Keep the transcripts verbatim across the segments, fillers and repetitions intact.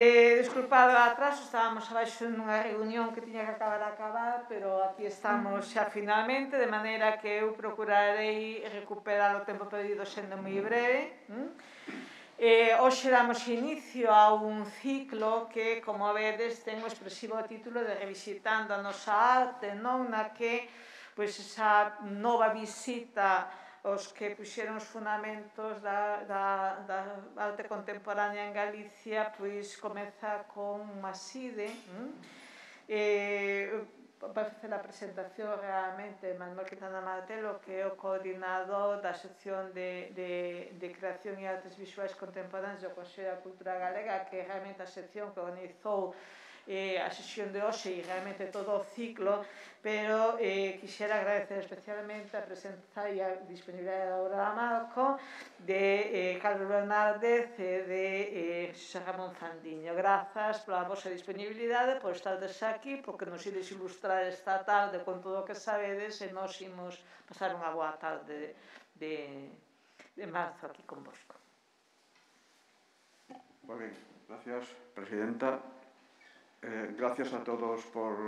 Eh, disculpado o atraso, estábamos abaixo nunha reunión que tiña que acabar a acabar, pero aquí estamos xa finalmente, de maneira que eu procurarei recuperar o tempo perdido sendo moi breve. Eh, hoxe damos inicio a un ciclo que, como vedes, ten o expresivo título de Revisitando a nosa arte, non? Na que, pois, esa nova visita os que puxeron os fundamentos da, da, da arte contemporánea en Galicia, pois comeza con Maside. Eh, vai facer a presentación realmente Manuel Quintana Martelo, que é o coordinador da sección de, de, de creación e artes visuais contemporáneas do Consello da Cultura Galega, que é realmente a sección que organizou eh, a sesión de hoxe e realmente todo o ciclo, pero eh, quixera agradecer especialmente a presenza e a disponibilidade da Aurora Marco, de eh, Carlos Bernárdez e de eh, Xosé Ramón Fandiño. Grazas pola vosa disponibilidade, por estardes aquí, porque nos ides ilustrar esta tarde con todo o que sabedes e nos imos pasar unha boa tarde de, de marzo aquí con vosco. Muy bien, gracias, presidenta. Eh, gracias a todos por,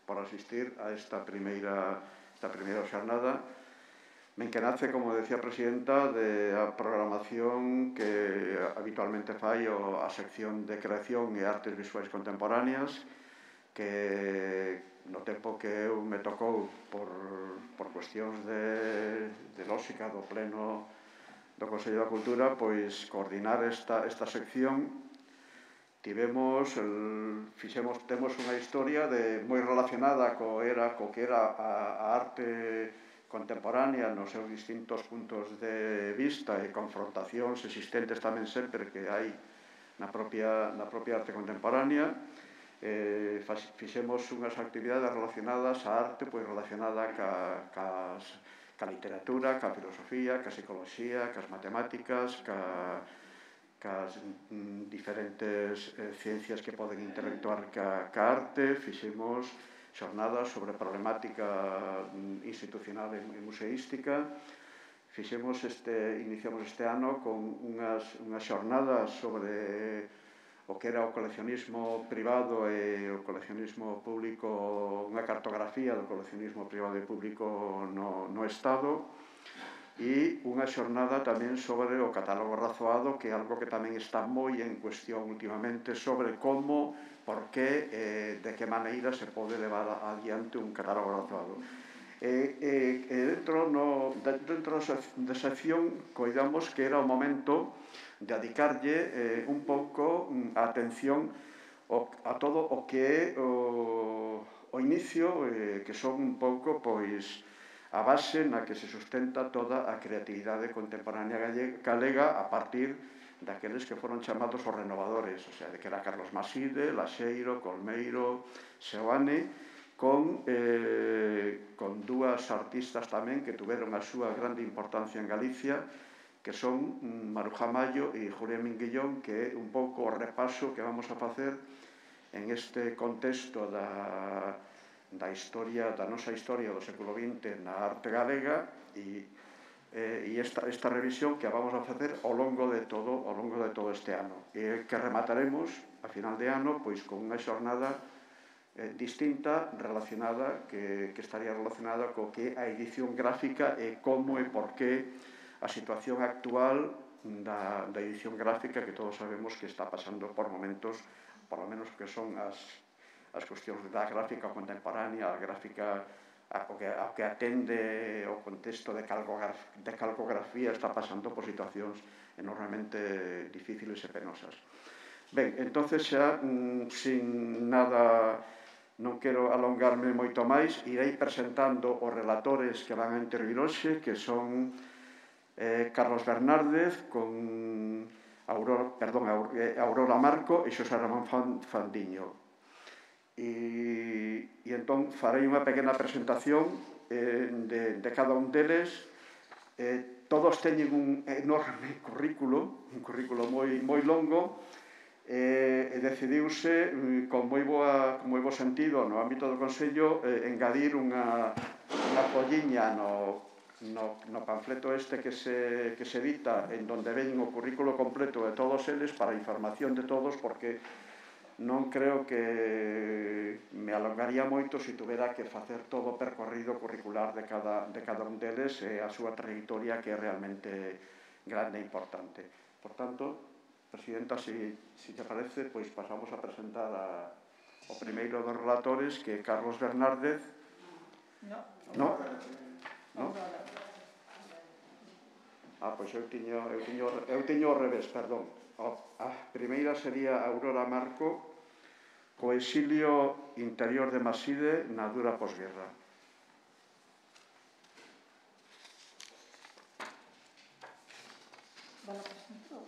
por asistir a esta primeira, esta primeira xornada. Me enquenace, como decía a presidenta, de a programación que habitualmente fai o, a sección de creación e artes visuais contemporáneas, que no tempo que eu me tocou por, por cuestións de, de lógica do pleno do Consello da Cultura, pois coordinar esta, esta sección. Tivemos, el, fixemos, temos unha historia de, moi relacionada co, era, co que era a, a arte contemporánea nos seus distintos puntos de vista e confrontacións existentes tamén sempre que hai na propia, na propia arte contemporánea. Eh, fixemos unhas actividades relacionadas á arte, pois relacionada ca, cas, ca literatura, ca filosofía, ca psicología, cas matemáticas, ca cas mm, diferentes eh, ciencias que poden interactuar ca, ca arte. Fixemos xornadas sobre problemática mm, institucional e, e museística. Fixemos este, iniciamos este ano con unhas, unhas xornadas sobre o que era o coleccionismo privado e o coleccionismo público, unha cartografía do coleccionismo privado e público no, no Estado. E unha xornada tamén sobre o catálogo razoado, que é algo que tamén está moi en cuestión últimamente, sobre como, por que, eh, de que maneira se pode levar adiante un catálogo razoado. E, e, e dentro, no, dentro da sección coidamos que era o momento de dedicarlle eh, un pouco a atención o, a todo o que é o, o inicio, eh, que son un pouco, pois, a base na que se sustenta toda a creatividade contemporánea galega a partir daqueles que foron chamados os renovadores, o sea, de que era Carlos Maside, Laxeiro, Colmeiro, Seoane, con, eh, con dúas artistas tamén que tuveron a súa grande importancia en Galicia, que son Maruja Mayo e Julián Minguillón, que é un pouco o repaso que vamos a facer en este contexto da... da historia, da nosa historia do século vinte na arte galega e, eh, e esta, esta revisión que a vamos a facer ao longo de todo, ao longo de todo este ano e que remataremos a final de ano pois con unha xornada eh, distinta relacionada que, que estaría relacionada co que a edición gráfica e como e por que a situación actual da, da edición gráfica que todos sabemos que está pasando por momentos, por lo menos que son as as cuestións da gráfica contemporánea, a gráfica ao que, ao que atende o contexto de, calcograf, de calcografía está pasando por situacións enormemente difíciles e penosas. Ben, entonces xa, mm, sin nada, non quero alongarme moito máis, irei presentando os relatores que van a intervir hoxe, que son eh, Carlos Bernárdez, con Aurora, perdón, Aurora Marco e Xosé Ramón Fandiño. E, e entón farei unha pequena presentación eh, de, de cada un deles. Eh, todos teñen un enorme currículo, un currículo moi, moi longo, eh, e decidiuse con moi, boa, con moi bo sentido no ámbito do Consello eh, engadir unha, unha folliña no, no, no panfleto este que se, que se edita, en donde ven o currículo completo de todos eles para información de todos, porque non creo que me alongaría moito se tuvera que facer todo o percorrido curricular de cada, de cada un deles e a súa trayectoria, que é realmente grande e importante. Por tanto, Presidenta, se si, si te parece, pois pasamos a presentar a, o primeiro dos relatores, que é Carlos Bernárdez. No. No? No? Ah, pois eu tiño, eu tiño, eu tiño ao revés, perdón. A primeira sería Aurora Marco, co exilio interior de Maside na dura posguerra. Bueno, pues,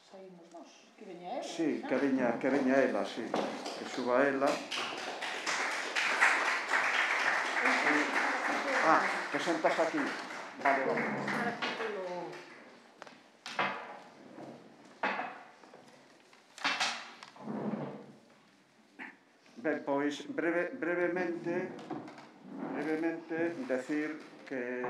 saímos nós, que veña ela. Sí, que veña, que veña ela, sí, que suba ela. Ah, que sentas aquí. Vale, vale. Ben, pois, breve, brevemente, brevemente, decir que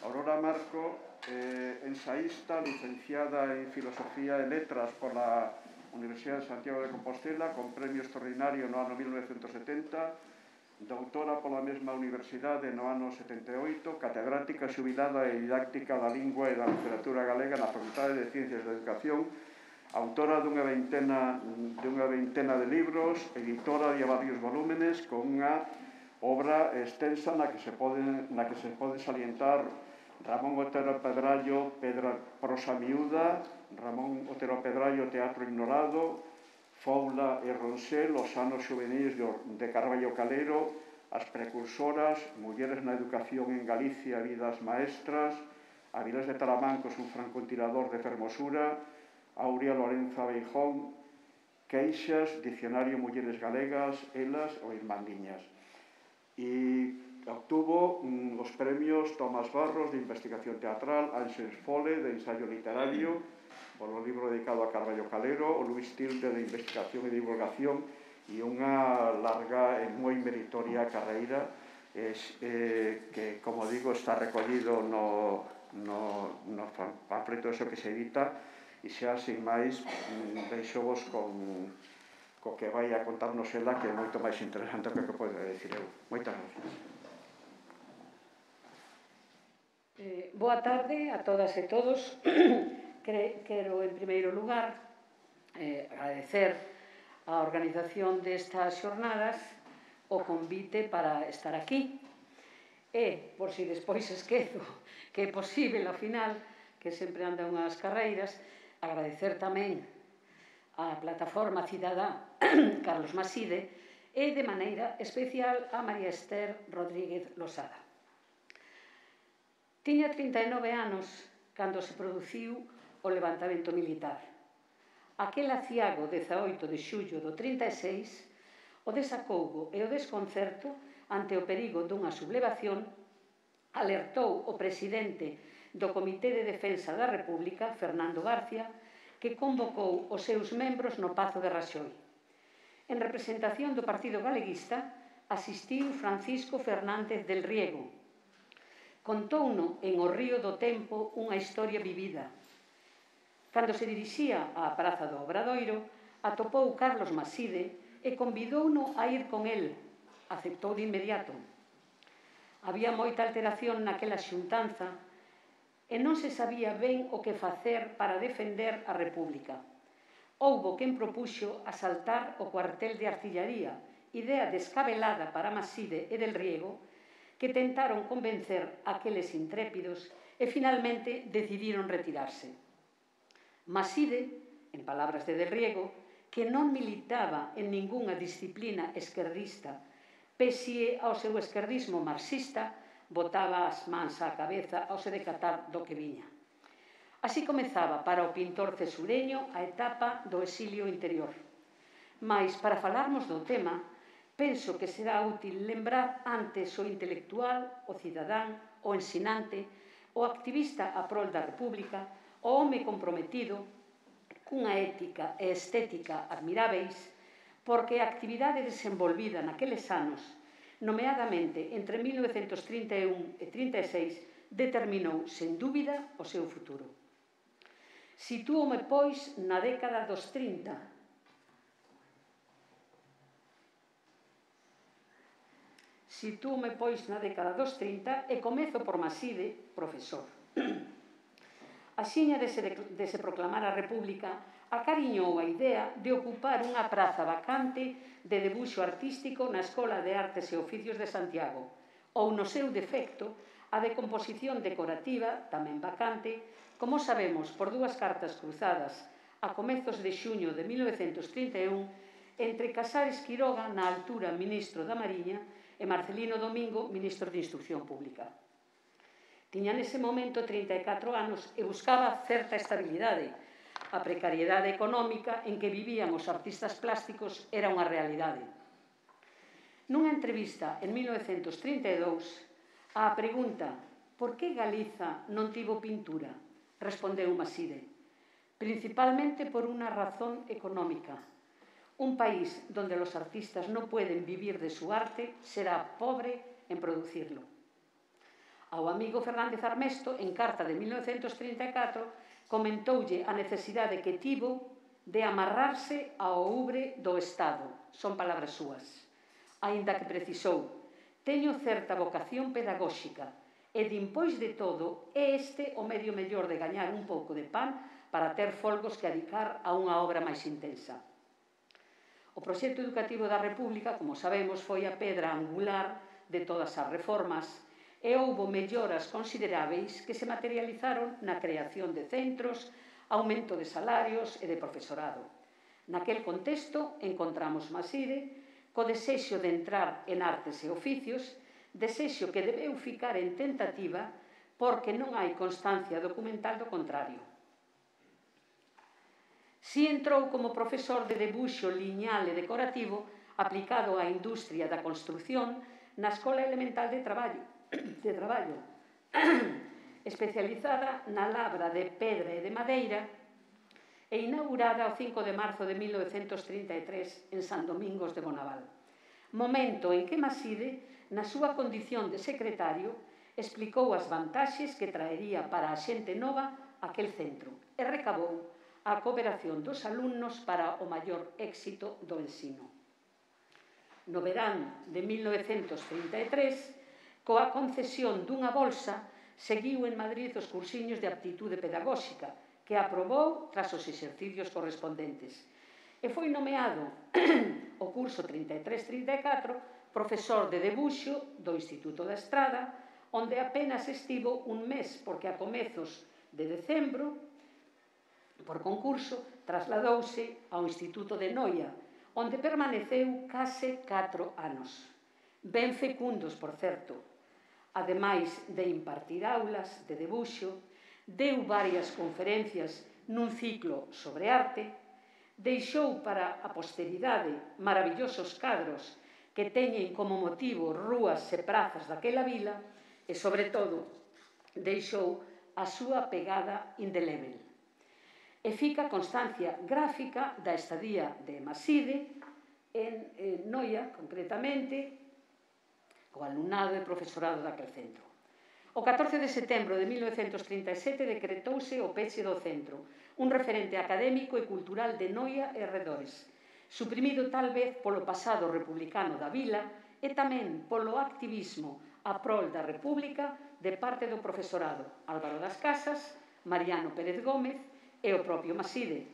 Aurora Marco, eh, ensaísta, licenciada en Filosofía e Letras pola Universidade de Santiago de Compostela, con premio extraordinario no ano mil novecentos setenta, doutora pola mesma universidade no ano setenta e oito, catedrática xubilada e didáctica da lingua e da literatura galega na Facultade de Ciencias da Educación, autora dunha veintena, dunha veintena de libros, editora de varios volúmenes, con unha obra extensa na que se pode, na que se pode salientar Ramón Otero Pedrallo, Pedra, Prosa Miúda, Ramón Otero Pedrallo, Teatro Ignorado, Foula e Ronsel, Os anos xuvenis de Carballo Calero, As precursoras, Mulleres na educación en Galicia, Vidas maestras, Avilés de Talamancos, un francotirador de fermosura, Aurea Lorenza Beijón, Queixas, Dicionario Mulleres Galegas, Elas ou Irmandiñas. E obtuvo mm, os premios Tomás Barros de Investigación Teatral, Ánxels Fole de Ensayo Literario, polo libro dedicado a Carballo Calero, o Luís Tilde de Investigación e Divulgación, e unha larga e moi meritoria carreira es, eh, que, como digo, está recollido no, no, no panfleto eso que se edita, e xa, sin máis, deixo vos con, co que vai a contarnos ela, que é moito máis interesante que o que podo decir eu. Moitas gracias. Eh, boa tarde a todas e todos. Quero, en primeiro lugar, eh, agradecer a organización destas xornadas o convite para estar aquí. E, por si despois esquezo que é posible, ao final, que sempre anda unhas carreiras, agradecer tamén á plataforma cidadá Carlos Maside e, de maneira especial, a María Esther Rodríguez Losada. Tiña trinta e nove anos cando se produciu o levantamento militar. Aquel aciago dezaoito de xullo do trinta e seis, o desacougo e o desconcerto ante o perigo dunha sublevación alertou o presidente do Comité de Defensa da República, Fernando García, que convocou os seus membros no Pazo de Raxoi. En representación do Partido Galeguista asistiu Francisco Fernández del Riego. Contouno en O río do tempo unha historia vivida. Cando se dirixía á Praza do Obradoiro, atopou Carlos Maside e convidouno a ir con el. Aceptou de inmediato. Había moita alteración naquela xuntanza e non se sabía ben o que facer para defender a República. Houbo quen propuxo asaltar o cuartel de artillaría, idea descabelada para Maside e del Riego, que tentaron convencer aqueles intrépidos e finalmente decidiron retirarse. Maside, en palabras de del Riego, que non militaba en ningunha disciplina esquerdista, pese ao seu esquerdismo marxista, botaba as mans á cabeza ao se decatar do que viña. Así comezaba para o pintor cesureño a etapa do exilio interior. Mais, para falarmos do tema, penso que será útil lembrar antes o intelectual, o cidadán, o ensinante, o activista a prol da República, o home comprometido, cunha ética e estética admiráveis, porque a actividade desenvolvida naqueles anos, nomeadamente entre mil novecentos trinta e un e trinta e seis, determinou, sen dúbida, o seu futuro. Sitúome, pois, na década dos trinta. Sitúome, pois, na década dos trinta e comezo por Maside, profesor. Axiña de se, de se proclamar a República, acariñou a idea de ocupar unha praza vacante de debuxo artístico na Escola de Artes e Oficios de Santiago, ou, no seu defecto, a de composición decorativa, tamén vacante, como sabemos por dúas cartas cruzadas a comezos de xuño de mil novecentos trinta e un entre Casares Quiroga, na altura ministro da Mariña, e Marcelino Domingo, ministro de Instrucción Pública. Tiña nese momento trinta e catro anos e buscaba certa estabilidade. A precariedade económica en que vivían os artistas plásticos era unha realidade. Nunha entrevista en mil novecentos trinta e dous, á pregunta «Por que Galiza non tivo pintura?», respondeu Maside, «principalmente por unha razón económica. Un país donde los artistas non poden vivir de su arte será pobre en producirlo». Ao amigo Fernández Armesto, en carta de mil novecentos trinta e catro, comentoulle a necesidade que tivo de amarrarse ao oure do Estado. Son palabras súas. Aínda que precisou, teño certa vocación pedagóxica e, dimpois de todo, é este o medio mellor de gañar un pouco de pan para ter folgos que adicar a unha obra máis intensa. O proxecto educativo da República, como sabemos, foi a pedra angular de todas as reformas e houbo melloras consideráveis que se materializaron na creación de centros, aumento de salarios e de profesorado. Naquel contexto encontramos Maside co desexo de entrar en artes e oficios, desexo que debeu ficar en tentativa porque non hai constancia documental do contrario. Si entrou como profesor de debuxo liñal e decorativo aplicado á industria da construción na Escola Elemental de Traballo, de traballo especializada na labra de pedra e de madeira e inaugurada o cinco de marzo de mil novecentos trinta e tres en San Domingos de Bonaval. Momento en que Maside, na súa condición de secretario, explicou as vantaxes que traería para a xente nova aquel centro e recabou a cooperación dos alumnos para o maior éxito do ensino. No verán de mil novecentos trinta e tres, coa concesión dunha bolsa, seguiu en Madrid os cursiños de aptitude pedagóxica, que aprobou tras os exercicios correspondentes. E foi nomeado o curso trinta e tres trinta e catro profesor de debuxo do Instituto da Estrada, onde apenas estivo un mes, porque a comezos de decembro, por concurso, trasladouse ao Instituto de Noia, onde permaneceu case catro anos. Ben fecundos, por certo. Ademais de impartir aulas de debuxo, deu varias conferencias nun ciclo sobre arte, deixou para a posteridade maravillosos cadros que teñen como motivo rúas e prazas daquela vila e, sobre todo, deixou a súa pegada indelével. E fica constancia gráfica da estadía de Maside en, en Noia, concretamente, co alumnado e profesorado daquel centro. O catorce de setembro de mil novecentos trinta e sete decretouse o peche do centro, un referente académico e cultural de Noia e arredores, suprimido tal vez polo pasado republicano da vila e tamén polo activismo a prol da República de parte do profesorado Álvaro das Casas, Mariano Pérez Gómez e o propio Maside,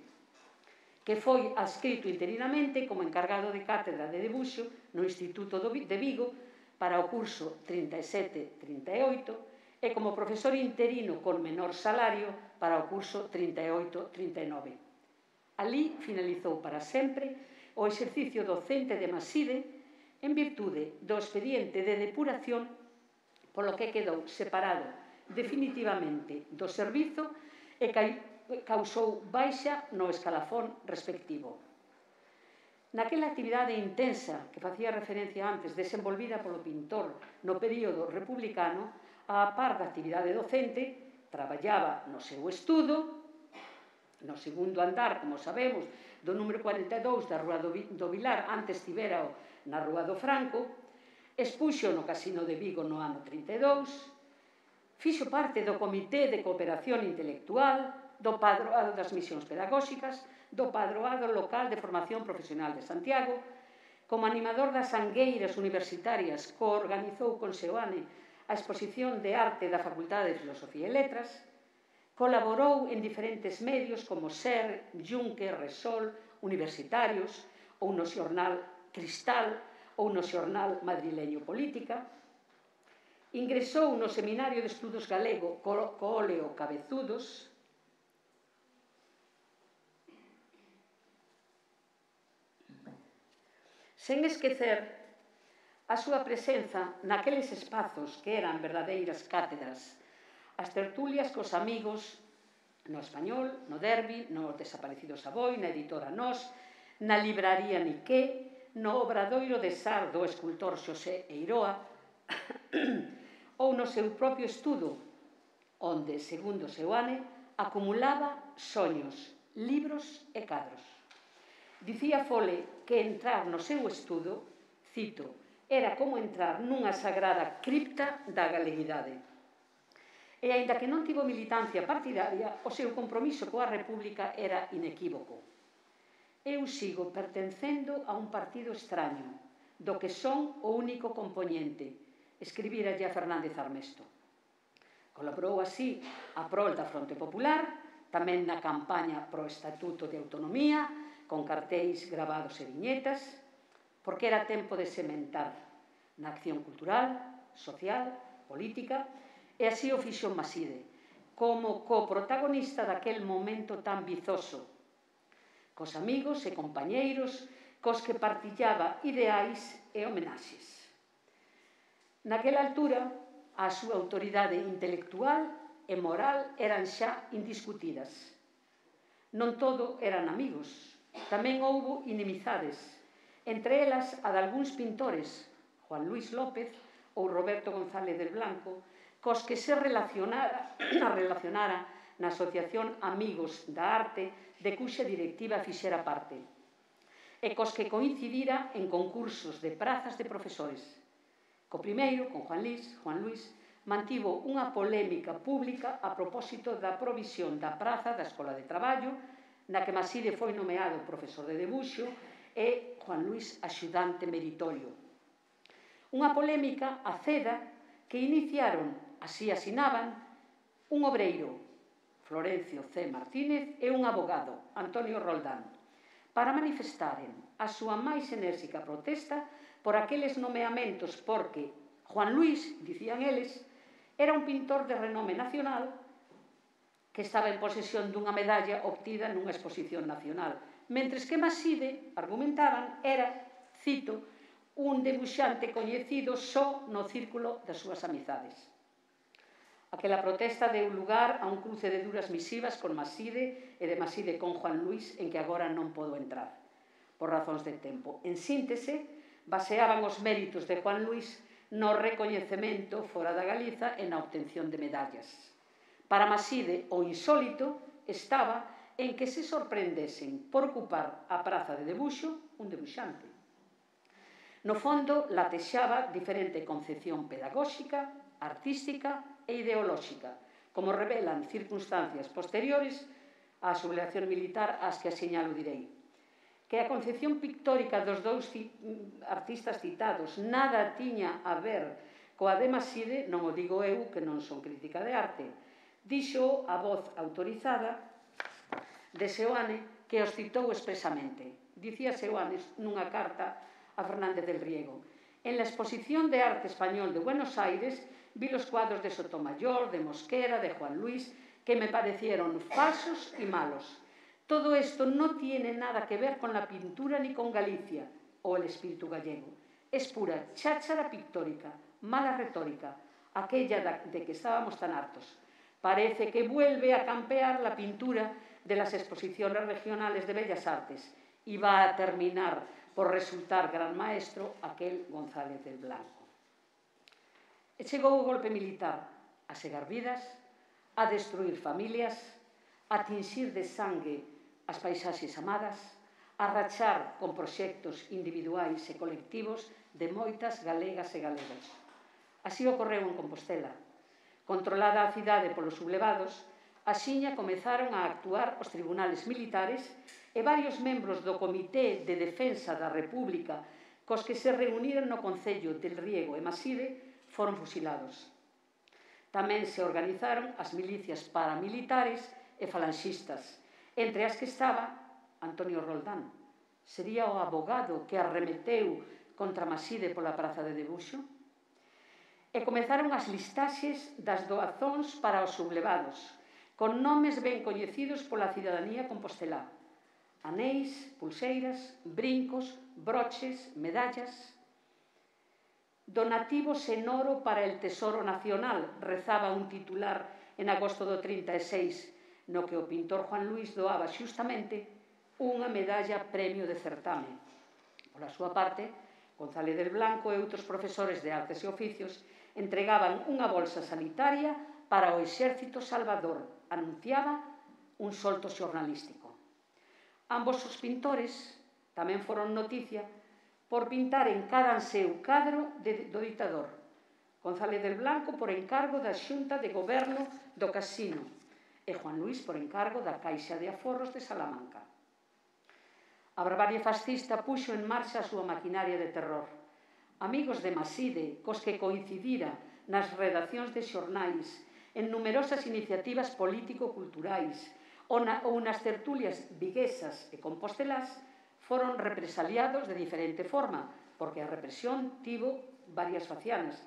que foi adscrito interinamente como encargado de cátedra de debuxo no Instituto de Vigo para o curso trinta e sete trinta e oito e como profesor interino con menor salario para o curso trinta e oito trinta e nove. Alí finalizou para sempre o exercicio docente de Maside en virtude do expediente de depuración, polo que quedou separado definitivamente do servizo e causou baixa no escalafón respectivo. Naquela actividade intensa que facía referencia antes, desenvolvida polo pintor no período republicano, a par da actividade docente, traballaba no seu estudo, no segundo andar, como sabemos, do número cuarenta e dous da Rúa do Vilar, antes tivera na Rúa do Franco, expuxo no Casino de Vigo no ano trinta e dous, fixo parte do Comité de Cooperación Intelectual, do Padroado das Misións Pedagóxicas, do Padroado Local de Formación Profesional de Santiago. Como animador das sangueiras universitarias, coorganizou con Seoane a exposición de arte da Facultade de Filosofía e Letras, colaborou en diferentes medios como SER, Junque, Resol, universitarios, ou no xornal Cristal, ou no xornal madrileño Política. Ingresou no Seminario de Estudos Galego Coóleo Cabezudos, sen esquecer a súa presenza naqueles espazos que eran verdadeiras cátedras, as tertulias cos amigos no Español, no Derbi, no Desaparecido Saboi, na editora Nós, na libraría Niqué, no obradoiro de Sar do escultor Xosé Eiroa, ou no seu propio estudo, onde, segundo Seoane, acumulaba soños, libros e cadros. Dicía Fole que entrar no seu estudo, cito, era como entrar nunha sagrada cripta da galeguidade. E, aínda que non tivo militancia partidaria, o seu compromiso coa República era inequívoco. Eu sigo pertencendo a un partido extraño, do que son o único compoñente, escribira a Fernández Armesto. Colaborou así a prol da Fronte Popular, tamén na campaña pro Estatuto de Autonomía, con cartéis gravados e viñetas, porque era tempo de sementar na acción cultural, social, política, e así o fixo Maside, como coprotagonista daquel momento tan vizoso, cos amigos e compañeiros cos que partillaba ideais e homenaxes. Naquela altura, a súa autoridade intelectual e moral eran xa indiscutidas. Non todo eran amigos, tamén houbo inimizades, entre elas a de algúns pintores, Juan Luis López ou Roberto González del Blanco, cos que se relacionara, relacionara na Asociación Amigos da Arte, de cuxa directiva fixera parte, e cos que coincidira en concursos de prazas de profesores. Co primeiro, con Juan Luis, Juan Luis, mantivo unha polémica pública a propósito da provisión da praza da Escola de Traballo, na que Maside foi nomeado profesor de debuxo e Juan Luis axudante meritorio. Unha polémica aceda que iniciaron, así asinaban, un obreiro, Florencio C. Martínez, e un abogado, Antonio Roldán, para manifestaren a súa máis enérxica protesta por aqueles nomeamentos porque Juan Luis, dicían eles, era un pintor de renome nacional que estaba en posesión dunha medalla obtida nunha exposición nacional, mentres que Maside, argumentaban, era, cito, un debuxante coñecido só no círculo das súas amizades. Aquela protesta deu lugar a un cruce de duras misivas con Maside e de Maside con Juan Luis, en que agora non podo entrar, por razóns de tempo. En síntese, baseaban os méritos de Juan Luis no recoñecemento fora da Galiza e na obtención de medallas. Para Maside, o insólito estaba en que se sorprendesen por ocupar a praza de debuxo un debuxante. No fondo, latexaba diferente concepción pedagóxica, artística e ideolóxica, como revelan circunstancias posteriores á sublevación militar ás que aseñalo direi. Que a concepción pictórica dos dous artistas citados nada tiña a ver coa de Maside, non o digo eu, que non son crítica de arte, dixo a voz autorizada de Seoane, que os citou expresamente. Dicía Seoane nunha carta a Fernández del Riego: en la exposición de arte español de Buenos Aires vi los cuadros de Sotomayor, de Mosquera, de Juan Luis, que me parecieron falsos y malos. Todo esto no tiene nada que ver con la pintura ni con Galicia o el espíritu gallego. Es pura cháchara pictórica, mala retórica, aquella de que estábamos tan hartos. Parece que vuelve a campear la pintura de las exposiciones regionales de Bellas Artes y va a terminar por resultar gran maestro aquel González del Blanco. E chegou o golpe militar a segar vidas, a destruir familias, a tinxir de sangue as paisaxes amadas, a rachar con proxectos individuais e colectivos de moitas galegas e galegos. Así ocorreu en Compostela, Controlada a cidade polos sublevados, axiña comezaron a actuar os tribunales militares e varios membros do Comité de Defensa da República cos que se reuniran no Concello del Riego e Maside foron fusilados. Tamén se organizaron as milicias paramilitares e falanxistas, entre as que estaba Antonio Roldán. Sería o abogado que arremeteu contra Maside pola praza de Debuxo. E comezaron as listaxes das doazóns para os sublevados, con nomes ben coñecidos pola cidadanía compostelá. Anéis, pulseiras, brincos, broches, medallas. Donativos en oro para el Tesoro Nacional, rezaba un titular en agosto do trinta e seis, no que o pintor Juan Luis doaba xustamente unha medalla premio de certame. Pola súa parte, González del Blanco e outros profesores de artes e oficios entregaban unha bolsa sanitaria para o Exército Salvador, anunciaba un solto xornalístico. Ambos os pintores tamén foron noticia por pintar en cada seu cadro de, do ditador. González del Blanco por encargo da Xunta de Goberno do Casino e Juan Luis por encargo da Caixa de Aforros de Salamanca. A barbarie fascista puxo en marcha a súa maquinaria de terror. Amigos de Maside, cos que coincidira nas redaccións de xornais, en numerosas iniciativas político-culturais ou, na, ou nas tertulias viguesas e compostelás, foron represaliados de diferente forma, porque a represión tivo varias facianas.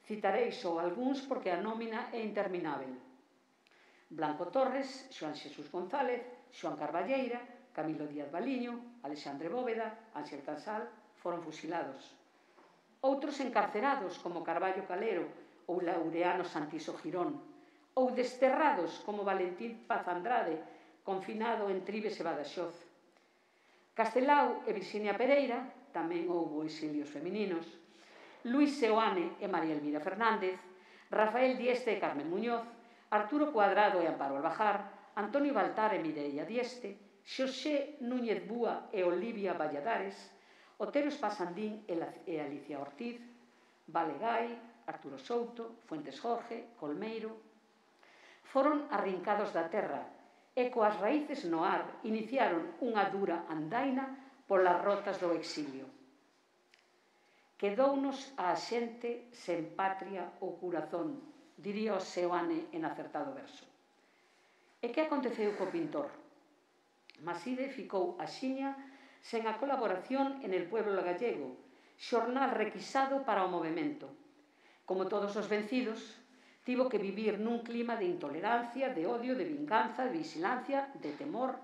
Citarei só algúns porque a nómina é interminável. Blanco Torres, Xoán Xesús González, Xoán Carballeira, Camilo Díaz Baliño, Alexandre Bóveda, Ángel Casal, foron fusilados. Outros encarcerados, como Carballo Calero ou Laureano Santiso Girón, ou desterrados, como Valentín Paz Andrade, confinado en Tribes e Badaxoz. Castelao e Virxinia Pereira, tamén houbo exilios femininos, Luis Seoane e María Elvira Fernández, Rafael Dieste e Carmen Muñoz, Arturo Cuadrado e Amparo Albajar, Antonio Baltar e Mireia Dieste, Xosé Núñez Búa e Olivia Valladares, Otero Espasandín e Alicia Ortiz, Valegai, Arturo Souto, Fuentes Jorge, Colmeiro, foron arrincados da terra e coas raíces no ar iniciaron unha dura andaina polas rotas do exilio. Quedounos a xente sen patria ou corazón, diría o Seoane en acertado verso. E que aconteceu co pintor? Maside ficou axiña sen a colaboración en El Pueblo Gallego, xornal requisado para o movemento. Como todos os vencidos, tivo que vivir nun clima de intolerancia, de odio, de vinganza, de vigilancia, de temor.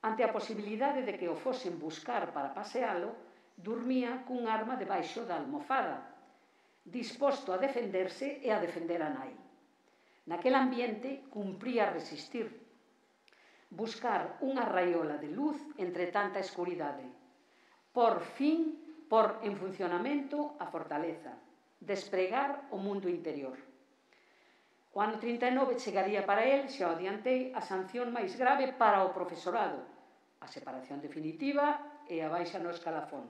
Ante a posibilidade de que o fosen buscar para pasealo, dormía cun arma debaixo da almofada, disposto a defenderse e a defender a nai. Naquel ambiente cumpría resistir, buscar unha raiola de luz entre tanta escuridade. Por fin, por en funcionamento a fortaleza, despregar o mundo interior. O ano trinta e nove chegaría para el, xa o adiantei, a sanción máis grave para o profesorado, a separación definitiva e a baixa no escalafón.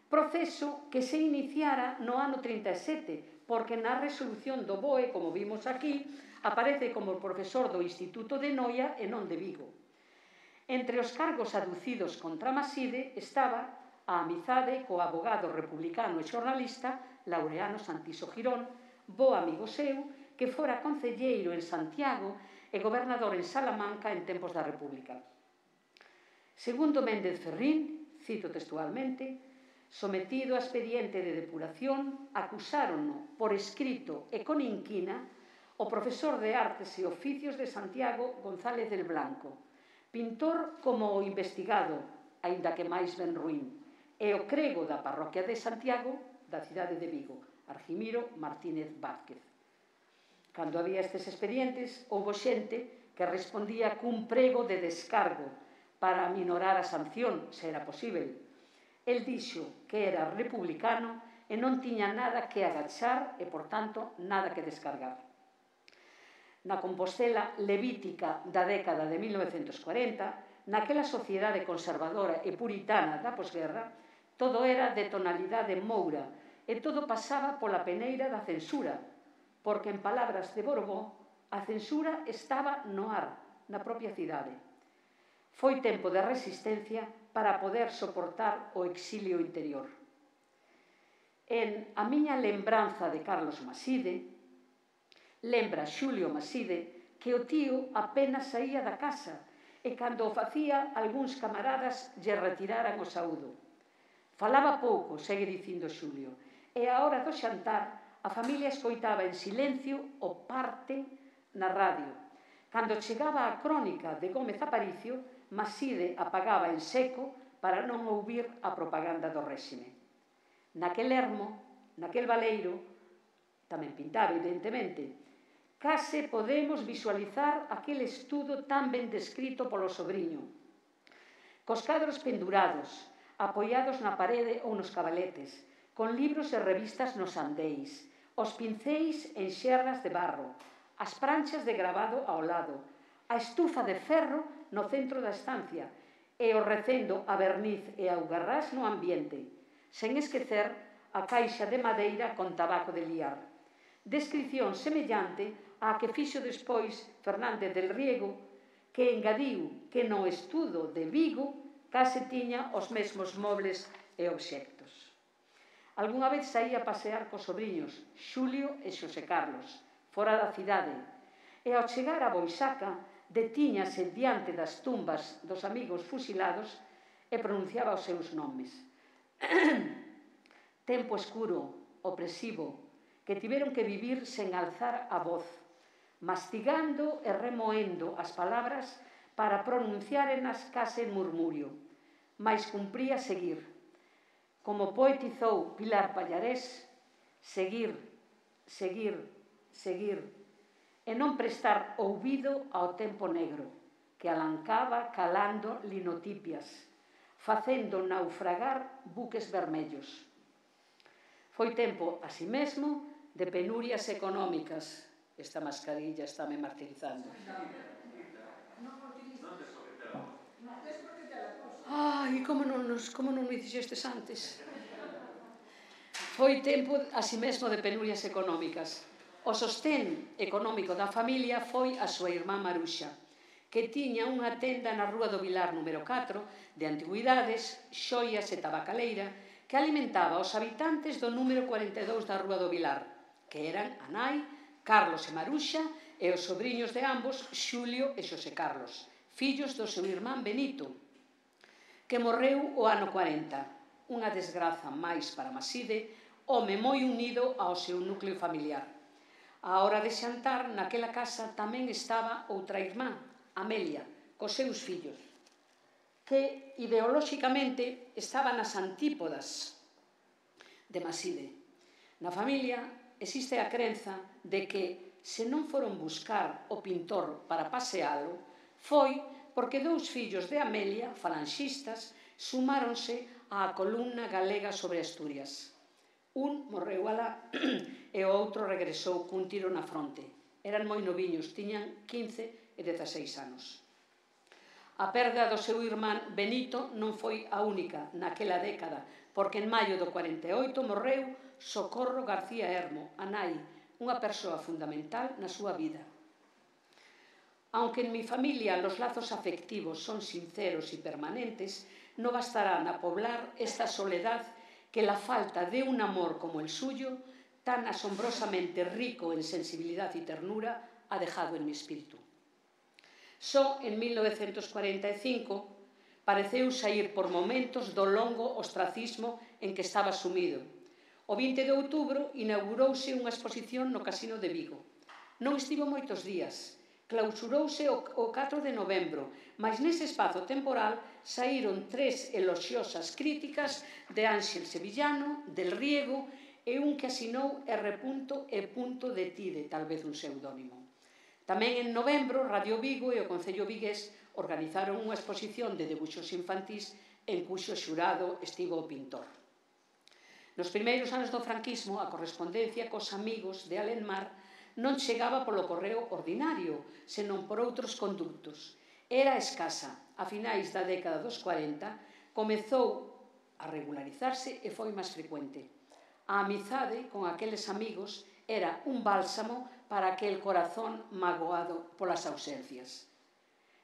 Proceso que se iniciara no ano trinta e sete, porque na resolución do B O E, como vimos aquí, aparece como profesor do Instituto de Noia e non de Vigo. Entre os cargos aducidos contra Maside estaba a amizade co abogado republicano e xornalista Laureano Santiso Girón, bo amigo seu, que fora concelleiro en Santiago e gobernador en Salamanca en tempos da República. Segundo Méndez Ferrín, cito textualmente, sometido a expediente de depuración, acusárono por escrito e con inquina o profesor de Artes e Oficios de Santiago González del Blanco, pintor como o investigado, aínda que máis ben ruín, e o crego da parroquia de Santiago, da cidade de Vigo, Argimiro Martínez Vázquez. Cando había estes expedientes, houbo xente que respondía cun prego de descargo para aminorar a sanción, se era posible. El dixo que era republicano e non tiña nada que agachar e, por tanto, nada que descargar. Na Compostela levítica da década de mil novecentos cuarenta, naquela sociedade conservadora e puritana da posguerra, todo era de tonalidade moura e todo pasaba pola peneira da censura, porque, en palabras de Borbón, a censura estaba no ar, na propia cidade. Foi tempo de resistencia para poder soportar o exilio interior. En A miña lembranza de Carlos Maside, lembra Xulio Maside que o tío apenas saía da casa e cando o facía algúns camaradas lle retiraran o saúdo. Falaba pouco, segue dicindo Xulio, e á hora do xantar a familia escoitaba en silencio o parte na radio. Cando chegaba a crónica de Gómez Aparicio, Maside apagaba en seco para non ouvir a propaganda do réxime. Naquel ermo, naquel baleiro, tamén pintaba, evidentemente, case podemos visualizar aquel estudo tan ben descrito polo sobriño. Cos cadros pendurados, apoiados na parede ou nos cabaletes, con libros e revistas nos andeis, os pincéis en xerras de barro, as pranchas de gravado ao lado, a estufa de ferro no centro da estancia e o recendo a verniz e a augarrás no ambiente, sen esquecer a caixa de madeira con tabaco de liar. Descripción semellante á que fixo despois Fernández del Riego, que engadiu que no estudo de Vigo case tiña os mesmos mobles e obxectos. Algúna vez saía a pasear cos sobriños, Xulio e Xosé Carlos, fora da cidade, e ao chegar a Boisaca detíñase diante das tumbas dos amigos fusilados e pronunciaba os seus nomes. Tempo escuro, opresivo, que tiveron que vivir sen alzar a voz, mastigando e remoendo as palabras para pronunciárenas case en murmurio, mais cumpría seguir. Como poetizou Pilar Pallarés, seguir, seguir, seguir, e non prestar ouvido ao tempo negro, que alancaba calando linotipias, facendo naufragar buques vermellos. Foi tempo, así mesmo, de penurias económicas. Esta mascarilla está me martirizando. Ai, como non, nos, como non me dixestes antes? Foi tempo, así mesmo, de penurias económicas. O sostén económico da familia foi a súa irmá Maruxa, que tiña unha tenda na Rúa do Vilar número catro de antigüidades, xoias e tabacaleira que alimentaba os habitantes do número cuarenta e dous da Rúa do Vilar, que eran a nai, Carlos e Maruxa, e os sobriños de ambos, Xulio e Xosé Carlos, fillos do seu irmán Benito, que morreu o ano cuarenta, unha desgraza máis para Maside, home moi unido ao seu núcleo familiar. A hora de xantar, naquela casa tamén estaba outra irmá, Amelia, cos seus fillos, que ideolóxicamente estaba nas antípodas de Maside. Na familia existe a crenza de que, se non foron buscar o pintor para pasealo, foi porque dous fillos de Amelia, falanxistas, sumáronse á columna galega sobre Asturias. Un morreu alá e o outro regresou cun tiro na fronte. Eran moi noviños, tiñan quince e dezaseis anos. A perda do seu irmán Benito non foi a única naquela década, porque en maio do cuarenta e oito morreu Socorro García Hermo, a nai, unha persoa fundamental na súa vida. Aunque en mi familia los lazos afectivos son sinceros y permanentes, no bastarán a poblar esta soledad que la falta de un amor como el suyo, tan asombrosamente rico en sensibilidad y ternura, ha dejado en mi espíritu. Só en mil novecientos cuarenta e cinco pareceu saír por momentos do longo ostracismo en que estaba sumido. O vinte de outubro inaugurouse unha exposición no Casino de Vigo. Non estivo moitos días. Clausurouse o catro de novembro, mas nese espazo temporal saíron tres eloxiosas críticas de Ángel Sevillano, del Riego e un que asinou R. E. de Tide, tal vez un pseudónimo. Tamén en novembro, Radio Vigo e o Concello vigués organizaron unha exposición de debuxos infantís en cuxo xurado estivo o pintor. Nos primeiros anos do franquismo, a correspondencia cos amigos de Alenmar non chegaba polo correo ordinario, senón por outros conductos. Era escasa. A finais da década dos cuarenta comezou a regularizarse e foi máis frecuente. A amizade con aqueles amigos era un bálsamo para aquel corazón magoado polas ausencias.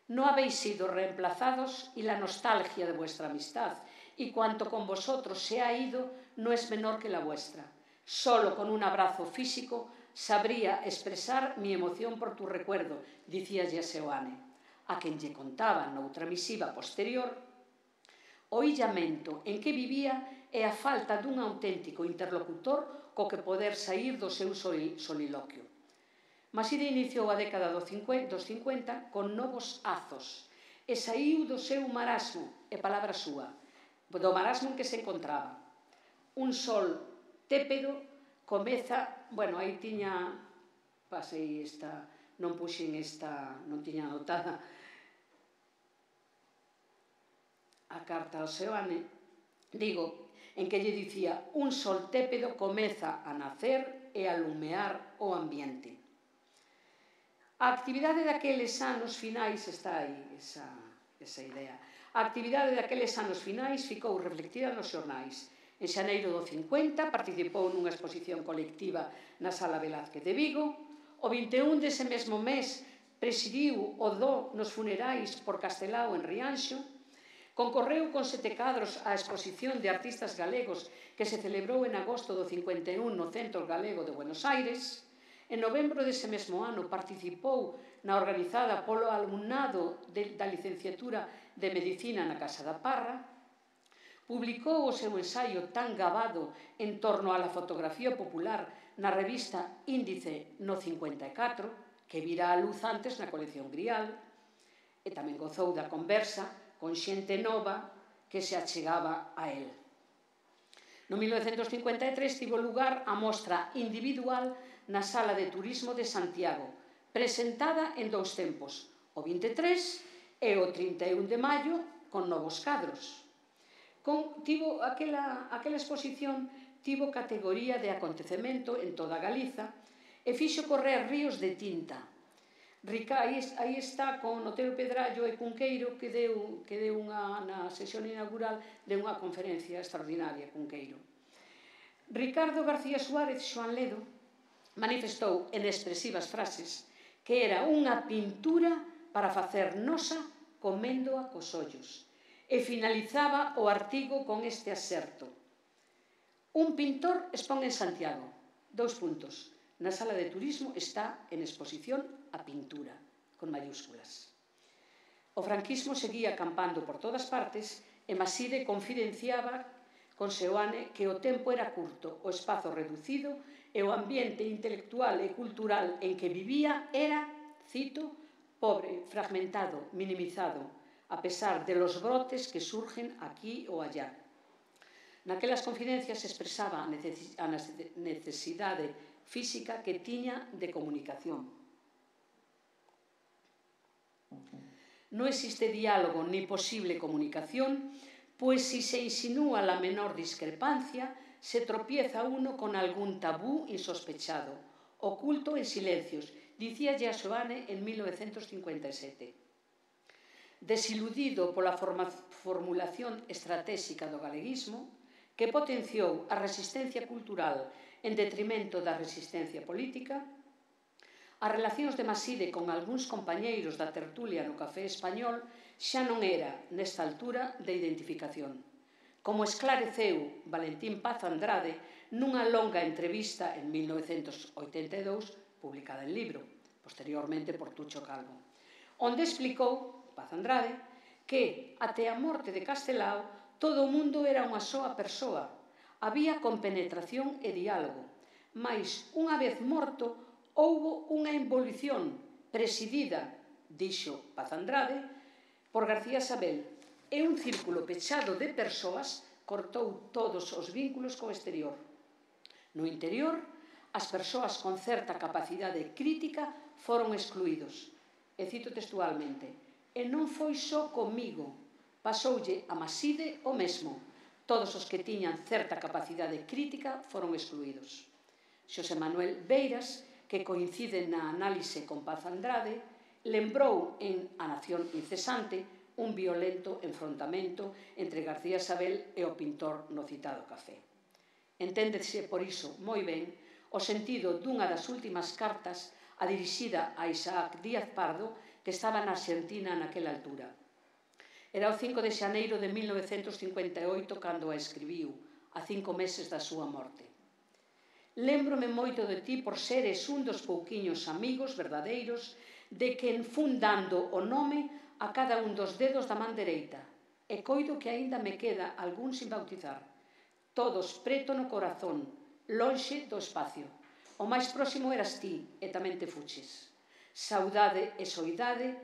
No habéis sido reemplazados y la nostalgia de vuestra amistad, y cuanto con vosotros se ha ido no es menor que la vuestra. Solo con un abrazo físico sabría expresar mi emoción por tu recuerdo, dicíalle a Seoane, a quen lle contaba noutra misiva posterior o illamento en que vivía e a falta dun auténtico interlocutor co que poder saír do seu soliloquio. Maside iniciou a década dos cincuenta con novos azos e saiu do seu marasmo, é palabra súa, do marasmo en que se encontraba. Un sol tépedo comeza, bueno, aí tiña, pasei esta, non puxen esta, non tiña anotada a carta ao Seoane, digo, en que lle dicía, un sol tépedo comeza a nacer e a lumear o ambiente. A actividade daqueles anos finais, está aí esa, esa idea, a actividade daqueles anos finais ficou reflectida nos xornais. En xaneiro do cincuenta participou nunha exposición colectiva na Sala Velázquez de Vigo. O vinte e un dese mesmo mes presidiu o do nos funerais por Castelao en Rianxo. Concorreu con sete cadros á exposición de artistas galegos que se celebrou en agosto do cincuenta e un no Centro Galego de Buenos Aires. En novembro dese mesmo ano participou na organizada polo alumnado da licenciatura de Medicina na Casa da Parra. Publicou o seu ensaio tan gabado en torno á fotografía popular na revista Índice no cincuenta e catro, que vira a luz antes na colección Grial, e tamén gozou da conversa con xente nova que se achegaba a él. No mil novecentos cincuenta e tres tivo lugar a mostra individual na Sala de Turismo de Santiago, presentada en dous tempos, o vinte e tres e o trinta e un de maio, con novos cadros. Con, tivo aquela, aquela exposición tivo categoría de acontecemento en toda Galiza e fixo correr ríos de tinta. Rica, aí, aí está con Otero Pedrallo e Cunqueiro que deu, que deu unha, na sesión inaugural de unha conferencia extraordinaria, Cunqueiro. Ricardo García Suárez Xoan Ledo manifestou en expresivas frases que era unha pintura para facer nosa coméndoa cos ollos. E finalizaba o artigo con este aserto. Un pintor expón en Santiago. Dous puntos. Na Sala de Turismo está en exposición a pintura, con mayúsculas. O franquismo seguía acampando por todas partes e Maside confidenciaba con Seoane que o tempo era curto, o espazo reducido e o ambiente intelectual e cultural en que vivía era, cito, pobre, fragmentado, minimizado, a pesar de los brotes que surgen aquí ou allá. Naquelas confidencias expresaba a necesidade física que tiña de comunicación. No existe diálogo ni posible comunicación, pues si se insinúa la menor discrepancia, se tropieza uno con algún tabú insospechado, oculto en silencios, dicía Xoane en mil novecentos cincuenta e sete. Desiludido pola formulación estratégica do galeguismo, que potenciou a resistencia cultural en detrimento da resistencia política, as relacións de Maside con algúns compañeiros da tertulia no Café Español xa non era, nesta altura, de identificación. Como esclareceu Valentín Paz Andrade nunha longa entrevista en mil novecentos oitenta e dous, publicada en libro, posteriormente por Tucho Calvo, onde explicou Paz Andrade que, até a morte de Castelao, todo o mundo era unha soa persoa. Había compenetración e diálogo, mas, unha vez morto, houbo unha involución presidida, dixo Paz Andrade, por García Sabel, e un círculo pechado de persoas cortou todos os vínculos co exterior. No interior, as persoas con certa capacidade crítica foron excluídos. E cito textualmente: e non foi só comigo, pasoulle a Maside o mesmo. Todos os que tiñan certa capacidade crítica foron excluídos. Xosé Manuel Beiras, que coincide na análise con Paz Andrade, lembrou en A Nación Incesante un violento enfrontamento entre García Sabel e o pintor no citado café. Enténdese por iso moi ben o sentido dunha das últimas cartas a dirixida a Isaac Díaz Pardo, que estaba na Argentina naquela altura. Era o cinco de xaneiro de mil novecentos cincuenta e oito cando a escribiu, a cinco meses da súa morte. Lémbrome moito de ti por seres un dos pouquiños amigos verdadeiros de quen fun dando o nome a cada un dos dedos da man dereita, e coido que aínda me queda algún sin bautizar. Todos preto no corazón, lonxe do espacio. O máis próximo eras ti, e tamén te fuches. Saudade e soidade,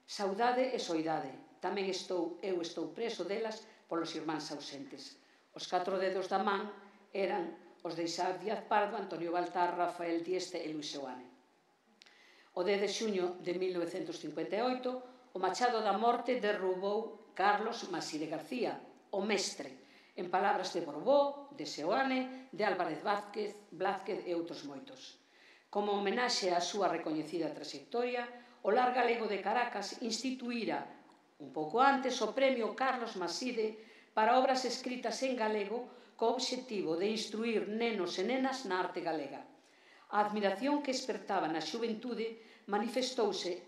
saudade e soidade. Tamén estou, eu estou preso delas polos irmáns ausentes. Os catro dedos da man eran os de Isaac Díaz Pardo, Antonio Baltar, Rafael Dieste e Luis Seoane. O dez de xuño de mil novecentos cincuenta e oito, o machado da morte derrubou Carlos Maside García, o mestre, en palabras de Borbó, de Seoane, de Álvarez Vázquez, Blázquez e outros moitos. Como homenaxe á súa recoñecida trayectoria, o Lar Galego de Caracas instituíra, un pouco antes, o premio Carlos Maside para obras escritas en galego co obxectivo de instruir nenos e nenas na arte galega. A admiración que espertaba na xuventude manifestouse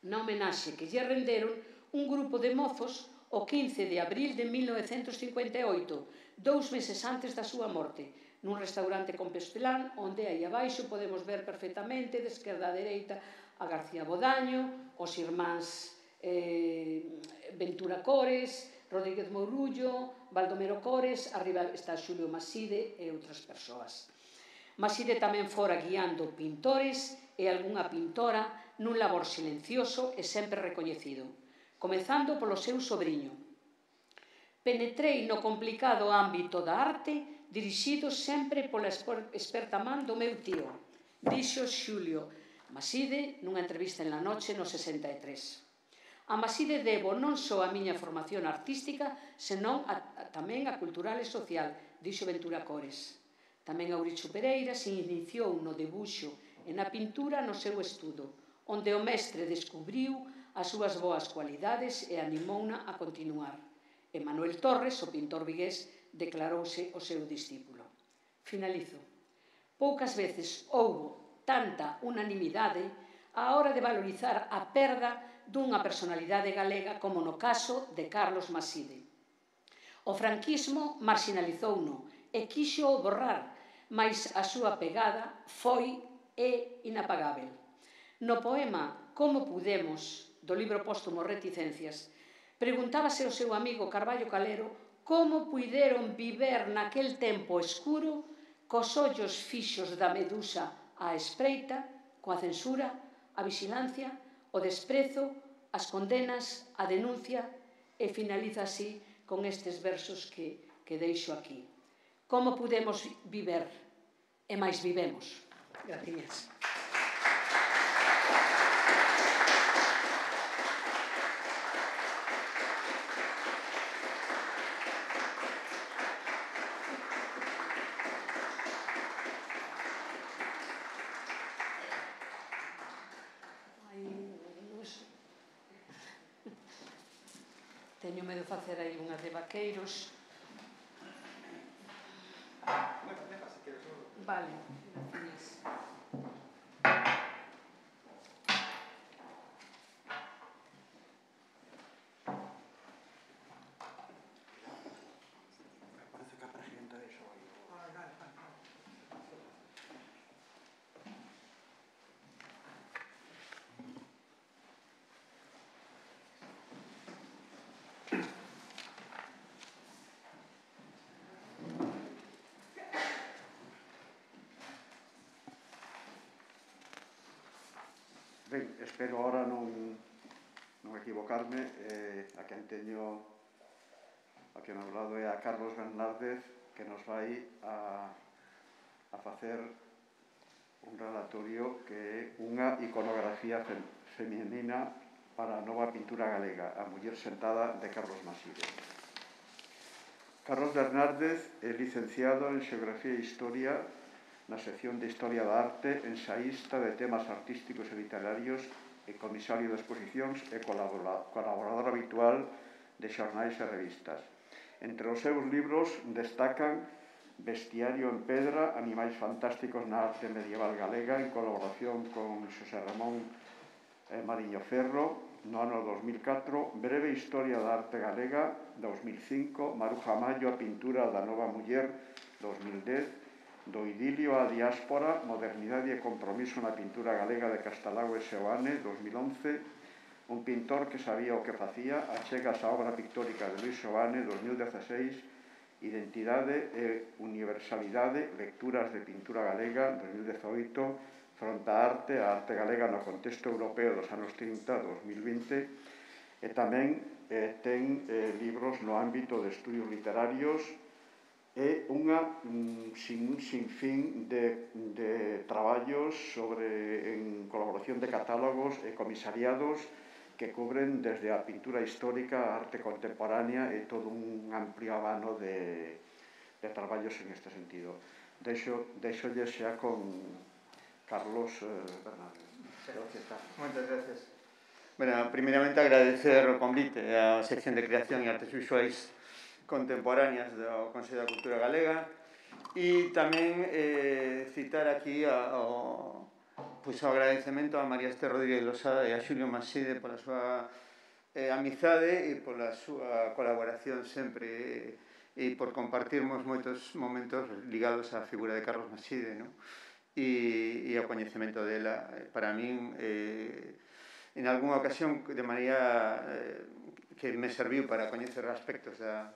na homenaxe que lle renderon un grupo de mozos o quince de abril de mil novecentos cincuenta e oito, dous meses antes da súa morte, nun restaurante Compostela, onde aí abaixo podemos ver perfectamente, de esquerda a dereita, a García Bodaño, os irmáns eh, Ventura Cores, Rodríguez Mourullo, Baldomero Cores, arriba está Xulio Maside e outras persoas. Maside tamén fora guiando pintores e algunha pintora nun labor silencioso e sempre recoñecido, comezando polo seu sobrinho. Penetrei no complicado ámbito da arte dirixido sempre pola experta man do meu tío, dixo Xulio Maside nunha entrevista en La Noche no sesenta e tres. A Maside debo non só a miña formación artística, senón a, a, tamén a cultural e social, dixo Ventura Cores. Tamén Auricho Pereira se iniciou no debuxo e na pintura no seu estudo, onde o mestre descubriu as súas boas cualidades e animouna a continuar. E Manuel Torres, o pintor vigués, declarouse o seu discípulo. Finalizo. Poucas veces houbo tanta unanimidade á hora de valorizar a perda dunha personalidade galega como no caso de Carlos Maside. O franquismo marxinalizouno e quixo borrar, mais a súa pegada foi e inapagável. No poema Como Pudemos, do libro póstumo Reticencias, preguntábase o seu amigo Carballo Calero como puideron viver naquel tempo escuro cos ollos fixos da medusa á espreita, coa censura, a vixilancia, o desprezo, as condenas, a denuncia, e finaliza así con estes versos que, que deixo aquí. Como pudemos viver, e máis vivemos. Gracias. Teño medo de facer aí unhas de vaqueiros. Vale, gracias. Parece que a presidenta deixou aí. Ben, espero ahora non, non equivocarme. Eh, a quen teño a quen ao lado é a Carlos Bernárdez, que nos vai a, a facer un relatorio que é unha iconografía fem, feminina para a nova pintura galega, A muller sentada, de Carlos Maside. Carlos Bernárdez é licenciado en Xeografía e Historia na sección de Historia da Arte, ensaísta de temas artísticos e literarios e comisario de exposicións e colaborador habitual de xornais e revistas. Entre os seus libros destacan Bestiario en pedra, animais fantásticos na arte medieval galega, en colaboración con Xosé Ramón eh, Mariño Ferro, no ano dos mil catro, Breve historia da arte galega, dos mil cinco, Maruja Mayo, a pintura da nova muller, dos mil dez, Do idilio á diáspora, modernidade e compromiso na pintura galega de Castelao e Seoane, dos mil once, un pintor que sabía o que facía, achegas a obra pictórica de Luis Seoane, dos mil dezasseis, Identidade e universalidade, lecturas de pintura galega, dos mil dezoito, Fronte á arte, a arte galega no contexto europeo dos anos trinta, dos mil vinte, e tamén eh, ten eh, libros no ámbito de estudios literarios e unha mm, sin, sin fin de, de traballos sobre, en colaboración de catálogos e comisariados que cubren desde a pintura histórica, a arte contemporánea e todo un amplio abano de, de traballos en este sentido. Deixo, deixolle xa con Carlos eh, Fernández. Gracias, Carlos. Moitas gracias. Bueno, primeiramente agradecer o convite á sección de Creación e Artes Visuais Contemporáneas do Consello da Cultura Galega e tamén eh, citar aquí ao pois o agradecemento a María Esther Rodríguez Losada e a Xulio Maside pola súa eh, amizade e pola súa colaboración sempre e, e por compartirmos moitos momentos ligados á figura de Carlos Maside, non? E, e ao coñecemento dela. Para min, eh, en algunha ocasión, de maneira eh, que me serviu para coñecer aspectos da,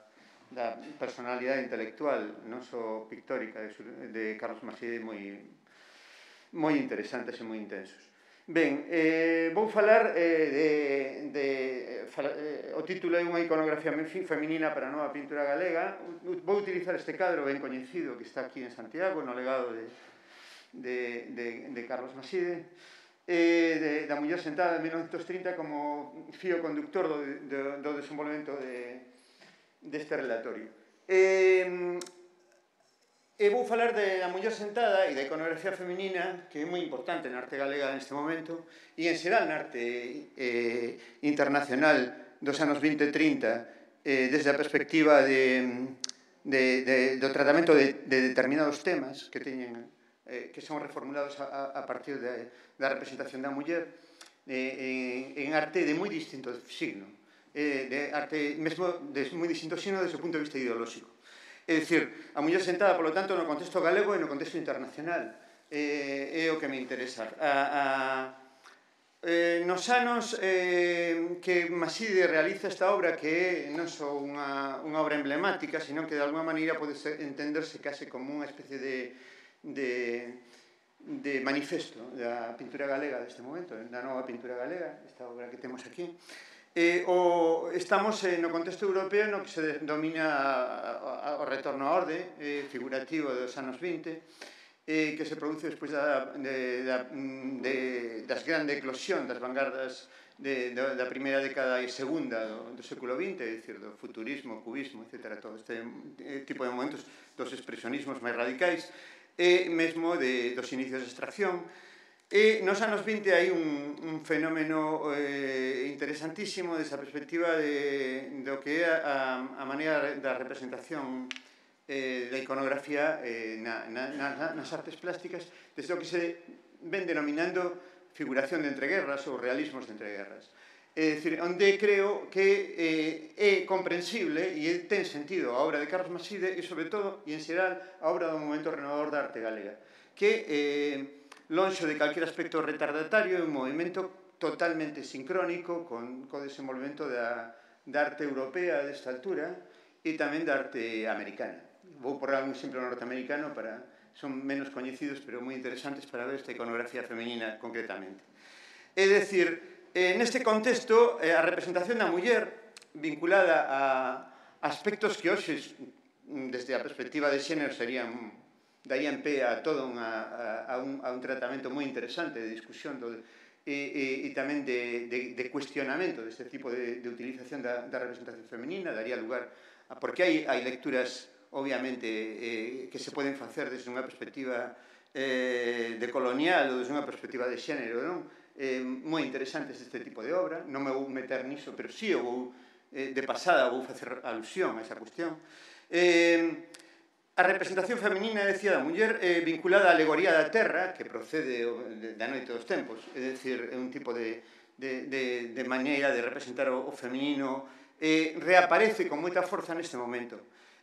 da personalidade intelectual, non só pictórica, de, de Carlos Maside, moi moi interesantes e moi intensos. Ben, eh, vou falar eh, de, de fala, eh, o título é unha iconografía feminina para a nova pintura galega. Vou utilizar este cadro ben coñecido que está aquí en Santiago, no legado de, de, de, de Carlos Maside, eh, de, da muller sentada en mil novecentos trinta como fío conductor do, do, do desenvolvemento de, deste relatorio. Eh, E vou falar de, da muller sentada e da iconografía feminina, que é moi importante na arte galega neste momento, e en xeral na arte eh, internacional dos anos vinte e trinta, eh, desde a perspectiva de, de, de, do tratamento de, de determinados temas que teñen, eh, que son reformulados a, a partir de, da representación da muller, eh, en, en arte de moi distinto signo, eh, de arte mesmo de moi distinto signo desde o punto de vista ideolóxico. É dicir, a muller sentada, polo tanto, no contexto galego e no contexto internacional. Eh, é o que me interesa. A, a, eh, nos anos eh, que Maside realiza esta obra, que non só unha, unha obra emblemática, sino que de alguma maneira pode ser, entenderse case como unha especie de, de, de manifesto da pintura galega deste momento, da nova pintura galega, esta obra que temos aquí. Eh, o, estamos eh, no contexto europeo no que se domina a, a, o retorno á orde eh, figurativo dos anos vinte, eh, que se produce despois da, de, da, de, das grande eclosión das vanguardas de, de, da primeira década e segunda do, do século vinte, é dicir, do futurismo, cubismo, etcétera, todo este eh, tipo de momentos dos expresionismos máis radicais e mesmo de, dos inicios de extracción. E nos anos vinte hai un, un fenómeno eh, interesantísimo desa perspectiva de, do que é a, a maneira da representación eh, da iconografía eh, na, na, na, nas artes plásticas, desde o que se ven denominando figuración de entreguerras ou realismos de entreguerras. É dicir, onde creo que eh, é comprensible e ten sentido a obra de Carlos Maside e, sobre todo, e en xeral, a obra do movimento renovador da arte galega, que eh, lonxo de calquer aspecto retardatario, é un movimento totalmente sincrónico con o desenvolvemento da, da arte europea desta altura e tamén da arte americana. Vou por algún exemplo norteamericano, para, son menos coñecidos, pero moi interesantes para ver esta iconografía femenina concretamente. É dicir, eh, neste contexto, eh, a representación da muller vinculada a aspectos que hoxe, desde a perspectiva de xénero, serían daían pé a todo unha, a, a, un, a un tratamento moi interesante de discusión do, e, e, e tamén de, de, de cuestionamento deste tipo de, de utilización da, da representación femenina, daría lugar a, porque hai, hai lecturas obviamente eh, que se poden facer desde unha perspectiva eh, de colonial ou desde unha perspectiva de xénero, non? Eh, moi interesantes este tipo de obra, non me vou meter niso, pero sí, eu vou, eh, de pasada vou facer alusión a esa cuestión. Eh, a representación feminina, decía, da muller eh, vinculada á alegoría da terra, que procede da noite dos tempos, é dicir, é un tipo de, de, de, de maneira de representar o, o feminino, eh, reaparece con moita forza neste momento,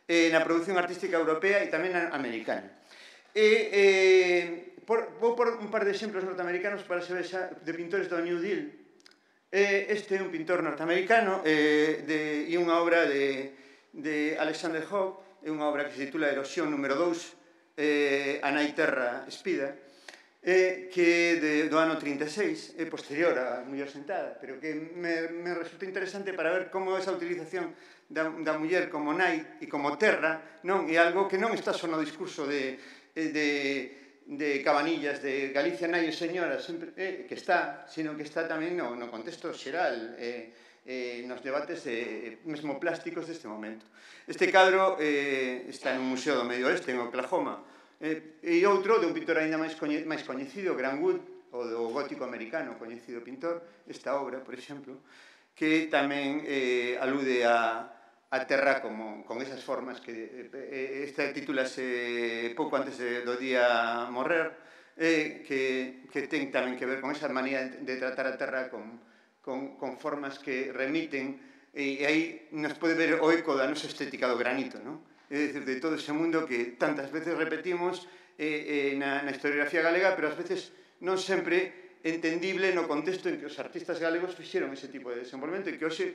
eh, na produción artística europea e tamén na americana. E, eh, por, vou por un par de exemplos norteamericanos para se vexa de pintores do New Deal. Eh, este é un pintor norteamericano eh, de, e unha obra de, de Alexander Hogg, é unha obra que se titula Erosión número dous, eh, A nai terra espida, eh, que de, do ano trinta e seis, é posterior á muller sentada, pero que me, me resulta interesante para ver como esa utilización da, da muller como nai e como terra non é algo que non está só no discurso de, de, de Cabanillas, de Galicia nai e señora, sempre, eh, que está, sino que está tamén no, no contexto xeral, eh, Eh, nos debates eh, mesmo plásticos deste momento. Este cadro eh, está no Museo do Medio Oeste, en Oklahoma, eh, e outro de un pintor ainda máis, coñe, máis coñecido, Grant Wood, o do gótico americano, coñecido pintor, esta obra, por exemplo, que tamén eh, alude a, a terra como, con esas formas que eh, esta titúlase pouco antes de, do día morrer, eh, que, que ten tamén que ver con esa manía de tratar a terra con Con, con formas que remiten, e, e aí nos pode ver o eco da nosa estética do granito, non? É dicir, de todo ese mundo que tantas veces repetimos eh, eh, na, na historiografía galega, pero ás veces non sempre entendible no contexto en que os artistas galegos fixeron ese tipo de desenvolvemento e que hoxe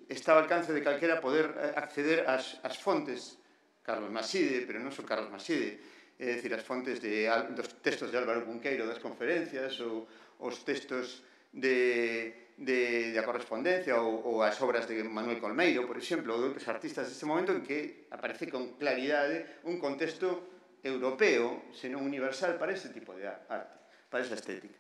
está ao alcance de calquera poder acceder ás, ás fontes, Carlos Maside, pero non só Carlos Maside, é dicir, as fontes de, dos textos de Álvaro Cunqueiro das conferencias ou os textos de de, de a correspondencia ou, ou as obras de Manuel Colmeiro, por exemplo, ou de outros artistas deste momento en que aparece con claridade un contexto europeo, senón universal, para ese tipo de arte, para esa estética.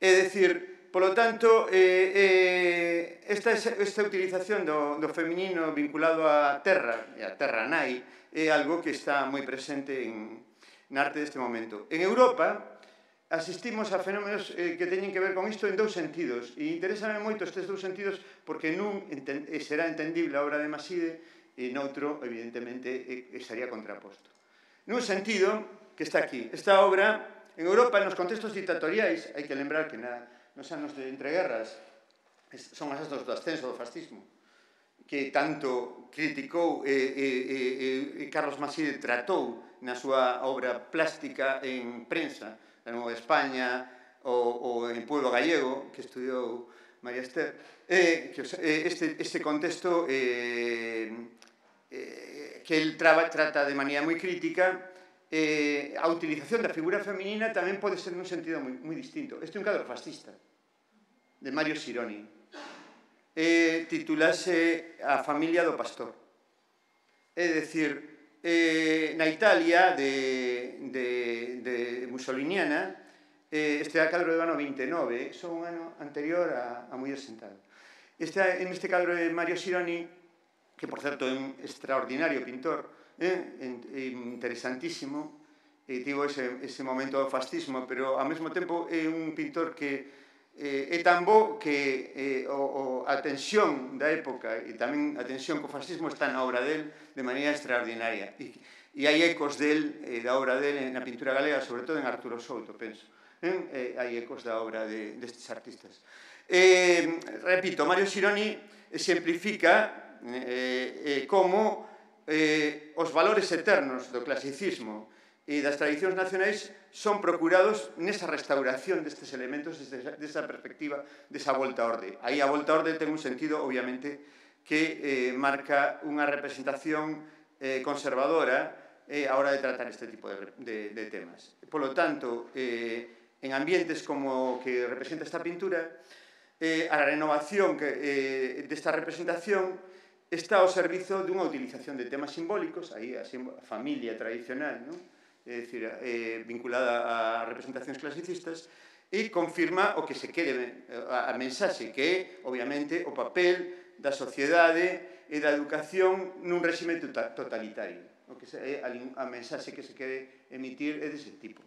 É dicir, polo tanto, eh, eh, esta, esta utilización do, do feminino vinculado á terra, e á terra nai, é algo que está moi presente en, na arte deste momento. En Europa, asistimos a fenómenos eh, que teñen que ver con isto en dous sentidos, e interésame moito estes dous sentidos porque nun enten, será entendible a obra de Maside e noutro, evidentemente, eh, estaría contraposto. Nun sentido, que está aquí, esta obra, en Europa, nos contextos dictatoriais, hai que lembrar que na, nos anos de entreguerras son as anos do ascenso do fascismo, que tanto criticou e, e, e, e Carlos Maside tratou na súa obra plástica en prensa, da Nova España, ou, ou en Pueblo Gallego, que estudiou María Ester, eh, que, eh, este, este contexto eh, eh, que el traba, trata de maneira moi crítica, eh, a utilización da figura feminina tamén pode ser nun sentido moi, moi distinto. Este é un cadro fascista, de Mario Sironi, eh, titulase A familia do pastor. É dicir, Eh, na Italia de, de, de mussoliniana, eh, este é o cadro do ano vinte e nove, son un ano anterior a, a Muller sentada. Este, en este cadro de Mario Sironi, que por certo é un extraordinario pintor, eh, interesantísimo, e tivo ese, ese momento do fascismo, pero ao mesmo tempo é un pintor que Eh, é tan bo que eh, o, o, a tensión da época e tamén a tensión co fascismo está na obra del de maneira extraordinaria e, e hai ecos del, eh, da obra del na pintura galega, sobre todo en Arturo Souto, penso, eh? Eh, hai ecos da obra de, destes artistas. Eh, repito, Mario Sironi exemplifica eh, eh, como eh, os valores eternos do clasicismo e das tradicións nacionais son procurados nesa restauración destes elementos, desde esa perspectiva, desa volta á orde. Aí a volta á orde ten un sentido, obviamente, que eh, marca unha representación eh, conservadora eh, a hora de tratar este tipo de, de, de temas. Por lo tanto, eh, en ambientes como que representa esta pintura, eh, a renovación que, eh, desta representación está ao servizo dunha utilización de temas simbólicos, aí a, a familia tradicional, non? É dicir, eh, vinculada a representacións clasicistas, e confirma o que se quere, a, a mensaxe, que é, obviamente, o papel da sociedade e da educación nun réxime totalitario. O que é a, a mensaxe que se quere emitir é dese tipo.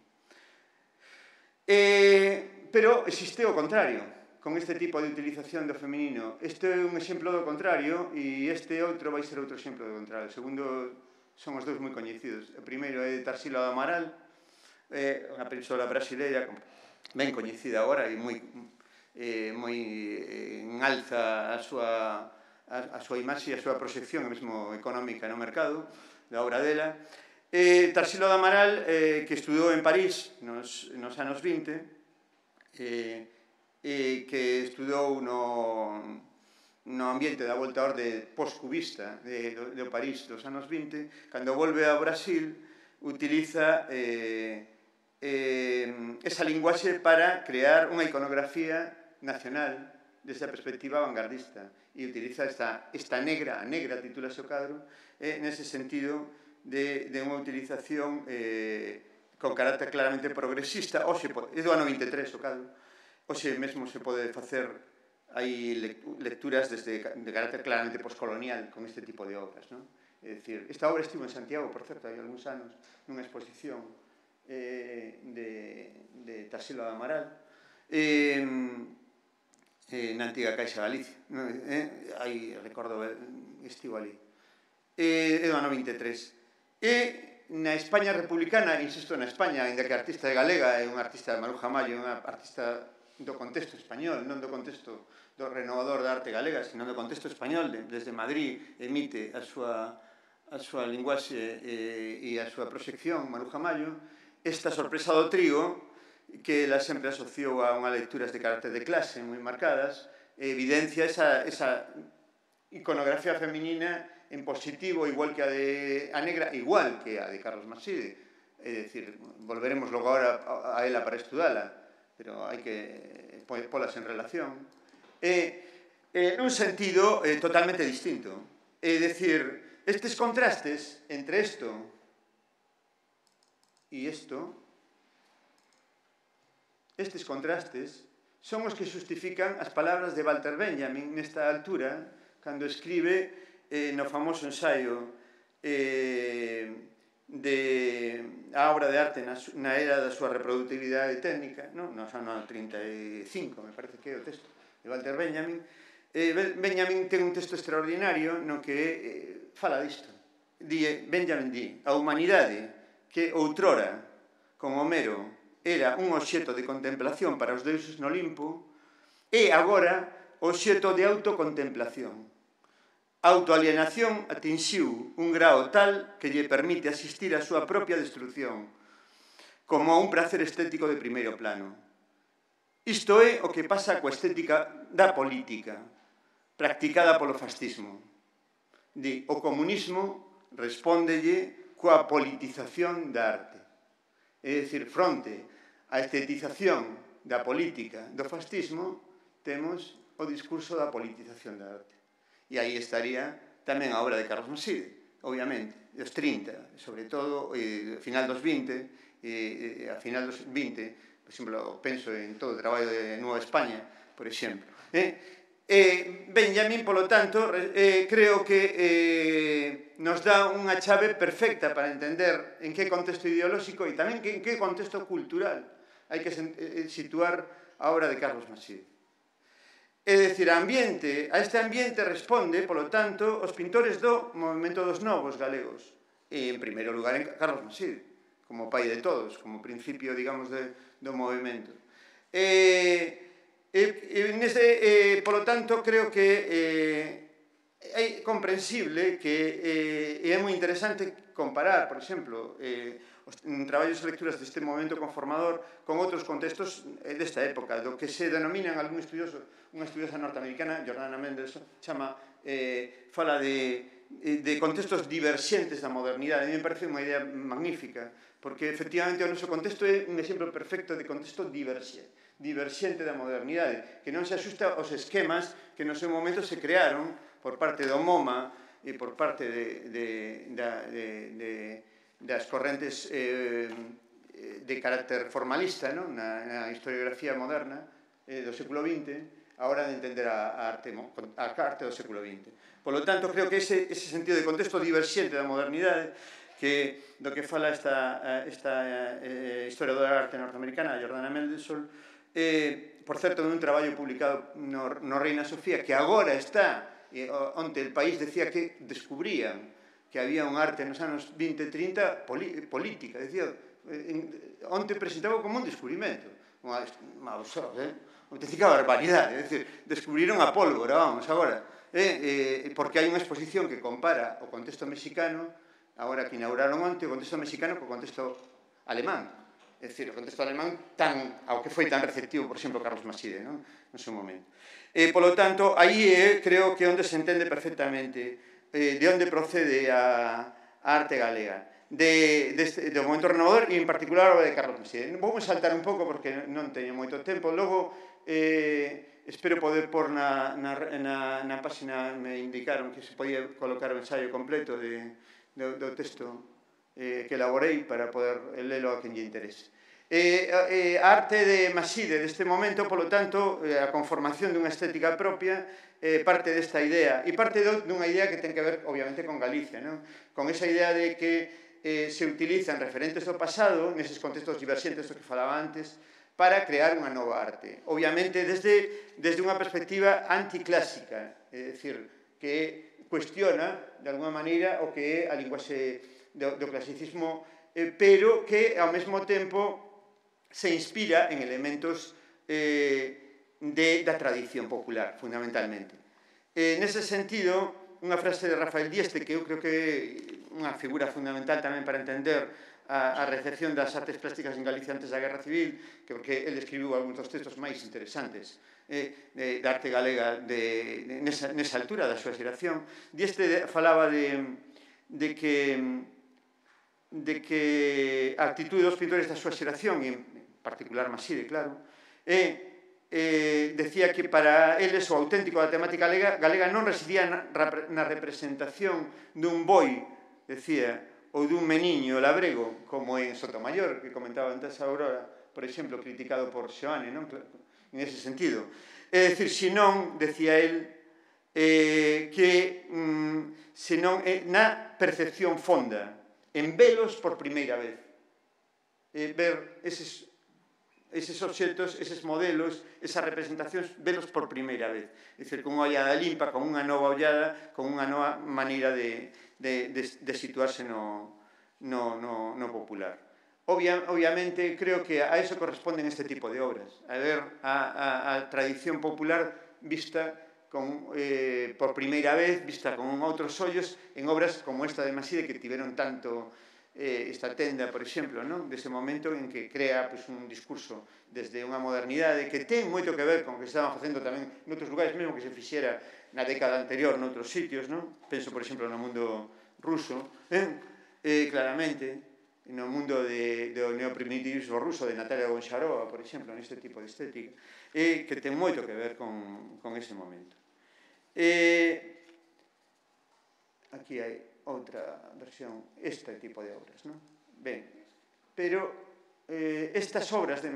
Eh, pero existe o contrario, con este tipo de utilización do feminino. Este é un exemplo do contrario, e este outro vai ser outro exemplo do contrario. Segundo son os dous moi coñecidos. O primeiro é Tarsila do Amaral, é unha persoa brasileira ben coñecida agora e moi eh, moi eh, en alza a súa, a, a súa imaxe e a súa proxección, mesmo económica no mercado, da obra dela. Eh, Tarsila do Amaral, eh, que estudou en París nos, nos anos vinte, eh, eh, que estudou no, no ambiente da volta a orde post-cubista de, de, de París dos anos vinte, cando volve ao Brasil, utiliza eh, eh, esa linguaxe para crear unha iconografía nacional desde a perspectiva vanguardista e utiliza esta, esta negra, a negra titúlase o cadro, eh, nese sentido de, de unha utilización eh, con carácter claramente progresista. Oxe, é do ano vinte e tres o cadro, oxe mesmo se pode facer hai lecturas desde, de carácter claramente postcolonial con este tipo de obras, non? É dicir, esta obra estivo en Santiago, por certo, hai algúns anos, nunha exposición eh, de, de Tarsila do Amaral, eh, eh, na antiga Caixa Galicia, non? Eh, aí, recordo, estivo ali. Eh, é do ano vinte e tres. E na España republicana, insisto, na España, ainda que a artista de galega é unha artista de Maruja Mayo, unha artista do contexto español, non do contexto do renovador da arte galega, sino do contexto español, de, desde Madrid emite a súa, a súa linguaxe e, e a súa proxección, Maruja Mayo, esta sorpresa do trigo, que ela sempre asociou a unhas lecturas de carácter de clase moi marcadas, evidencia esa, esa iconografía feminina en positivo, igual que a de a negra, igual que a de Carlos Maside. É dicir, volveremos logo agora a ela para estudala, pero hai que polas en relación. E, en un sentido eh, totalmente distinto. É dicir, estes contrastes entre isto e isto, estes contrastes son os que justifican as palabras de Walter Benjamin nesta altura, cando escribe eh, no famoso ensaio eh, de a obra de arte na, na era da súa reproductividade técnica, no, no ano trinta e cinco, me parece que é o texto de Walter Benjamin. eh, Benjamin ten un texto extraordinario no que eh, fala disto. Di, Benjamin di, a humanidade que outrora, con Homero, era un obxecto de contemplación para os deuses no Olimpo, e agora obxecto de autocontemplación. A autoalienación atinxiu un grao tal que lle permite asistir á súa propia destrucción, como a un prazer estético de primeiro plano. Isto é o que pasa coa estética da política, practicada polo fascismo. Di, o comunismo respóndelle coa politización da arte. É dicir, fronte a estetización da política do fascismo, temos o discurso da politización da arte. E aí estaría tamén a obra de Carlos Maside, obviamente, dos trinta, sobre todo, eh, a final dos vinte, eh, a final dos vinte, por exemplo, penso en todo o traballo de Nueva España, por exemplo. Eh? Eh, Benjamin, polo tanto, eh, creo que eh, nos dá unha chave perfecta para entender en que contexto ideolóxico e tamén en que contexto cultural hai que situar a obra de Carlos Maside. É dicir, a ambiente, a este ambiente responde, polo tanto, os pintores do movimento dos novos galegos. E, en primeiro lugar, en Carlos Maside, como pai de todos, como principio, digamos, de, do movimento. E, e, e nese, e, polo tanto, creo que eh, é comprensible que eh, é moi interesante comparar, por exemplo, eh, os traballos e lecturas deste movimento conformador con outros contextos desta época, do que se denominan algún estudioso, unha estudiosa norteamericana, Jordana Mendelsohn, chama, eh, fala de, de contextos diverxentes da modernidade. A mí me parece unha idea magnífica, porque efectivamente o noso contexto é un exemplo perfecto de contexto diverxente, diverxente da modernidade, que non se axusta aos esquemas que no seu momento se crearon por parte do MoMA e por parte de, de, de, de, de das correntes eh, de carácter formalista, ¿no? na, na historiografía moderna eh, do século vinte, a hora de entender a, a, arte, a arte do século vinte. Por lo tanto, creo que ese, ese sentido de contexto diverxente da modernidade, que do que fala esta, esta eh, historiadora da arte norteamericana, Jordana Mendelsohn, eh, por certo, nun traballo publicado no, no Reina Sofía, que agora está, eh, onde el país decía que descubrían que había un arte nos anos vinte e trinta política, decía, onte presentaba como un descubrimento, unha absurda, auténtica barbaridade, é dicir, descubriron a pólvora, vamos, agora, porque hai unha exposición que compara o contexto mexicano, agora que inauguraron onte, o contexto mexicano co contexto alemán, é dicir, o contexto alemán tan, ao que foi tan receptivo, por exemplo, Carlos Maside, non? No seu momento. E, polo tanto, aí é, creo que onde se entende perfectamente de onde procede a arte galega, do momento renovador e, en particular, a obra de Carlos Maside. Vou saltar un pouco porque non teño moito tempo, logo espero poder pôr na página, me indicaron que se podía colocar o ensaio completo do texto que elaborei para poder lelo a quen lle interese. A arte de Maside deste momento, polo tanto, a conformación dunha estética propia, parte desta idea, e parte dunha idea que ten que ver, obviamente, con Galicia, con esa idea de que se utilizan referentes do pasado, neses contextos diverxentes do que falaba antes, para crear unha nova arte. Obviamente, desde unha perspectiva anticlásica, é dicir, que cuestiona, de alguma maneira, o que é a linguaxe do clasicismo, pero que, ao mesmo tempo, se inspira en elementos da tradición popular, fundamentalmente. Nese sentido, unha frase de Rafael Dieste, que eu creo que é unha figura fundamental tamén para entender a recepción das artes plásticas en Galicia antes da Guerra Civil, porque ele escribiu algúns dos textos máis interesantes da arte galega nesa altura da súa xeración. Dieste falaba de que de que a actitude dos pintores da súa xeración, en particular Maside, claro, decía que para eles o auténtico da temática galega non residía na representación dun boi, decía, ou dun meniño labrego, como en Sotomayor, que comentaba antes a Aurora, por exemplo, criticado por Xoane, en ese sentido. É dicir, senón, decía el, que senón na percepción fonda, en velos por primeira vez, ver eses eses obxectos, eses modelos, esas representacións, velos por primeira vez. É dicir, con unha ollada limpa, con unha nova ollada, con unha nova maneira de situarse no popular. Obviamente, creo que a eso corresponden este tipo de obras, a ver a tradición popular vista por primeira vez, vista con outros ollos, en obras como esta de Maside, que tiveron tanto esta tenda, por exemplo, dese momento en que crea un discurso desde unha modernidade que ten moito que ver con o que estaban facendo tamén noutros lugares, mesmo que se fixera na década anterior noutros sitios, penso, por exemplo, no mundo ruso, claramente, no mundo do neoprimitivismo ruso de Natalia Goncharova, por exemplo, neste tipo de estética, que ten moito que ver con ese momento. Aquí hai outra versión, este tipo de obras, non? Ben, pero estas obras de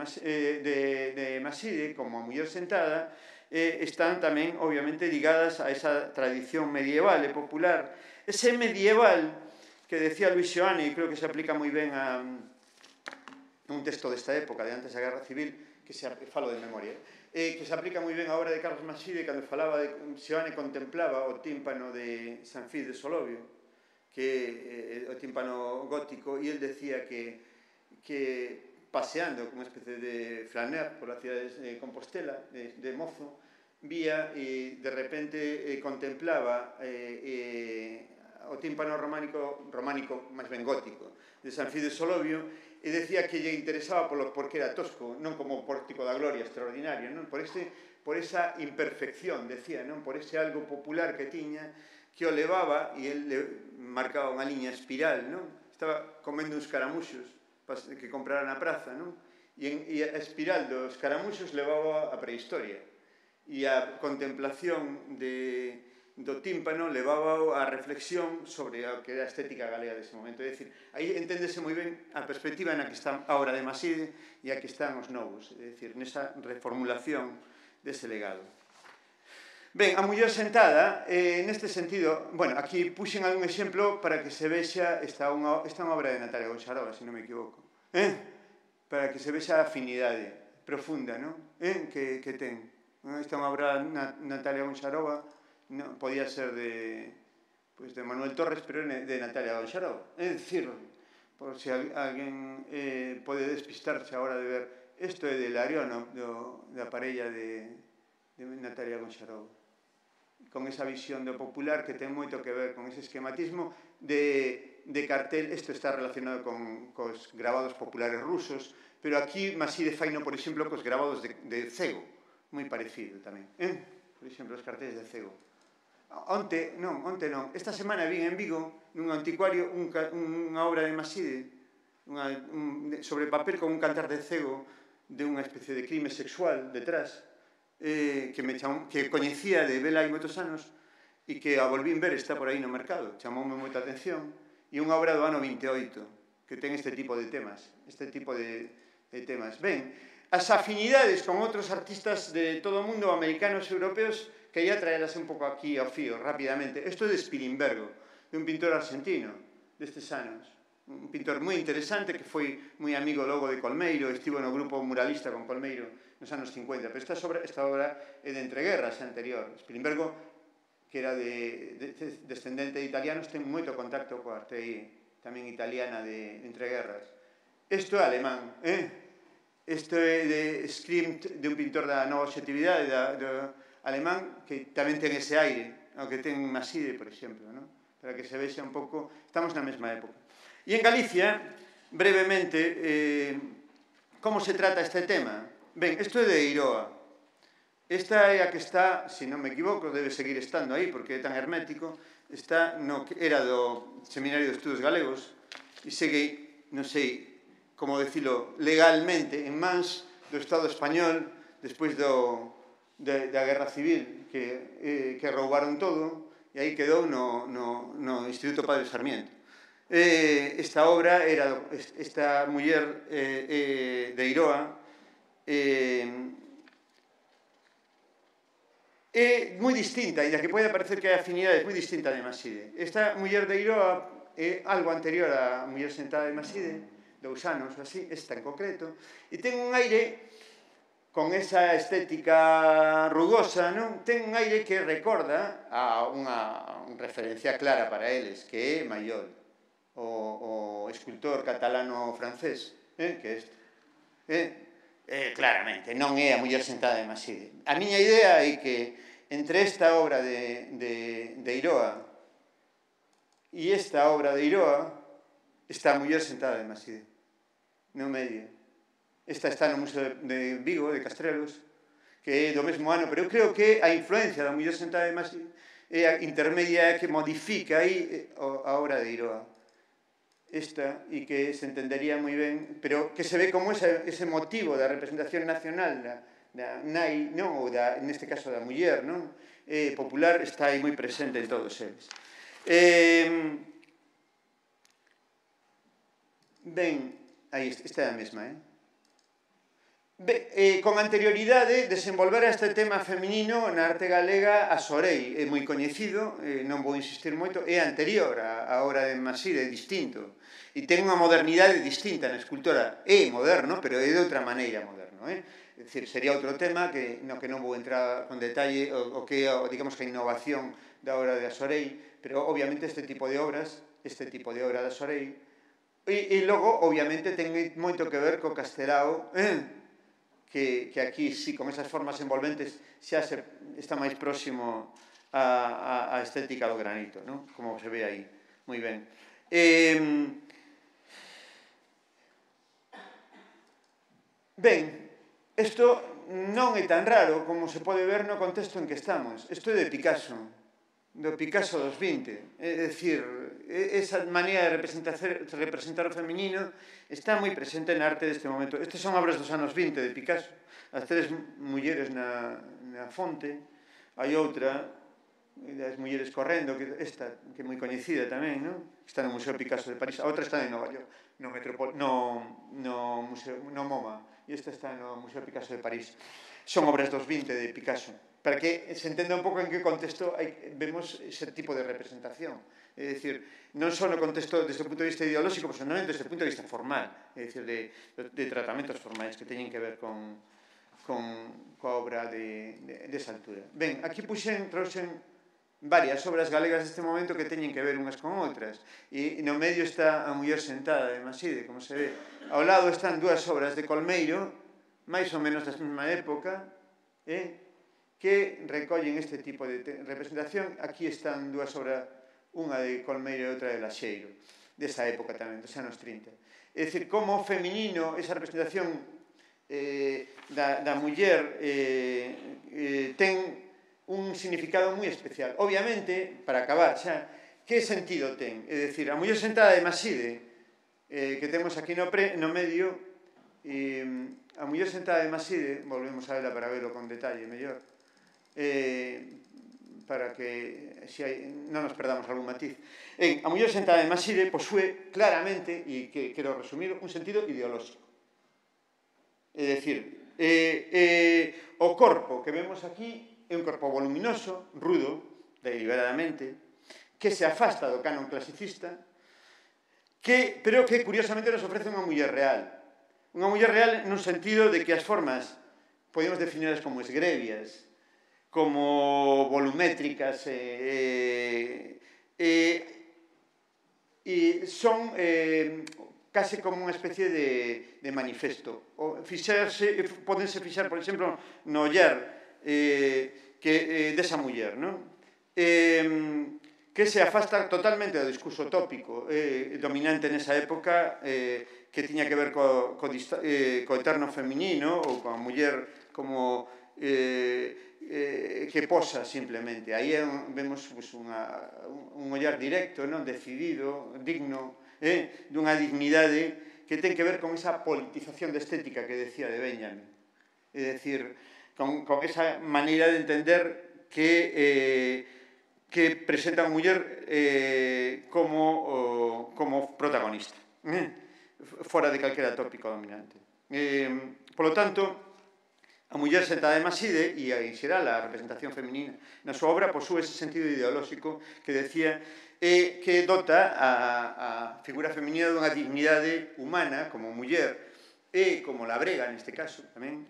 Maside, como A muller sentada, están tamén, obviamente, ligadas a esa tradición medieval e popular. Ese medieval que decía Luis Xoane, e creo que se aplica moi ben a un texto desta época, de antes da Guerra Civil, que se falo de memoria, que se aplica moi ben a obra de Carlos Maside, cando falaba de Xoane contemplaba o tímpano de San Fis de Solovio, que o tímpano gótico, e el decía que paseando como unha especie de flaner pola cidade de Compostela, de mozo, vía e de repente contemplaba o tímpano románico, románico máis ben gótico, de San Fis de Solovio, e decía que lle interesaba porque era tosco, non como o pórtico da gloria extraordinario, por esa imperfección, decía, por ese algo popular que tiña, que o levaba, e el marcaba unha liña espiral, estaba comendo uns caramuxos que comprara na praza, e a espiral dos caramuxos levaba a prehistoria, e a contemplación do tímpano levaba a reflexión sobre o que era a estética galega dese momento. É dicir, aí enténdese moi ben a perspectiva na que está a obra de Maside e a que están os novos, é dicir, nesa reformulación dese legado. Ben, A muller sentada, neste sentido, bueno, aquí puxen algún exemplo para que se vexa, esta é unha obra de Natalia Goncharova, se non me equivoco, para que se vexa a afinidade profunda que ten. Esta é unha obra de Natalia Goncharova, podía ser de pues de Manuel Torres, pero de Natalia Gonxarov. É dicir, por se alguén eh, pode despistarse a hora de ver, isto é de Larión, do, da parella de, de Natalia Gonxarov, con esa visión do popular que ten moito que ver con ese esquematismo de, de cartel. Isto está relacionado con cos grabados populares rusos, pero aquí Maside faino, por exemplo, cos grabados de, de Cego, moi parecido tamén, eh? Por exemplo, os carteles de Cego. Onte, non, onte non, esta semana vin en Vigo, nun anticuario, un, unha obra de Maside, unha, un, sobre papel con un cantar de Cego, de unha especie de crime sexual detrás, eh, que, me chamou, que coñecía de vela hai moitos anos, e que a volvín ver, está por aí no mercado, chamoume moita atención, e unha obra do ano vinte e oito, que ten este tipo de temas, este tipo de, de temas. Ben, as afinidades con outros artistas de todo o mundo, americanos e europeos, que ia traelas un pouco aquí ao fío, rapidamente. Isto é de Spilimbergo, de un pintor argentino destes anos. Un pintor moi interesante que foi moi amigo logo de Colmeiro, estivo no grupo muralista con Colmeiro nos anos cincuenta, pero esta obra, esta obra é de entreguerras anterior. Spilimbergo, que era de, de, de descendente de italianos, ten moito contacto coa arte tamén italiana de, de entreguerras. Isto é alemán, eh? Isto é de Scrimt, de un pintor da nova objetividade, da, da alemán, que tamén ten ese aire, o que ten Maside, por exemplo, ¿no? Para que se vexa un pouco, estamos na mesma época. E en Galicia, brevemente, eh, como se trata este tema? Ben, isto é de Eiroa. Esta é a que está, se non me equivoco, debe seguir estando aí, porque é tan hermético, está no que era do Seminario de Estudos Galegos, e segue, non sei como decilo legalmente, en mans do Estado español, despois do, de, da Guerra Civil, que, eh, que roubaron todo, e aí quedou no, no, no Instituto Padre Sarmiento. Eh, esta obra era, esta muller eh, eh, de Eiroa, eh, é moi distinta, e da que pode parecer que hai afinidades moi distinta de Maside. Esta muller de Eiroa é algo anterior á muller sentada de Maside, dous anos ou así, esta en concreto, e ten un aire, con esa estética rugosa, non? Ten un aire que recorda a unha referencia clara para eles, que é Mayol, o, o escultor catalano-francés, eh? Que é este. Eh? Eh, claramente, non é a muller sentada de Maside. A miña idea é que entre esta obra de, de, de Eiroa e esta obra de Eiroa está a muller sentada de Maside, no medio. Esta está no Museo de Vigo, de Castrelos, que é do mesmo ano, pero eu creo que a influencia da muller sentada de Maside é a intermedia que modifica aí a obra de Eiroa. Esta, e que se entendería moi ben, pero que se ve como ese, ese motivo da representación nacional da, da nai, non, ou da, neste caso da muller, non? Eh, popular, está aí moi presente en todos eles. Eh, ben, aí, esta é a mesma, eh? Ben, eh, con anterioridade desenvolvera este tema feminino na arte galega a Sorei, é moi coñecido, eh, non vou insistir moito, é anterior a, a obra de Maside, é distinto, e ten unha modernidade distinta na escultora, é moderno, pero é de outra maneira moderno, eh? É dicir, sería outro tema que no que non vou entrar con detalle o, o que é, digamos, que a innovación da obra de Sorei, pero obviamente este tipo de obras, este tipo de obra da Sorei, e, e logo, obviamente, ten moito que ver co Castelao, eh? Que, que aquí, sí, con esas formas envolventes, xa se, está máis próximo a, a, a estética do granito, ¿no? Como se ve aí, moi ben. Eh, ben, isto non é tan raro como se pode ver no contexto en que estamos. Isto é de Picasso, do Picasso dos vinte. É dicir, esa maneira de representar, representar o feminino está moi presente na arte deste momento. Estas son obras dos anos vinte de Picasso. As tres mulleres na, na fonte. Hai outra, das mulleres correndo, que esta, que é moi coñecida tamén, non? Está no Museo Picasso de París. A outra está en Nova York, no, Metropol, no, no, museo, no MoMA. E esta está no Museo Picasso de París. Son obras dos vinte de Picasso. Para que se entenda un pouco en que contexto hai, vemos ese tipo de representación. É dicir, non só no contexto desde o punto de vista ideolóxico, pero tamén desde o punto de vista formal, é dicir, de, de tratamentos formais que teñen que ver con, con coa obra de, de, desa altura. Ben, aquí puxen, trouxen varias obras galegas deste momento que teñen que ver unhas con outras. E no medio está a muller sentada de Maside, como se ve. Ao lado están dúas obras de Colmeiro, máis ou menos da mesma época, eh, que recollen este tipo de representación. Aquí están dúas obras, unha de Colmeiro e outra de Laxeiro, desa época tamén, dos anos trinta. É dicir, como feminino, esa representación eh, da, da muller eh, eh, ten un significado moi especial. Obviamente, para acabar xa, que sentido ten? É dicir, a muller sentada de Maside, eh, que temos aquí no, pre, no medio, e a muller sentada de Maside, volvemos a verla para verlo con detalle mellor, eh, para que si hai, non nos perdamos algún matiz. En, a muller sentada de Maside posúe claramente, e que quero resumir, un sentido ideolóxico. É dicir, eh, eh, o corpo que vemos aquí é un corpo voluminoso, rudo, deliberadamente, que se afasta do canon clasicista, que, pero que curiosamente nos ofrece unha muller real. Unha muller real nun sentido de que as formas podemos definirlas como esgrevias, como volumétricas, e, e, e son eh, case como unha especie de, de manifesto. O fixarse, podense fixar, por exemplo, no ollar Eh, que, eh, desa muller, non? Eh, que se afasta totalmente do discurso tópico eh, dominante nesa época, eh, que tiña que ver co, co, eh, co eterno feminino ou coa muller como eh, eh, que posa simplemente. Aí un, vemos pues, unha, un ollar directo, non? Decidido, digno, eh, dunha dignidade que ten que ver con esa politización de estética que decía de Benjamin. É dicir, Con, con esa maneira de entender que, eh, que presenta a muller eh, como, o, como protagonista, eh, fora de calquera tópico dominante. Eh, polo tanto, a muller sentada de Maside, e en xeral a representación feminina na súa obra, posúe ese sentido ideolóxico que decía eh, que dota a, a figura feminina dunha dignidade humana como muller e como labrega neste caso tamén,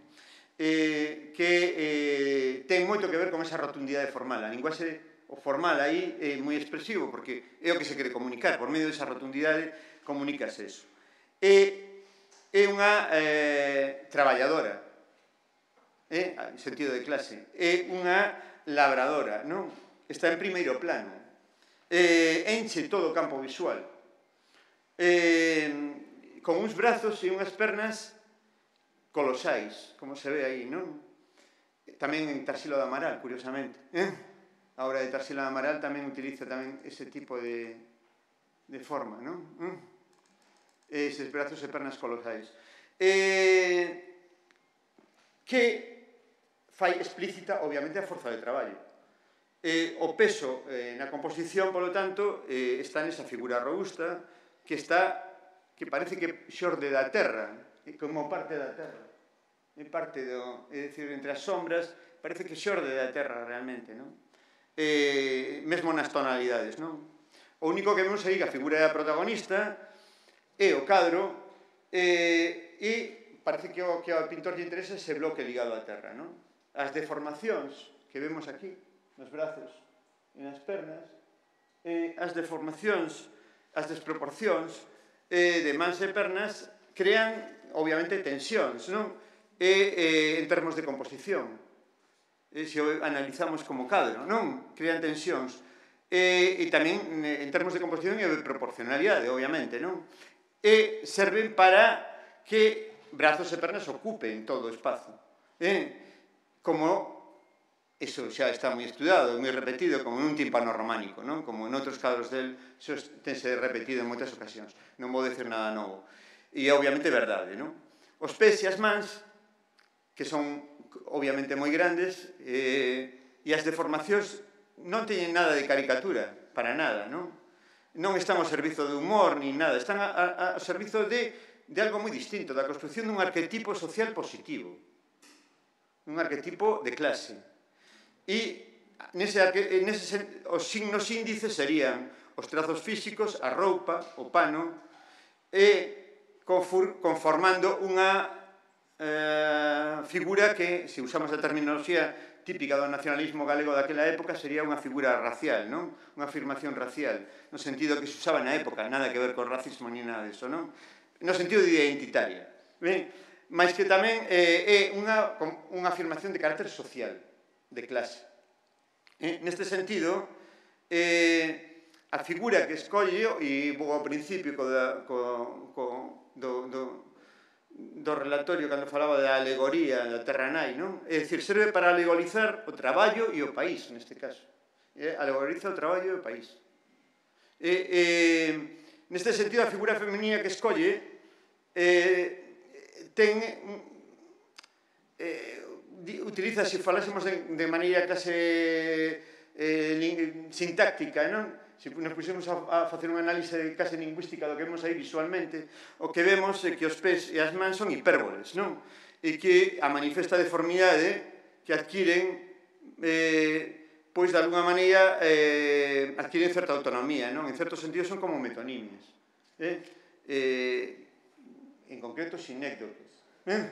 Eh, que eh, ten moito que ver con esa rotundidade formal. A linguaxe o formal aí é moi expresivo porque é o que se quere comunicar. Por medio desa rotundidade comunícase eso. E é unha eh, traballadora, eh, en sentido de clase. É unha labradora, non? Está en primeiro plano. Eh, enche todo o campo visual. Eh, con uns brazos e unhas pernas colosais, como se ve aí, non? Tamén en Tarsila do Amaral, curiosamente. Eh? A obra de Tarsila do Amaral tamén utiliza tamén ese tipo de, de forma, non? Eh? Eses brazos e pernas colosais. Eh, que fai explícita, obviamente, a forza de traballo. Eh, o peso eh, na composición, polo tanto, eh, está nesa figura robusta que está, que parece que xorde da terra, como parte da terra, é parte do, é dicir, entre as sombras parece que xorde da terra realmente, non? Eh, mesmo nas tonalidades, non? O único que vemos aí que a figura da protagonista é o cadro eh, e parece que o que ao pintor lle interesa ese bloque ligado á terra, non? As deformacións que vemos aquí nos brazos e nas pernas, eh, as deformacións, as desproporcións eh, de mans e pernas crean obviamente tensións, non? E, eh, en termos de composición, e, se o analizamos como cadro, non? Crean tensións. E, e tamén en termos de composición e de proporcionalidade, obviamente, non? E serven para que brazos e pernas ocupen todo o espazo. E, como eso xa está moi estudado, moi repetido, como en un tímpano románico, non? Como en outros cadros del, eso tense repetido en moitas ocasións. Non vou decir nada novo. E é obviamente verdade, non? Os pés e as mans, que son obviamente moi grandes, eh, e as deformacións non teñen nada de caricatura, para nada, non? Non están ao servizo de humor, ni nada, están ao servizo de, de algo moi distinto, da construcción dun arquetipo social positivo, un arquetipo de clase. E nese, nese, os signos índices serían os trazos físicos, a roupa, o pano, e conformando unha eh, figura que, se usamos a terminoloxía típica do nacionalismo galego daquela época sería unha figura racial, non? Unha afirmación racial, no sentido que se usaba na época, nada que ver con racismo ni nada disso, non? No sentido de identitaria. Ben, mas que tamén é unha, unha afirmación de carácter social, de clase. Eh, neste sentido, eh, a figura que escolle, e vou ao principio co, da, co, co, do, do, do relatorio cando falaba da alegoría da terra nai, non? É dicir, serve para alegorizar o traballo e o país, neste caso. Eh, alegoriza o traballo e o país. Eh, eh, neste sentido, a figura femenina que escolle eh, ten... Eh, utiliza, se falásemos de, de maneira clase eh, sintáctica, non? Se nos puxemos a, a facer unha análise case lingüística do que vemos aí visualmente, o que vemos é que os pés e as mans son hipérboles, non? E que a manifesta deformidade que adquiren, eh, pois de alguna maneira, eh, adquiren certa autonomía, non? En certo sentido son como metonimias. Eh? Eh, en concreto, sinécdoques. Eh?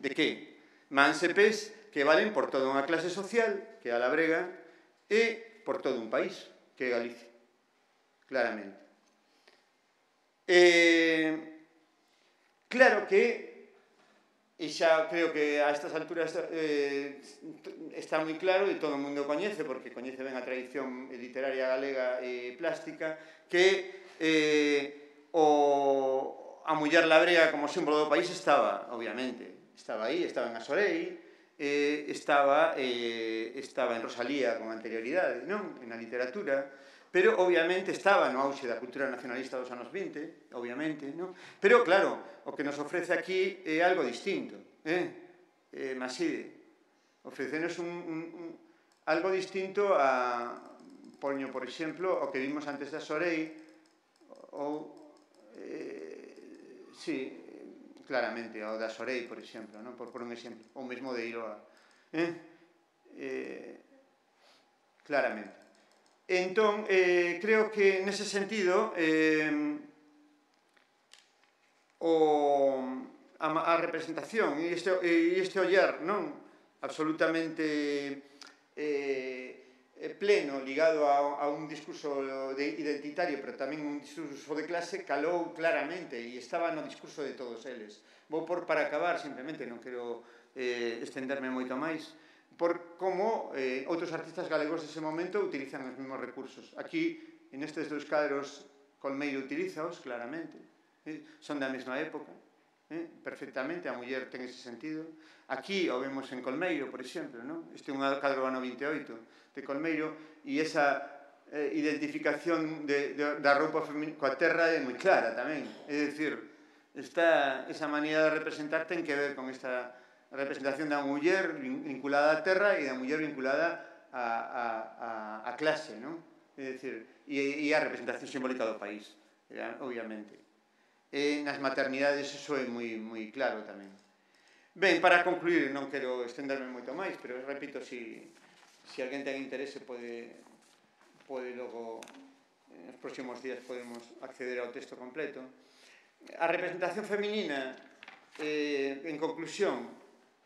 De que? Mans e pés que valen por toda unha clase social, que é a labrega, e por todo un país, que é Galicia, claramente. Eh, claro que, e xa creo que a estas alturas eh, está moi claro, e todo o mundo coñece, porque coñece ben a tradición literaria galega e plástica, que eh, o, a muller labrega como símbolo do país estaba, obviamente, estaba aí, estaba en Asorei, Eh, estaba, eh, estaba en Rosalía con anterioridade, non? Na literatura, pero obviamente estaba no auxe da cultura nacionalista dos anos vinte, obviamente, non? Pero claro, o que nos ofrece aquí é algo distinto, eh? eh Maside, ofrecenos un, un, un, algo distinto a, poño, por exemplo, o que vimos antes da Sorei, ou, eh, sí, claramente, o da Sorei, por exemplo, non? Por, por un exemplo, o mesmo de Iroa. Eh? Eh, claramente. Entón, eh, creo que nese sentido, eh, o, a, a representación e este, e este ollar, non? Absolutamente eh, pleno, ligado a, a un discurso de identitario, pero tamén un discurso de clase, calou claramente e estaba no discurso de todos eles. Vou por para acabar, simplemente, non quero eh, estenderme moito máis, por como eh, outros artistas galegos dese momento utilizan os mesmos recursos. Aquí, en estes dois cadros, Colmeiro utilizaos, claramente, eh, son da mesma época, eh, perfectamente, a muller ten ese sentido. Aquí o vemos en Colmeiro, por exemplo, non? Este é un cadro do ano vinte e oito de Colmeiro, e esa eh, identificación de, de, da roupa coa terra é moi clara tamén. É dicir, esta, esa maneira de representar ten que ver con esta representación da muller vinculada á terra e da muller vinculada a, a, a, a clase, non? É dicir, e, e a representación simbólica do país, obviamente. E nas maternidades iso é moi, moi claro tamén. Ben, para concluir, non quero estenderme moito máis, pero repito, si, si alguén ten interese pode, pode logo, nos próximos días podemos acceder ao texto completo. A representación feminina, eh, en conclusión,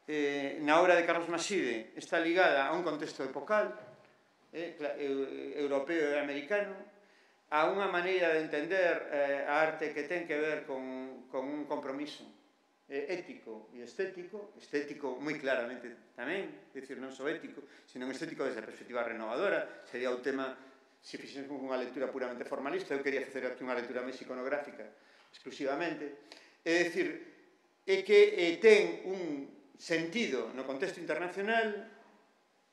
eh, na obra de Carlos Maside está ligada a un contexto epocal, eh, europeo e americano, a unha maneira de entender eh, a arte que ten que ver con, con un compromiso eh, ético e estético, estético moi claramente tamén, é dicir, non só ético, sino estético desde a perspectiva renovadora, sería o tema, se fixemos unha lectura puramente formalista, eu quería facer aquí unha lectura máis iconográfica exclusivamente, é dicir, é que eh, ten un sentido no contexto internacional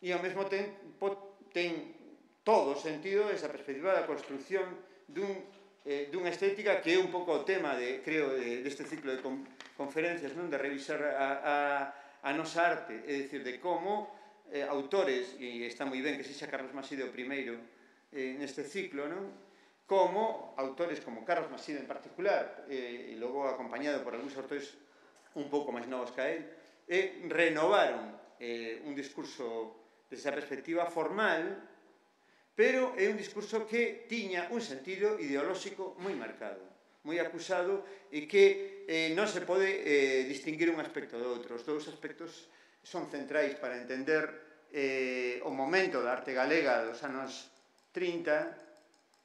e ao mesmo tempo ten todo o sentido esa perspectiva da construcción dun, eh, dunha estética que é un pouco o tema, de, creo, de, deste ciclo de con, conferencias, non? De revisar a, a, a nosa arte, é dicir, de como eh, autores, e está moi ben que sexa Carlos Maside o primeiro eh, neste ciclo, non? Como autores como Carlos Maside en particular, eh, e logo acompañado por algúns autores un pouco máis novos que a él, eh, renovaron eh, un discurso desde a perspectiva formal, pero é un discurso que tiña un sentido ideolóxico moi marcado, moi acusado, e que eh, non se pode eh, distinguir un aspecto do outro. Os dous aspectos son centrais para entender eh, o momento da arte galega dos anos trinta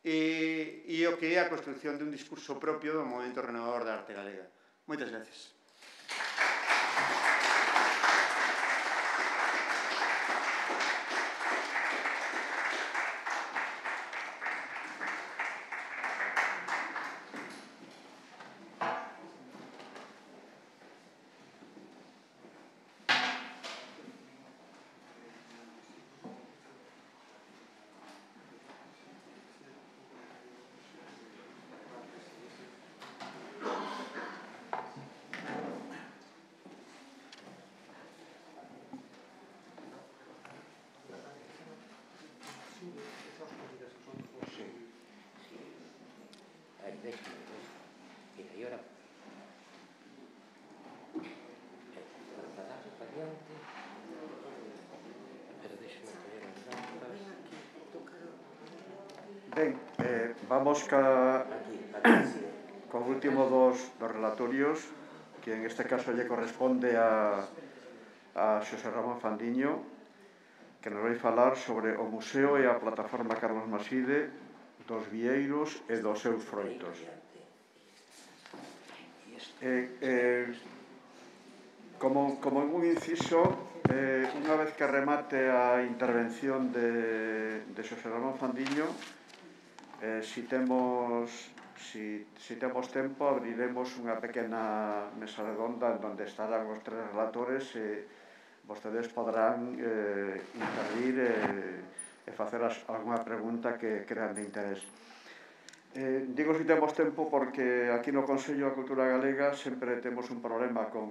e, e o que é a construción dun discurso propio do momento renovador da arte galega. Moitas gracias. Ben, eh, vamos ca, co último dos, dos relatorios, que en este caso lle corresponde a, a Xosé Ramón Fandiño, que nos vai falar sobre o Museo e a Plataforma Carlos Maside dos vieiros e dos seus froitos. Eh, eh, como, como un inciso, eh, unha vez que remate a intervención de, de Xosé Ramón Fandiño, Eh, si temos si, si temos tempo, abriremos unha pequena mesa redonda en donde estarán os tres relatores e vostedes podrán eh, intervir e, e facer as, alguna pregunta que crean de interés. Eh, digo si temos tempo porque aquí no Consello da Cultura Galega sempre temos un problema con,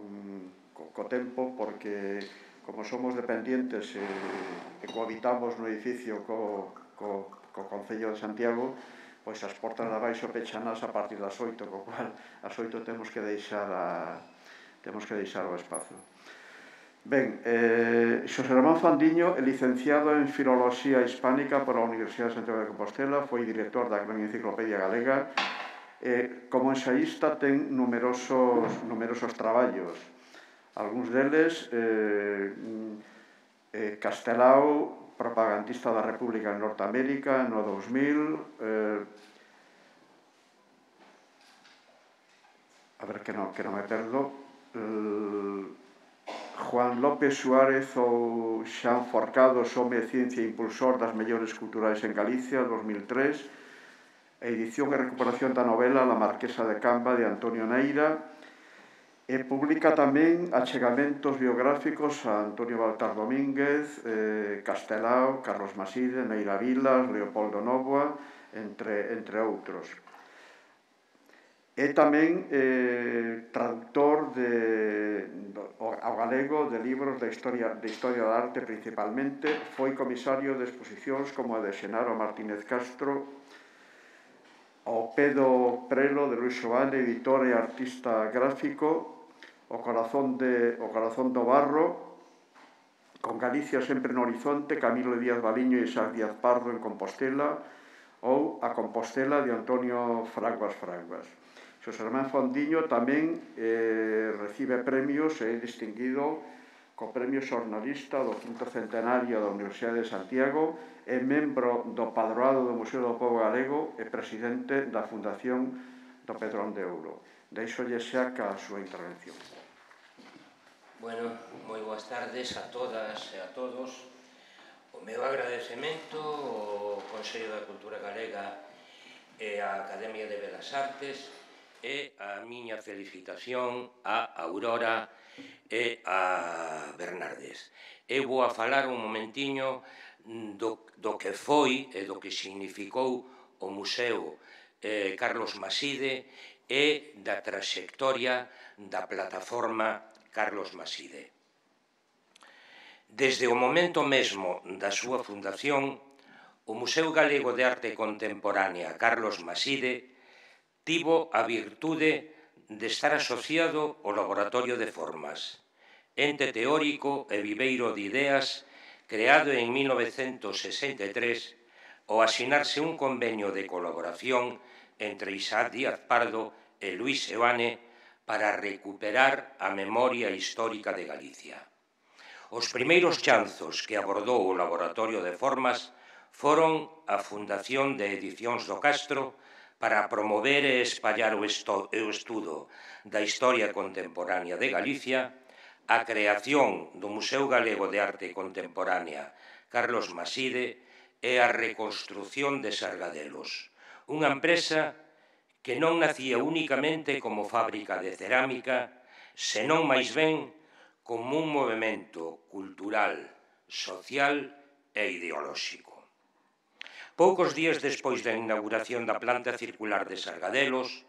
co, co tempo, porque como somos dependientes e, e cohabitamos no edificio co, co co Concello de Santiago, pois as portas de abaixo pechanas a partir das oito, co cual as oito temos que deixar a, temos que deixar o espazo. Ben, eh, Xosé Ramón Fandiño é licenciado en Filoloxía Hispánica pola Universidade de Santiago de Compostela, foi director da Gran Enciclopedia Galega, e como ensaísta ten numerosos, numerosos traballos. Algúns deles, eh, eh, Castelao, propagandista da República en Norteamérica no dous mil, eh, a ver que non, que non me perdo, eh, Juan López Suárez ou Xan Forcado, Home de Ciencia e Impulsor das Mellores Culturais en Galicia, dos mil tres, edición e recuperación da novela La Marquesa de Camba, de Antonio Neira, e publica tamén achegamentos biográficos a Antonio Baltar Domínguez, eh, Castelao, Carlos Maside, Neira Vilas, Leopoldo Novoa, entre, entre outros. É tamén eh, traductor de, do, ao galego de libros de historia, de historia da arte principalmente, foi comisario de exposicións como a de Xenaro Martínez Castro, ao Pedo Prelo de Luis Xoane, editor e artista gráfico, o corazón, de, o corazón do barro, con Galicia sempre no horizonte, Camilo Díaz Baliño e Isaac Díaz Pardo en Compostela, ou a Compostela de Antonio Fraguas Fraguas. Xosé Ramón Fandiño tamén eh, recibe premios e é distinguido co Premio Xornalista do quinto centenario da Universidade de Santiago, é membro do Padroado do Museo do Pobo Galego e presidente da Fundación do Pedrón de Ouro. Deixolle xa ca a súa intervención. Bueno, moi boas tardes a todas e a todos. O meu agradecemento ao Consello da Cultura Galega e á Academia de Belas Artes e a miña felicitación a Aurora e a Bernardes. Eu vou a falar un momentiño do, do que foi e do que significou o Museo eh, Carlos Maside e da traxectoria da plataforma Carlos Maside. Desde o momento mesmo da súa fundación, o Museo Galego de Arte Contemporánea Carlos Maside tivo a virtude de estar asociado ao Laboratorio de Formas, ente teórico e viveiro de ideas creado en mil novecentos sesenta e tres ao asinarse un convenio de colaboración entre Isaac Díaz Pardo e Luis Xoane para recuperar a memoria histórica de Galicia. Os primeiros chanzos que abordou o Laboratorio de Formas foron a Fundación de Edicións do Castro para promover e espallar o estudo da historia contemporánea de Galicia, a creación do Museo Galego de Arte Contemporánea Carlos Maside e a reconstrución de Sargadelos, unha empresa que non nacía únicamente como fábrica de cerámica, senón máis ben como un movimento cultural, social e ideolóxico. Poucos días despois da inauguración da planta circular de Sargadelos,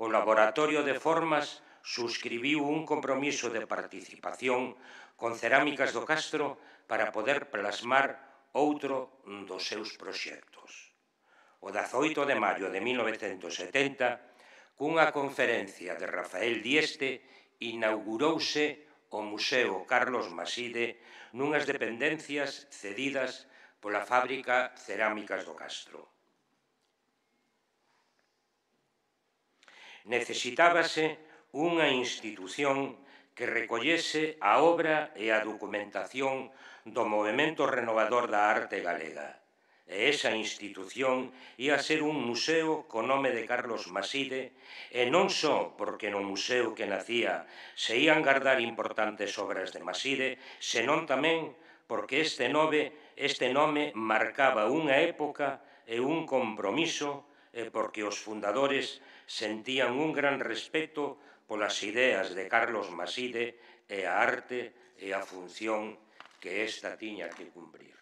o Laboratorio de Formas subscribiu un compromiso de participación con Cerámicas do Castro para poder plasmar outro dos seus proxectos. O dezaoito de maio de mil novecentos setenta, cunha conferencia de Rafael Dieste, inaugurouse o Museo Carlos Maside nunhas dependencias cedidas pola fábrica Cerámicas do Castro. Necesitábase unha institución que recollese a obra e a documentación do movemento renovador da arte galega. E esa institución ia ser un museo co nome de Carlos Maside, e non só porque no museo que nacía se ían guardar importantes obras de Maside, senón tamén porque este nome, este nome marcaba unha época e un compromiso, e porque os fundadores sentían un gran respeto polas ideas de Carlos Maside e a arte e a función que esta tiña que cumprir.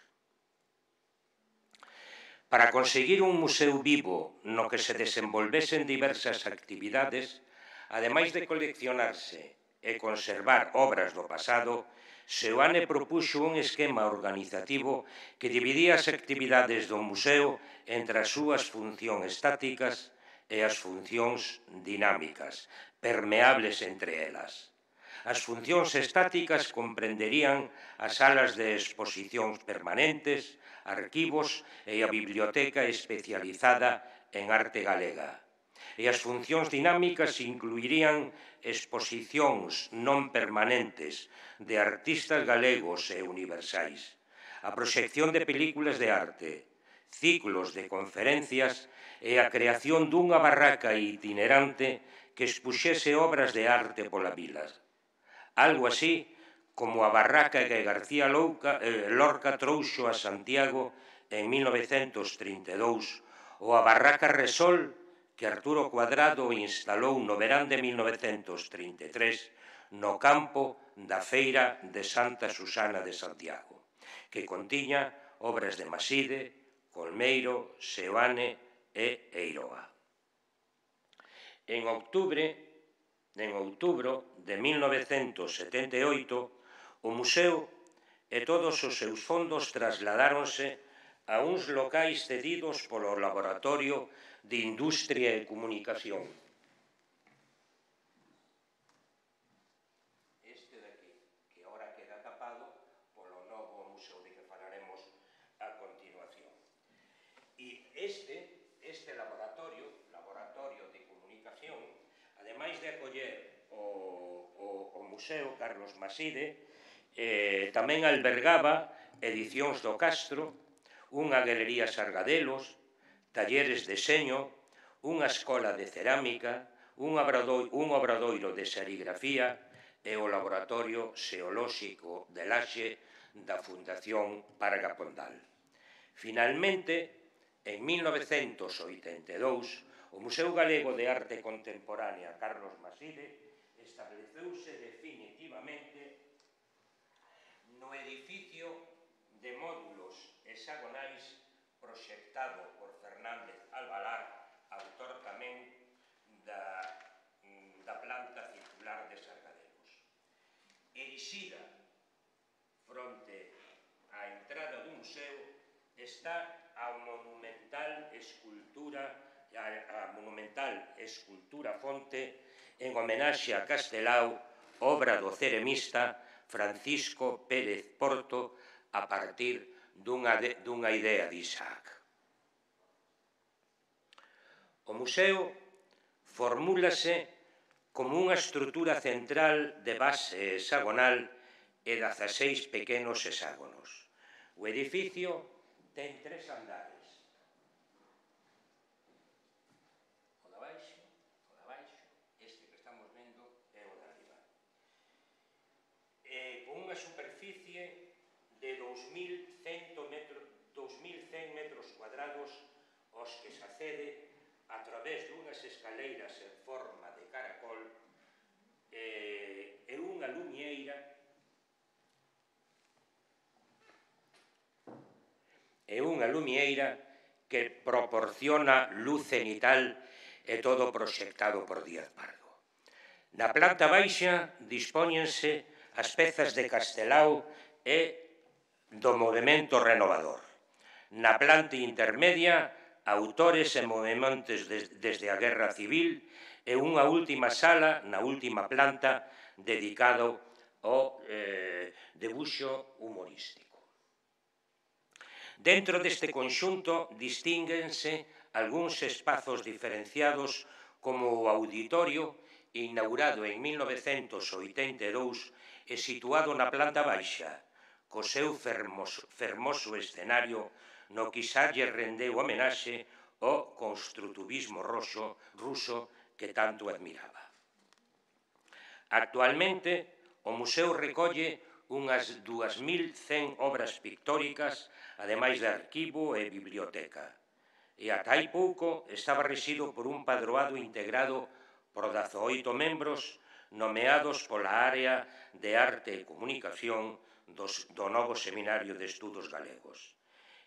Para conseguir un museo vivo no que se desenvolvesen diversas actividades, ademais de coleccionarse e conservar obras do pasado, Seoane propuxo un esquema organizativo que dividía as actividades do museo entre as súas funcións estáticas e as funcións dinámicas, permeables entre elas. As funcións estáticas comprenderían as salas de exposicións permanentes, arquivos e a biblioteca especializada en arte galega. E as funcións dinámicas incluirían exposicións non permanentes de artistas galegos e universais, a proxección de películas de arte, ciclos de conferencias e a creación dunha barraca itinerante que expuxese obras de arte pola vila. Algo así como a barraca que García Lorca trouxo a Santiago en mil novecentos trinta e dous, ou a barraca Resol que Arturo Cuadrado instalou no verán de mil novecentos trinta e tres no campo da Feira de Santa Susana de Santiago, que contiña obras de Maside, Colmeiro, Seoane e Eiroa. En outubro, en outubro de mil novecentos setenta e oito, o museo e todos os seus fondos trasladáronse a uns locais cedidos polo Laboratorio de Industria e Comunicación. Este daqui, que agora queda tapado polo novo museo de que falaremos a continuación. E este, este laboratorio, Laboratorio de Comunicación, ademais de acoller o, o, o Museo Carlos Maside, eh, tamén albergaba Edicións do Castro, unha galería Sargadelos, talleres de deseño, unha escola de cerámica, un obradoiro, un obradoiro de serigrafía e o laboratorio xeolóxico de Laxe da Fundación Parga Pondal. Finalmente, en mil novecentos oitenta e dous, o Museo Galego de Arte Contemporánea Carlos Maside estableceuse definitivamente no edificio de módulos hexagonais proxectado por Fernández Albalar, autor tamén da, da planta circular de Sargadelos. Erixida fronte á entrada do museo está a monumental escultura a monumental escultura fonte en homenaxe a Castelao, obra do ceremista Francisco Pérez Porto, a partir dunha, de, dunha idea de Isaac. O museo formúlase como unha estrutura central de base hexagonal e dezaseis pequenos hexágonos. O edificio ten tres andares. O de abaixo, o de abaixo, este que estamos vendo é o de arriba. E con unha superficie de dous mil cen metros cuadrados aos que se accede a través dunhas escaleiras en forma de caracol e unha luñeira e unha lumieira que proporciona luz cenital e todo proxectado por Díaz Pardo. Na planta baixa dispóñense as pezas de Castelao e do movimento renovador. Na planta intermedia, autores e movementos desde a Guerra Civil e unha última sala na última planta dedicado ao eh, debuxo humorístico. Dentro deste conxunto distínguense algúns espazos diferenciados como o auditorio, inaugurado en mil novecentos oitenta e dous e situado na planta baixa, co seu fermoso, fermoso escenario no que xa lle rendeu homenaxe ao construtivismo roxo, ruso que tanto admiraba. Actualmente, o museo recolle unhas dúas mil cen obras pictóricas, ademais de arquivo e biblioteca. E ata hai pouco estaba rexido por un padroado integrado por dezaoito membros nomeados pola área de arte e comunicación dos, do novo Seminario de Estudos Galegos.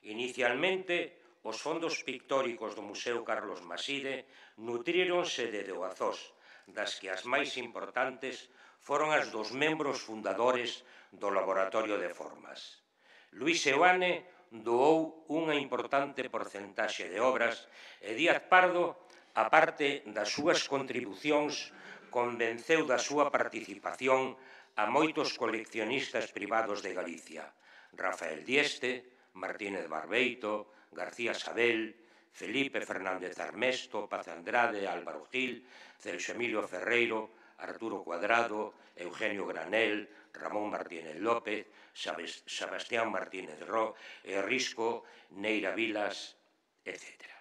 Inicialmente, os fondos pictóricos do Museo Carlos Maside nutríronse de doazós, das que as máis importantes foron as dos membros fundadores do Laboratorio de Formas. Luís Seoane doou unha importante porcentaxe de obras e Díaz Pardo, a parte das súas contribucións, convenceu da súa participación a moitos coleccionistas privados de Galicia, Rafael Dieste, Martínez Barbeito, García Sabel, Felipe Fernández Armesto, Paz Andrade, Álvaro Gil, Celso Emilio Ferreiro, Arturo Cuadrado, Eugenio Granel, Ramón Martínez López, Sebastián Martínez Ro, Risco, Neira Vilas, etcétera.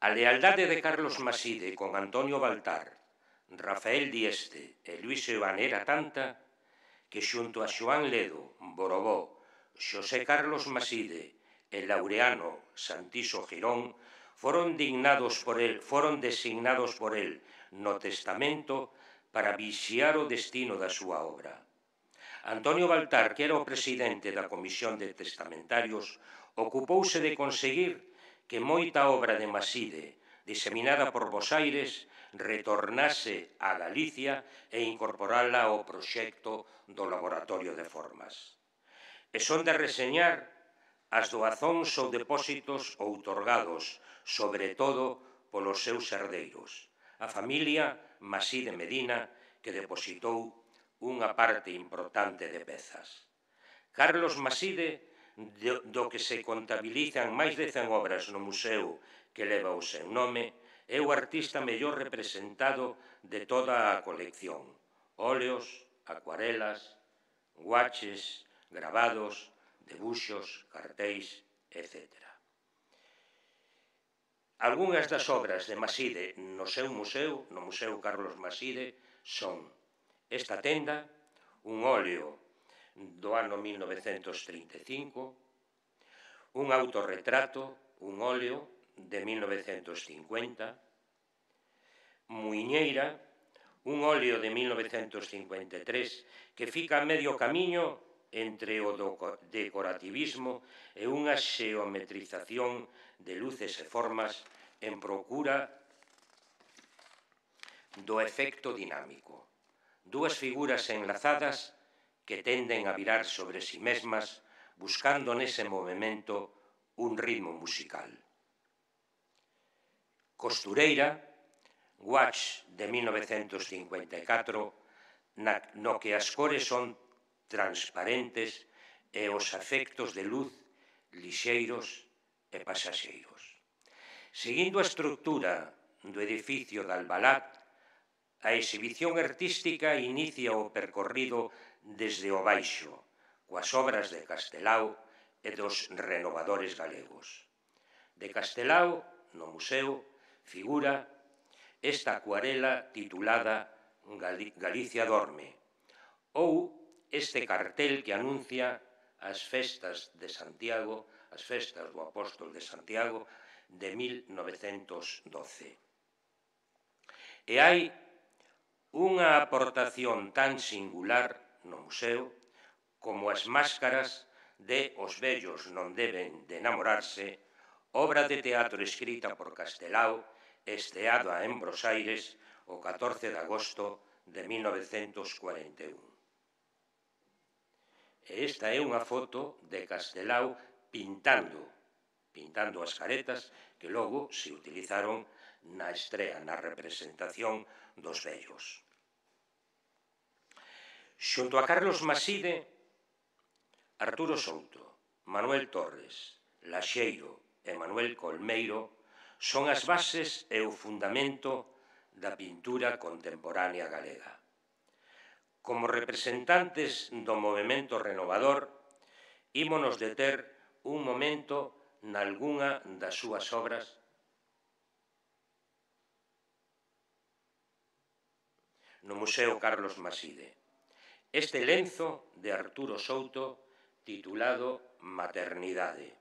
A lealdade de Carlos Maside con Antonio Baltar, Rafael Dieste e Luís Seoane era tanta que xunto a Xoán Ledo, Borobó, Xosé Carlos Maside e Laureano Santiso Girón foron dignados por el, foron designados por el no testamento para vixiar o destino da súa obra. Antonio Baltar, que era o presidente da Comisión de Testamentarios, ocupouse de conseguir que moita obra de Maside, diseminada por Bos Aires, retornase a Galicia e incorporala ao proxecto do Laboratorio de Formas. E son de reseñar as doazóns ou depósitos outorgados, sobre todo polos seus herdeiros, a familia Maside Medina, que depositou unha parte importante de pezas. Carlos Maside, do que se contabilizan máis de cen obras no museo que leva o seu nome, é o artista mellor representado de toda a colección. Óleos, acuarelas, guaches, gravados, debuxos, cartéis, etcétera. Algúnas das obras de Maside no seu museo, no Museo Carlos Maside, son esta tenda, un óleo do ano mil novecentos trinta e cinco, un autorretrato, un óleo de mil novecentos cincuenta, Muiñeira, un óleo de mil novecentos cincuenta e tres que fica a medio camiño entre o decorativismo e unha xeometrización de luces e formas en procura do efecto dinámico. Dúas figuras enlazadas que tenden a virar sobre si mesmas, buscando nese movimento un ritmo musical. Costureira, Watch de mil novecentos cincuenta e catro, no que as cores son transparentes e os efectos de luz lixeiros e pasaxeiros. Seguindo a estructura do edificio de Albalat, A exhibición artística inicia o percorrido desde o baixo, coas obras de Castelao e dos renovadores galegos. De Castelao, no museo, figura esta acuarela titulada Galicia dorme, ou este cartel que anuncia as festas de Santiago, as festas do Apóstol de Santiago de mil novecentos doce. E hai unha aportación tan singular no museo como as máscaras de Os vellos non deben de enamorarse, obra de teatro escrita por Castelao, esteada en Bos Aires o catorce de agosto de mil novecentos cuarenta e un. E esta é unha foto de Castelao pintando, pintando as caretas que logo se utilizaron na estrea, na representación dos vellos. Xunto a Carlos Maside, Arturo Souto, Manuel Torres, Laxeiro e Manuel Colmeiro son as bases e o fundamento da pintura contemporánea galega. Como representantes do movemento renovador, ímonos deter un momento nalgunha das súas obras no Museo Carlos Maside. Este lenzo de Arturo Souto titulado Maternidade.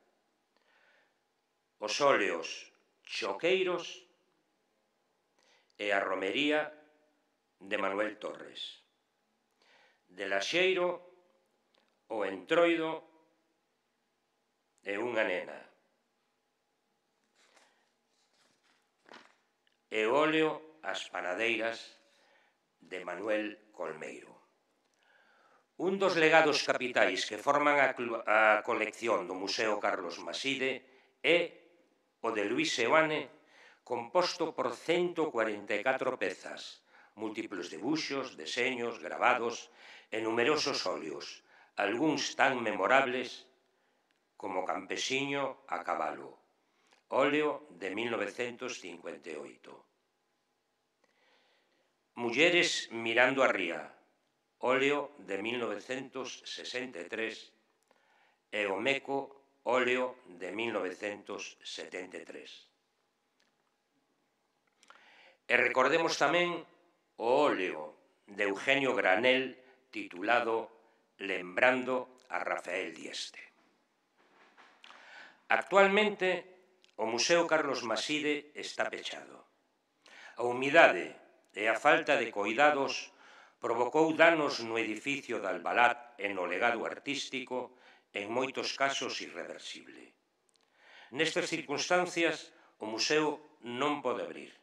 Os óleos Choqueiros e a romería de Manuel Torres. De Laxeiro, o entroido e unha nena. E o óleo As panadeiras de Manuel Colmeiro. Un dos legados capitais que forman a, a colección do Museo Carlos Maside é o de Luís Seoane, composto por ciento cuarenta e catro pezas, múltiplos debuxos, deseños, gravados e numerosos óleos, algúns tan memorables como Campesiño a cabalo, óleo de mil novecentos cincuenta e oito. Mulleres mirando a ría, óleo de mil novecentos sesenta e tres, e o Meco, óleo de mil novecentos setenta e tres. E recordemos tamén o óleo de Eugenio Granel titulado Lembrando a Rafael Dieste. Actualmente, o Museo Carlos Maside está pechado. A humidade e a falta de coidados provocou danos no edificio de Albalat e no legado artístico, en moitos casos irreversible. Nestas circunstancias, o museo non pode abrir.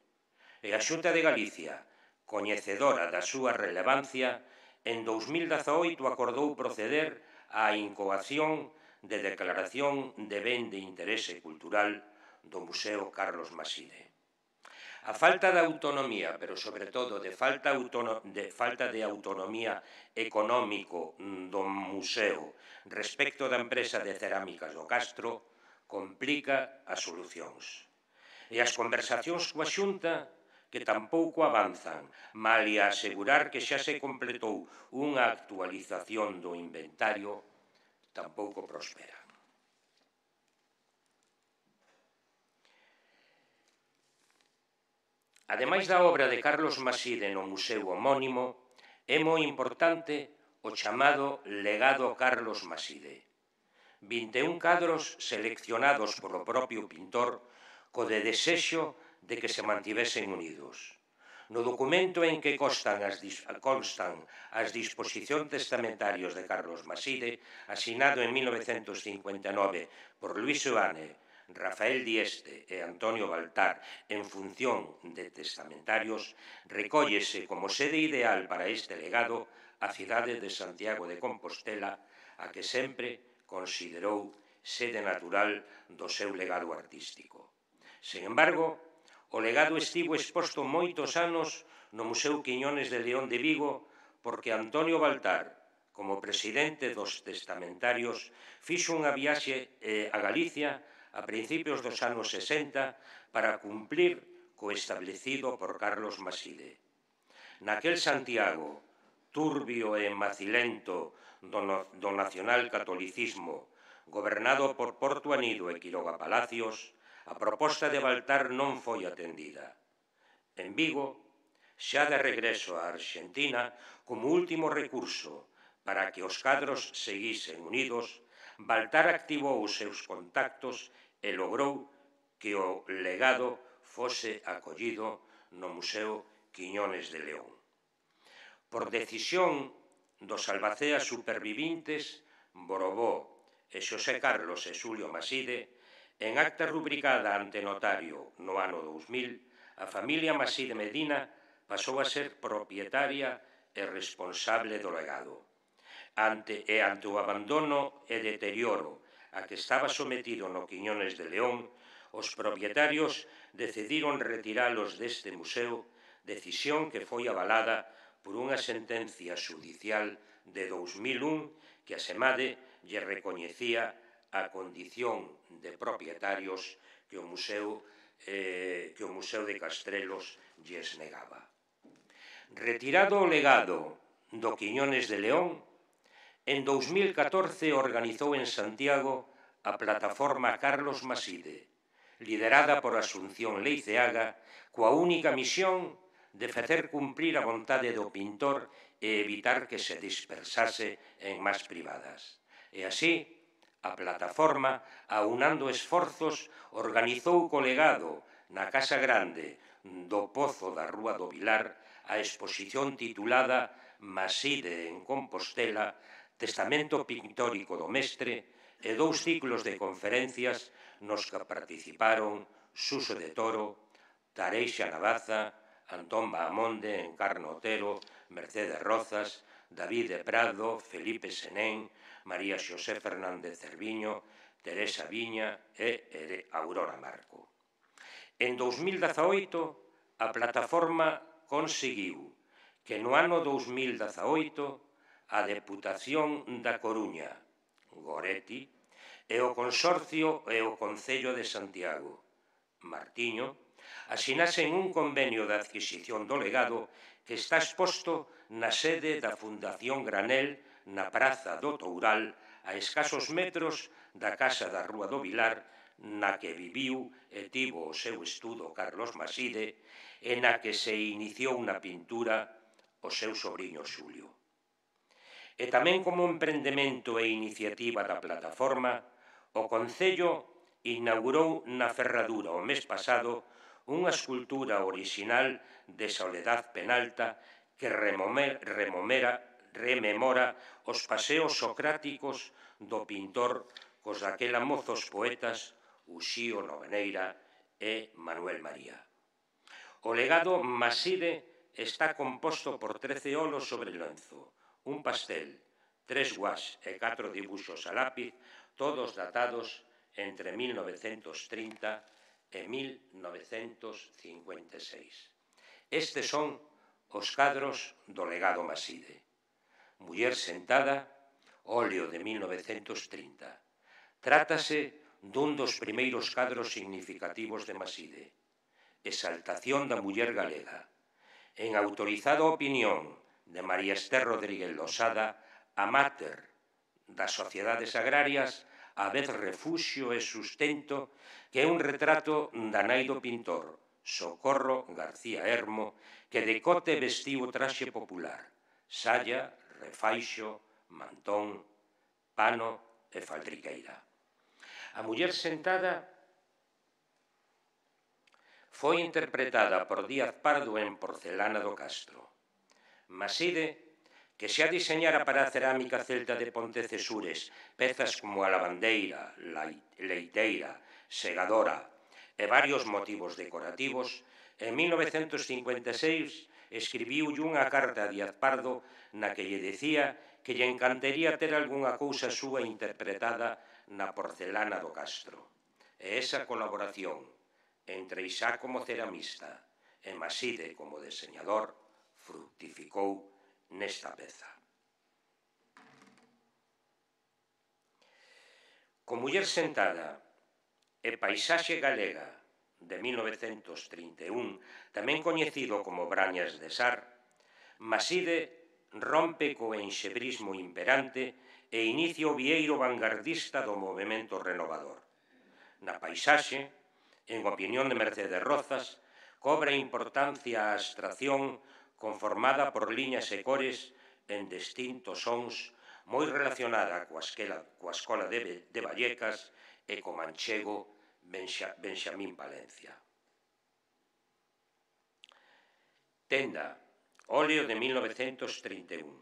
E a Xunta de Galicia, coñecedora da súa relevancia, en dous mil dezaoito acordou proceder á incoación de declaración de ben de interese cultural do Museo Carlos Maside. A falta de autonomía, pero sobre todo de falta, de falta de autonomía económico do museo respecto da empresa de cerámicas do Castro, complica as solucións. E as conversacións coa Xunta, que tampouco avanzan, malia asegurar que xa se completou unha actualización do inventario, tampouco prosperan. Ademais da obra de Carlos Maside no museo homónimo, é moi importante o chamado legado Carlos Maside. vinte e un cadros seleccionados polo propio pintor co de desexo de que se mantivesen unidos. No documento en que constan as, constan as disposicións testamentarios de Carlos Maside, asinado en mil novecentos cincuenta e nove por Luís Seoane, Rafael Dieste e Antonio Baltar en función de testamentarios, recóllese como sede ideal para este legado a cidade de Santiago de Compostela, a que sempre considerou sede natural do seu legado artístico. Sen embargo, o legado estivo exposto moitos anos no Museo Quiñones de León de Vigo porque Antonio Baltar, como presidente dos testamentarios, fixo unha viaxe a Galicia a principios dos anos sesenta para cumplir co establecido por Carlos Maside. naquel Santiago, turbio e macilento do, no, do nacional-catolicismo, gobernado por Porto Anido e Quiroga Palacios, a proposta de Baltar non foi atendida. En Vigo, xa de regreso á Arxentina, como último recurso para que os cadros seguisen unidos, Baltar activou os seus contactos e logrou que o legado fose acollido no Museo Quiñones de León. Por decisión dos albaceas supervivintes, Borobó e Xosé Carlos e Xulio Maside, en acta rubricada ante notario no ano dous mil, a familia Maside Medina pasou a ser propietaria e responsable do legado. Ante, e ante o abandono e deterioro a que estaba sometido no Quiñones de León, os propietarios decidiron retiralos deste museo, decisión que foi avalada por unha sentencia xudicial de dous mil un que a Semade lle recoñecía a condición de propietarios que o Museo, eh, que o Museo de Castrelos lles negaba. Retirado o legado do Quiñones de León, en dous mil catorce organizou en Santiago a plataforma Carlos Maside, liderada por Asunción Leiceaga, coa única misión de facer cumprir a vontade do pintor e evitar que se dispersase en más privadas. E así, a plataforma, aunando esforzos, organizou co legado na Casa Grande do Pozo da Rúa do Vilar a exposición titulada Maside en Compostela, Testamento Pictórico do Mestre, e dous ciclos de conferencias nos que participaron Suso de Toro, Tareixa Navaza, Antón Bahamonde, Encarno Otero, Mercedes Rozas, David de Prado, Felipe Senén, María Xosé Fernández Cerviño, Teresa Viña e Aurora Marco. En dous mil dezaoito, a plataforma conseguiu que no ano dous mil dezaoito a Deputación da Coruña, Goretti, e o Consorcio e o Concello de Santiago, Martiño, asinasen un convenio de adquisición do legado que está exposto na sede da Fundación Granel na Praza do Toural, a escasos metros da Casa da Rúa do Vilar, na que viviu e tivo o seu estudo Carlos Maside e na que se iniciou na pintura o seu sobrinho Xulio. E tamén como emprendemento e iniciativa da plataforma, o Concello inaugurou na Ferradura o mes pasado unha escultura orixinal de Soledad Penalta que remomera, rememora os paseos socráticos do pintor cos daquela mozos poetas Uxío Noveneira e Manuel María. O legado Maside está composto por trece olos sobre lenzo, un pastel, tres guas e catro dibuxos a lápiz, todos datados entre mil novecentos trinta e mil novecentos cincuenta e seis. Estes son os cadros do legado Maside. Muller sentada, óleo de mil novecentos trinta. Trátase dun dos primeiros cadros significativos de Maside. Exaltación da muller galega. En autorizada opinión de María Esther Rodríguez Losada, a máter das sociedades agrarias, a vez refuxio e sustento, que é un retrato da nai do pintor, Socorro García Hermo, que de cote vestiu o traxe popular, saya, refaixo, mantón, pano e faldriqueira. A muller sentada foi interpretada por Díaz Pardo en Porcelana do Castro. Maside, que xa diseñara para a cerámica celta de Pontecesures pezas como a lavandeira, leiteira, segadora e varios motivos decorativos, en mil novecentos cincuenta e seis escribiulle unha carta a Díaz Pardo na que lle decía que lle encantaría ter algunha cousa súa interpretada na Porcelana do Castro. E esa colaboración entre Isá como ceramista e Maside como deseñador fructificou nesta peza. Con Muller sentada e Paisaxe galega de mil novecentos trinta e un, tamén coñecido como Brañas de Sar, Maside rompe co enxebrismo imperante e inicia o vieiro vanguardista do movemento renovador. Na paisaxe, en opinión de Mercedes Rozas, cobra importancia a abstracción conformada por liñas e cores en distintos sons moi relacionada coa escola de Vallecas e co manchego Benxamín Palencia. Tenda, óleo de mil novecentos trinta e un,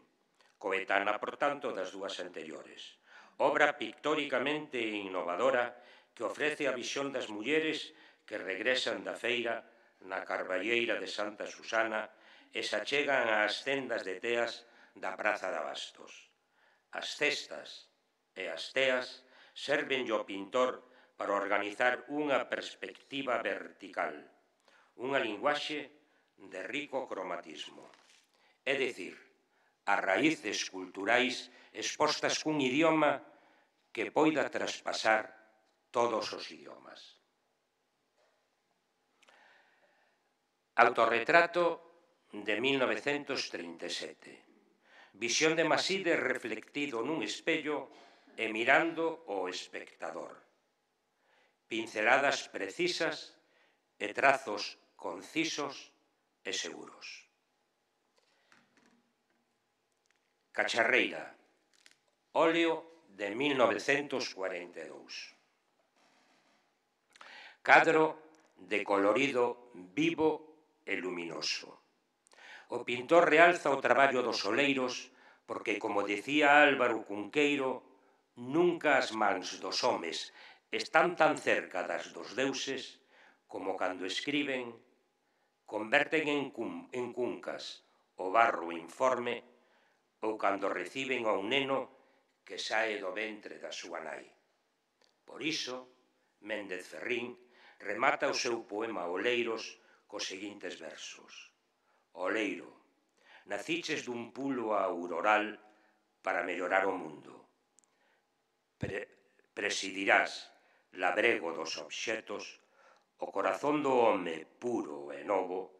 coetánea, por tanto, das dúas anteriores. Obra pictóricamente innovadora que ofrece a visión das mulleres que regresan da feira na Carballeira de Santa Susana e se achegan ás tendas de teas da Praza de Abastos. As cestas e as teas servenlle ao pintor para organizar unha perspectiva vertical, unha linguaxe de rico cromatismo. É dicir, as raíces culturais expostas cun idioma que poida traspasar todos os idiomas. Autorretrato de mil novecentos trinta e sete. Visión de Maside reflectido nun espello e mirando o espectador. Pinceladas precisas e trazos concisos e seguros. Cacharreira, óleo de mil novecentos cuarenta e dous. Cadro de colorido vivo e luminoso. O pintor realza o traballo dos oleiros porque, como dicía Álvaro Cunqueiro, nunca as mans dos homes están tan cerca das dos deuses como cando escriben, converten en, cum, en cuncas o barro informe ou cando reciben a un neno que sae do ventre da súa nai. Por iso, Méndez Ferrín remata o seu poema Oleiros cos seguintes versos. Oleiro, naciches dun pulo auroral para mellorar o mundo. Pre presidirás labrego dos obxetos o corazón do home puro e novo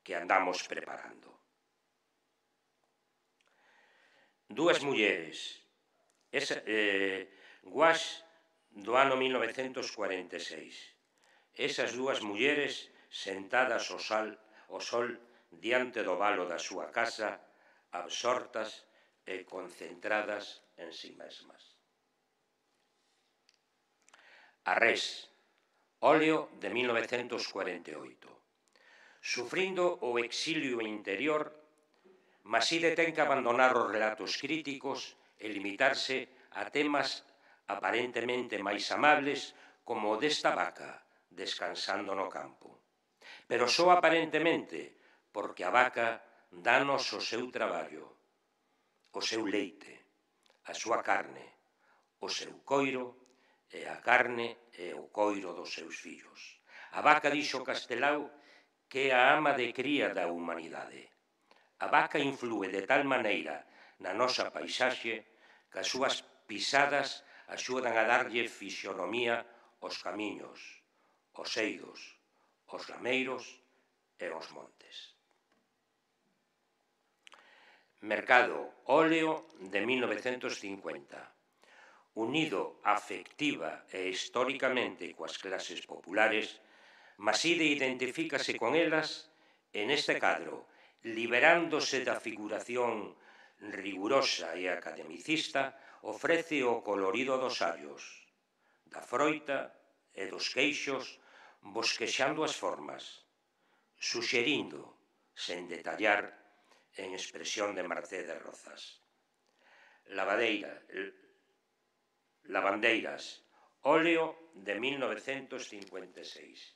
que andamos preparando. Dúas mulleres, esa, eh, Guas do ano mil novecentos cuarenta e seis. Esas dúas mulleres sentadas ao sol, ao sol diante do valo da súa casa, absortas e concentradas en si mesmas. Arrés, óleo de mil novecentos cuarenta e oito. Sufrindo o exilio interior, Maside ten que abandonar os relatos críticos e limitarse a temas aparentemente máis amables como o desta vaca descansando no campo. Pero só aparentemente, porque a vaca danos o seu traballo, o seu leite, a súa carne, o seu coiro e a carne e o coiro dos seus fillos. A vaca, dixo Castelao, que é a ama de cría da humanidade. A vaca inflúe de tal maneira na nosa paisaxe que as súas pisadas axudan a darlle fisionomía aos camiños, os eidos, os lameiros e os montes. Mercado, óleo de mil novecentos cincuenta. Unido afectiva e históricamente coas clases populares, Maside identifícase con elas e neste cadro, liberándose da figuración rigurosa e academicista, ofrece o colorido dos sabios, da froita e dos queixos, bosquexando as formas, suxerindo, sen detallar, en expresión de Mercedes Rozas. Lavadeira, lavandeiras, óleo de mil novecentos cincuenta e seis.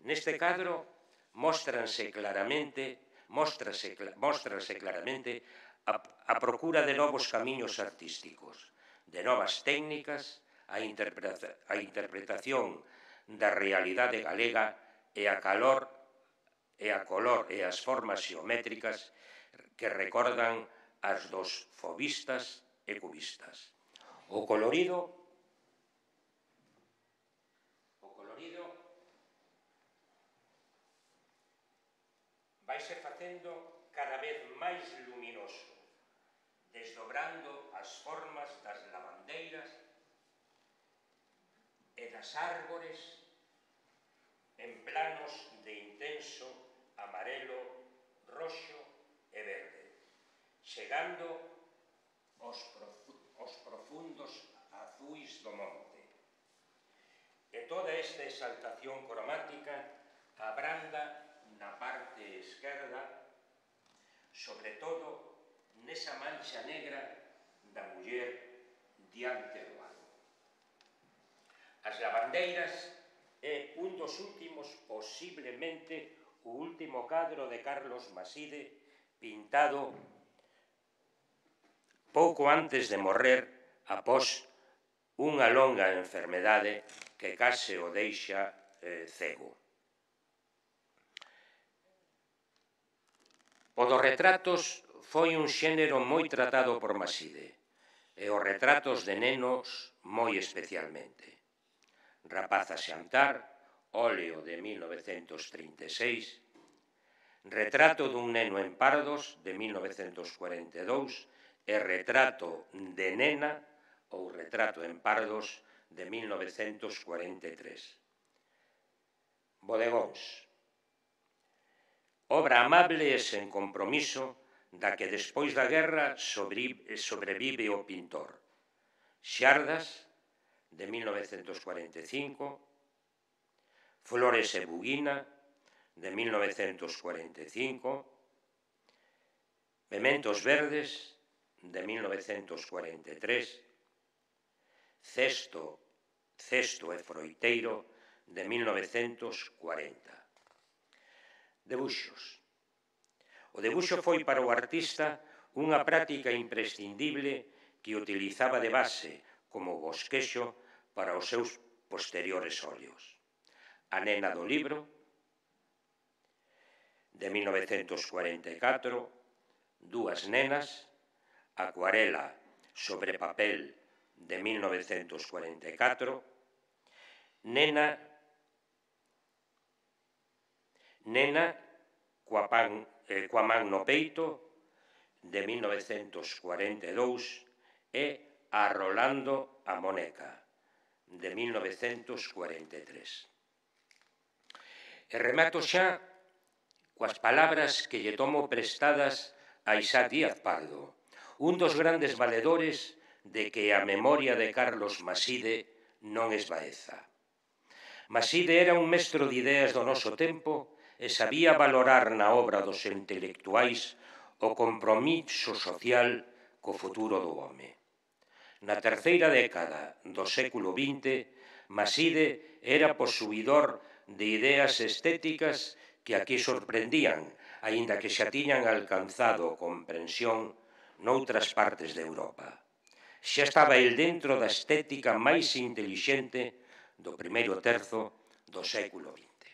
Neste cadro, móstranse claramente, móstrase, móstrase claramente a, a procura de novos camiños artísticos, de novas técnicas, a, interpreta, a interpretación da realidade galega e a calor e a color e as formas xeométricas que recordan as dos fobistas e cubistas. O colorido o colorido vaise facendo cada vez máis luminoso, desdobrando as formas das lavandeiras e das árbores en planos de intenso amarelo, roxo e verde, chegando aos, profu aos profundos azuis do monte. E toda esta exaltación cromática abranda na parte esquerda, sobre todo nesa mancha negra da muller diante do ano. As lavandeiras é un dos últimos, posiblemente o último cadro de Carlos Maside, pintado pouco antes de morrer após unha longa enfermedade que case o deixa eh, cego. O dos retratos foi un xénero moi tratado por Maside, e os retratos de nenos moi especialmente. Rapaz a xantar, óleo de mil novecentos trinta e seis, retrato dun neno en pardos de mil novecentos cuarenta e dous e retrato de nena ou retrato en pardos de mil novecentos cuarenta e tres. Bodegóns. Obra amable e sen compromiso da que despois da guerra sobrevive o pintor. Xardas, de mil novecentos cuarenta e cinco, Flores e Buguina, de mil novecentos cuarenta e cinco, Pementos Verdes, de mil novecentos cuarenta e tres, Cesto, Cesto e Froiteiro, de mil novecentos cuarenta. Debuxos. O debuxo foi para o artista unha práctica imprescindible que utilizaba de base como bosquexo para os seus posteriores óleos. A nena do libro, de mil novecentos cuarenta e catro, Dúas nenas, Acuarela sobre papel, de mil novecentos cuarenta e catro, Nena, Nena, coa, pan, eh, coa man no peito, de mil novecentos cuarenta e dous, e Arrolando a Moneca, de mil novecentos cuarenta e tres. E remato xa coas palabras que lle tomo prestadas a Isaac Díaz Pardo, un dos grandes valedores de que a memoria de Carlos Maside non esvaeza. Maside era un mestro de ideas do noso tempo e sabía valorar na obra dos intelectuais o compromiso social co futuro do home. Na terceira década do século vinte, Maside era posuidor de ideas estéticas que aquí sorprendían, aínda que xa tiñan alcanzado comprensión noutras partes de Europa. Xa estaba el dentro da estética máis intelixente do primeiro terzo do século vinte.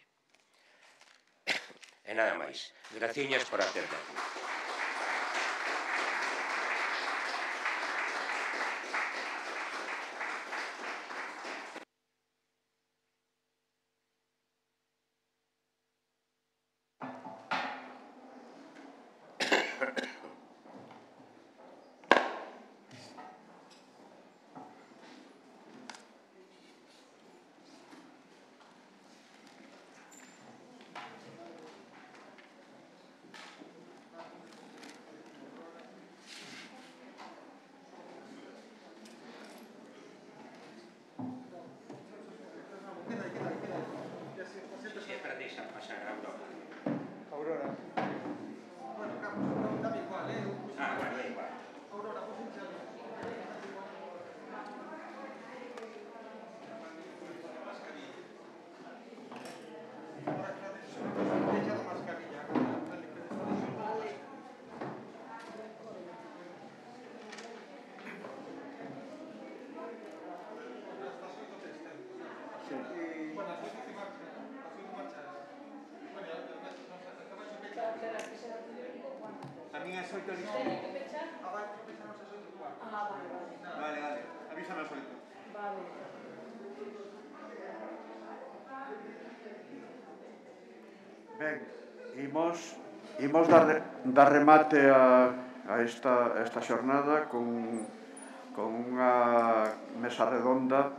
E nada máis. Graciñas por atenderme. A mí es oito listo. Teño que pechar? Ah, vale, pechamos as oito cuarto. Ah, vale, vale. Vale, vale. Avísame as oito. Vale. Ben, imos Imos dar, dar remate a, a, esta, a esta xornada con, con unha mesa redonda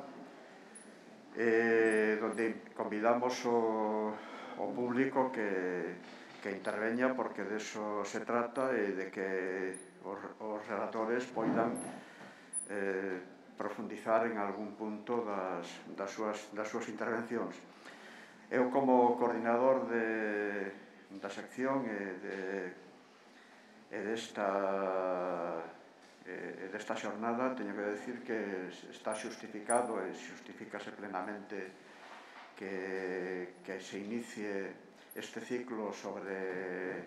eh, donde convidamos o, o público que, que interveña, porque de eso se trata, e de que os, os relatores poidan eh, profundizar en algún punto das, das, súas, das súas intervencións. Eu, como coordinador de, da sección e, de, e desta, e desta xornada, teño que decir que está xustificado e xustifícase plenamente que, que se inicie este ciclo sobre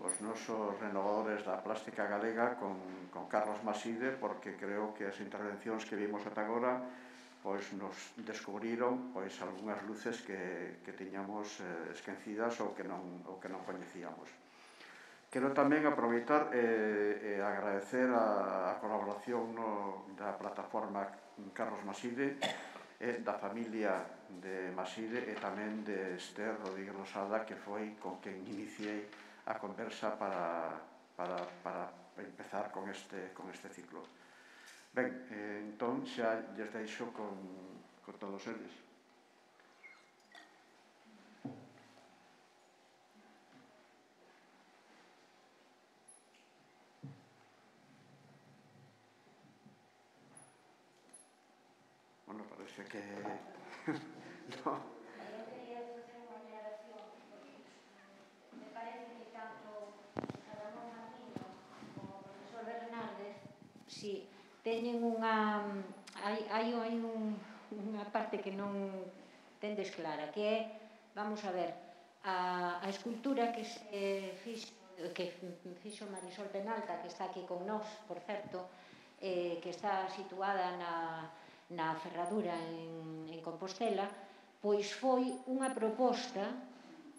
os nosos renovadores da plástica galega con, con Carlos Maside, porque creo que as intervencións que vimos ata agora pois nos descubriron pois algunhas luces que, que tiñamos eh, esquecidas ou que non, ou que non coñecíamos. Quero tamén aproveitar e eh, eh, agradecer a, a colaboración no, da plataforma Carlos Maside, e da familia de Maside e tamén de Esther Rodríguez Losada, que foi con quen iniciei a conversa para, para, para empezar con este, con este ciclo. Ben, eh, entón xa lles deixo con, con todos eles. Bueno, parece que... no. Si, teñen unha... Hai, hai, hai un, unha parte que non tendes clara, que é, vamos a ver, a, a escultura que se fixo, que fixo Marisol Penalta, que está aquí con nós, por certo, eh, que está situada na, na Ferradura en, en Compostela, pois foi unha proposta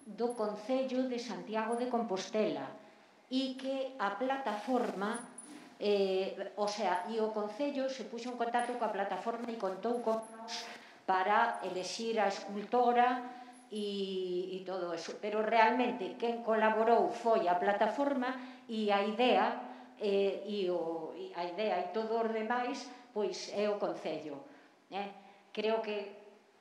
do Concello de Santiago de Compostela, e que a plataforma... Eh, o sea, e o Concello se puxo en contacto coa plataforma e contou con nos para elexir a escultora e, e todo eso, pero realmente quen colaborou foi a plataforma, e a idea eh, e, o, e a idea e todo os demais pois é o Concello, eh? Creo que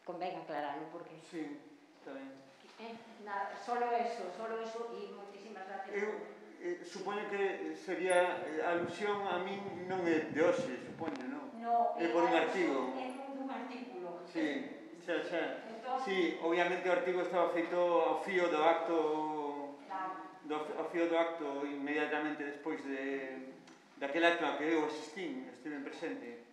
convén aclararlo, porque sí, está ben. Eh, na, solo eso, solo eso, e moitísimas gracias. Eu Eh, supoño que sería eh, alusión a min non é de hoxe, supoño, non? No, é por un artigo. É un artículo. Sí, xa, xa. Entón, sí, obviamente o artigo estaba feito ao fío do acto, claro. do, ao fío do acto inmediatamente despois de daquel acto a que eu asistín, estive presente,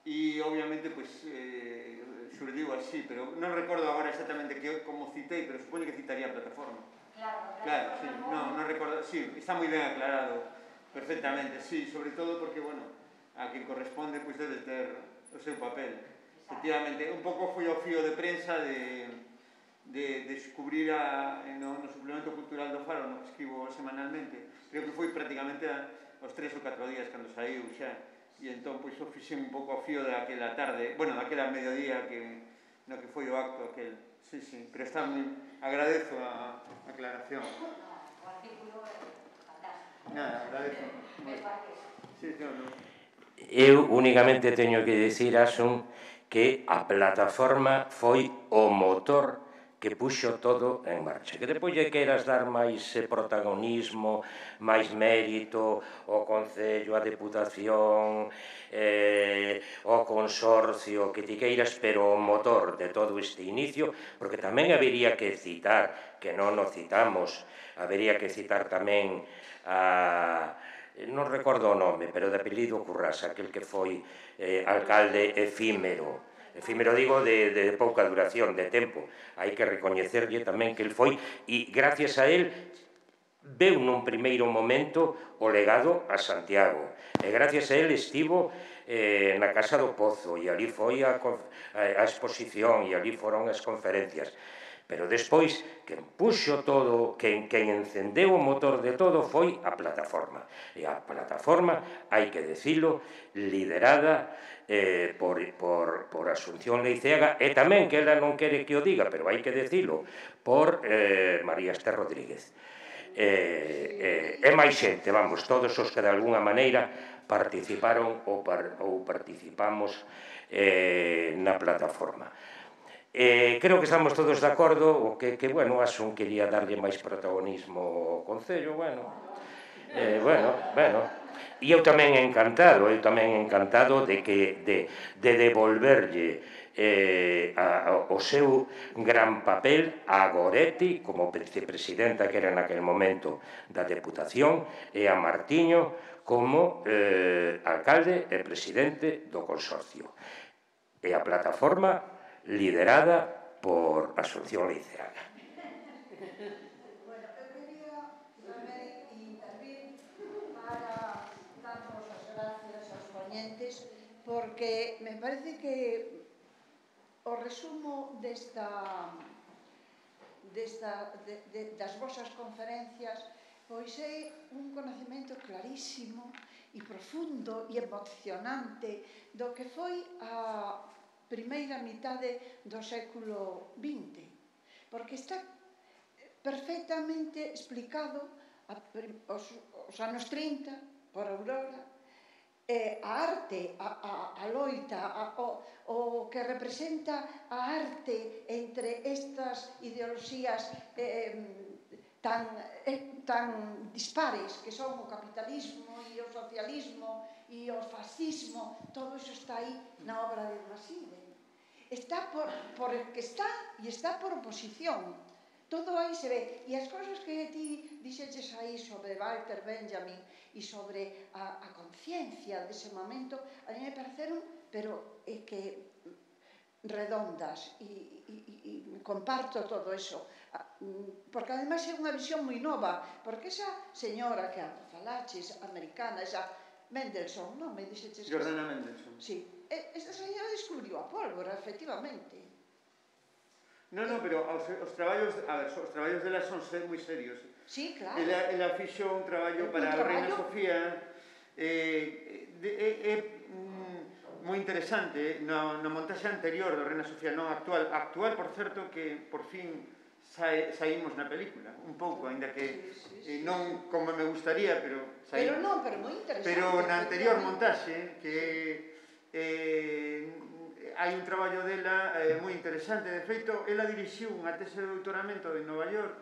e obviamente pois eh, xurdiu así, pero non recordo agora exactamente que, como citei, pero supoño que citaría a plataforma. Claro, claro, sí, no, no recordo, sí, está moi ben aclarado, perfectamente, sí, sobre todo porque, bueno, a quien corresponde, pois pues, debe ter o seu papel. Efectivamente, un pouco foi o fío de prensa de, de, de descubrir a, no, no suplemento cultural do Faro, no que escribo semanalmente, creo que foi prácticamente a, os tres ou catro días cando saiu xa, e entón, pois, o fixen un pouco o fío daquela tarde, bueno, daquela mediodía que, no que foi o acto aquel. Sí, sí, pero está moi... Agradezo a aclaración. O artículo é fantástico. Nada, agradezo. Sí, sí, no. Eu únicamente teño que dicir, Asun, que a plataforma foi o motor que puxo todo en marcha. Que depois lle queiras dar máis protagonismo, máis mérito ao Concello, á Deputación, eh, ao Consorcio, que ti queiras, pero o motor de todo este inicio, porque tamén habería que citar, que non o citamos, habería que citar tamén a... non recordo o nome, pero de apelido Currás, aquel que foi eh, alcalde efímero, efímero digo de, de pouca duración, de tempo. Hai que recoñecerlle tamén que el foi, e gracias a él veu nun primeiro momento o legado a Santiago, e gracias a él estivo eh, na Casa do Pozo, e ali foi a, a, a exposición, e ali foron as conferencias. Pero despois, quen puxo todo, quen, quen encendeu o motor de todo foi a plataforma. E a plataforma, hai que decilo, liderada eh, por, por, por Asunción Leiceaga, e tamén, que ela non quere que o diga, pero hai que decilo, por eh, María Esther Rodríguez. Eh, eh, e máis xente, vamos, todos os que de alguna maneira participaron ou, par, ou participamos eh, na plataforma. Eh, creo que estamos todos de acordo o que, que bueno, Asun quería darlle máis protagonismo ao Concello, bueno, eh, bueno, bueno, e eu tamén encantado, eu tamén encantado de que, de, de devolverlle eh, a, a, o seu gran papel a Goretti como vicepresidenta que era naquel momento da Deputación e a Martiño como eh, alcalde e presidente do Consorcio. E a plataforma liderada por Asunción Leiceaga. Bueno, eu quería tamén intervir para darnos as gracias aos ponentes porque me parece que o resumo desta, desta de, de, das vosas conferencias pois é un conocemento clarísimo e profundo e emocionante do que foi a primeira mitade do século vinte, porque está perfectamente explicado a, os, os anos trinta por Aurora, eh, a arte, a, a, a loita, a, o, o que representa a arte entre estas ideoloxías eh, tan, eh, tan dispares que son o capitalismo e o socialismo e o fascismo, todo iso está aí na obra de Maside. Está por, por el que está e está por oposición. Todo aí se ve. E as cousas que ti dixeches aí sobre Walter Benjamin e sobre a, a conciencia dese momento, a mí me pareceron, pero é que redondas e, e, e comparto todo eso, porque ademais é unha visión moi nova, porque esa señora que falaches, americana, esa Mendelssohn, non me dixeches? Jordana Mendelssohn. Sí, esta señora descubriu a pólvora, efectivamente. No, no, pero os, os traballos, a ver, os traballos dela son ser moi serios. Sí, claro. Ela, ela fixo un traballo para a Reina Sofía eh, de, eh, eh, mm, moi interesante na, na montaxe anterior da Reina Sofía, non actual. Actual, por certo, que por fin sa, saímos na película, un pouco, ainda que sí, sí, sí, eh, non como me gustaría, pero saímos. Pero non, pero moi interesante. Pero na anterior montaxe, que eh, hai un traballo dela eh, moi interesante. De feito, ela dirixiu unha tese de doutoramento en Nova York,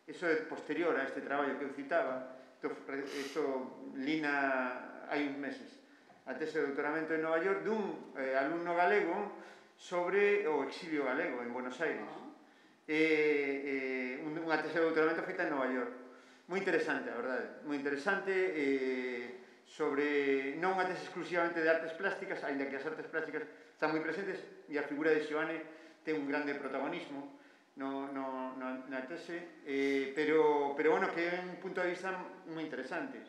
eso é posterior a este traballo que eu citaba, eso lina hai uns meses, a tese de doutoramento en Nova York dun eh, alumno galego sobre o exilio galego en Buenos Aires. Eh, eh, unha tese de doutoramento feita en Nova York. Moi interesante, a verdade, moi interesante, eh, sobre non unha tese exclusivamente de artes plásticas, ainda que as artes plásticas están moi presentes e a figura de Xoane ten un grande protagonismo no, no, no, na tese, eh, pero, pero bueno, que é un punto de vista moi interesante.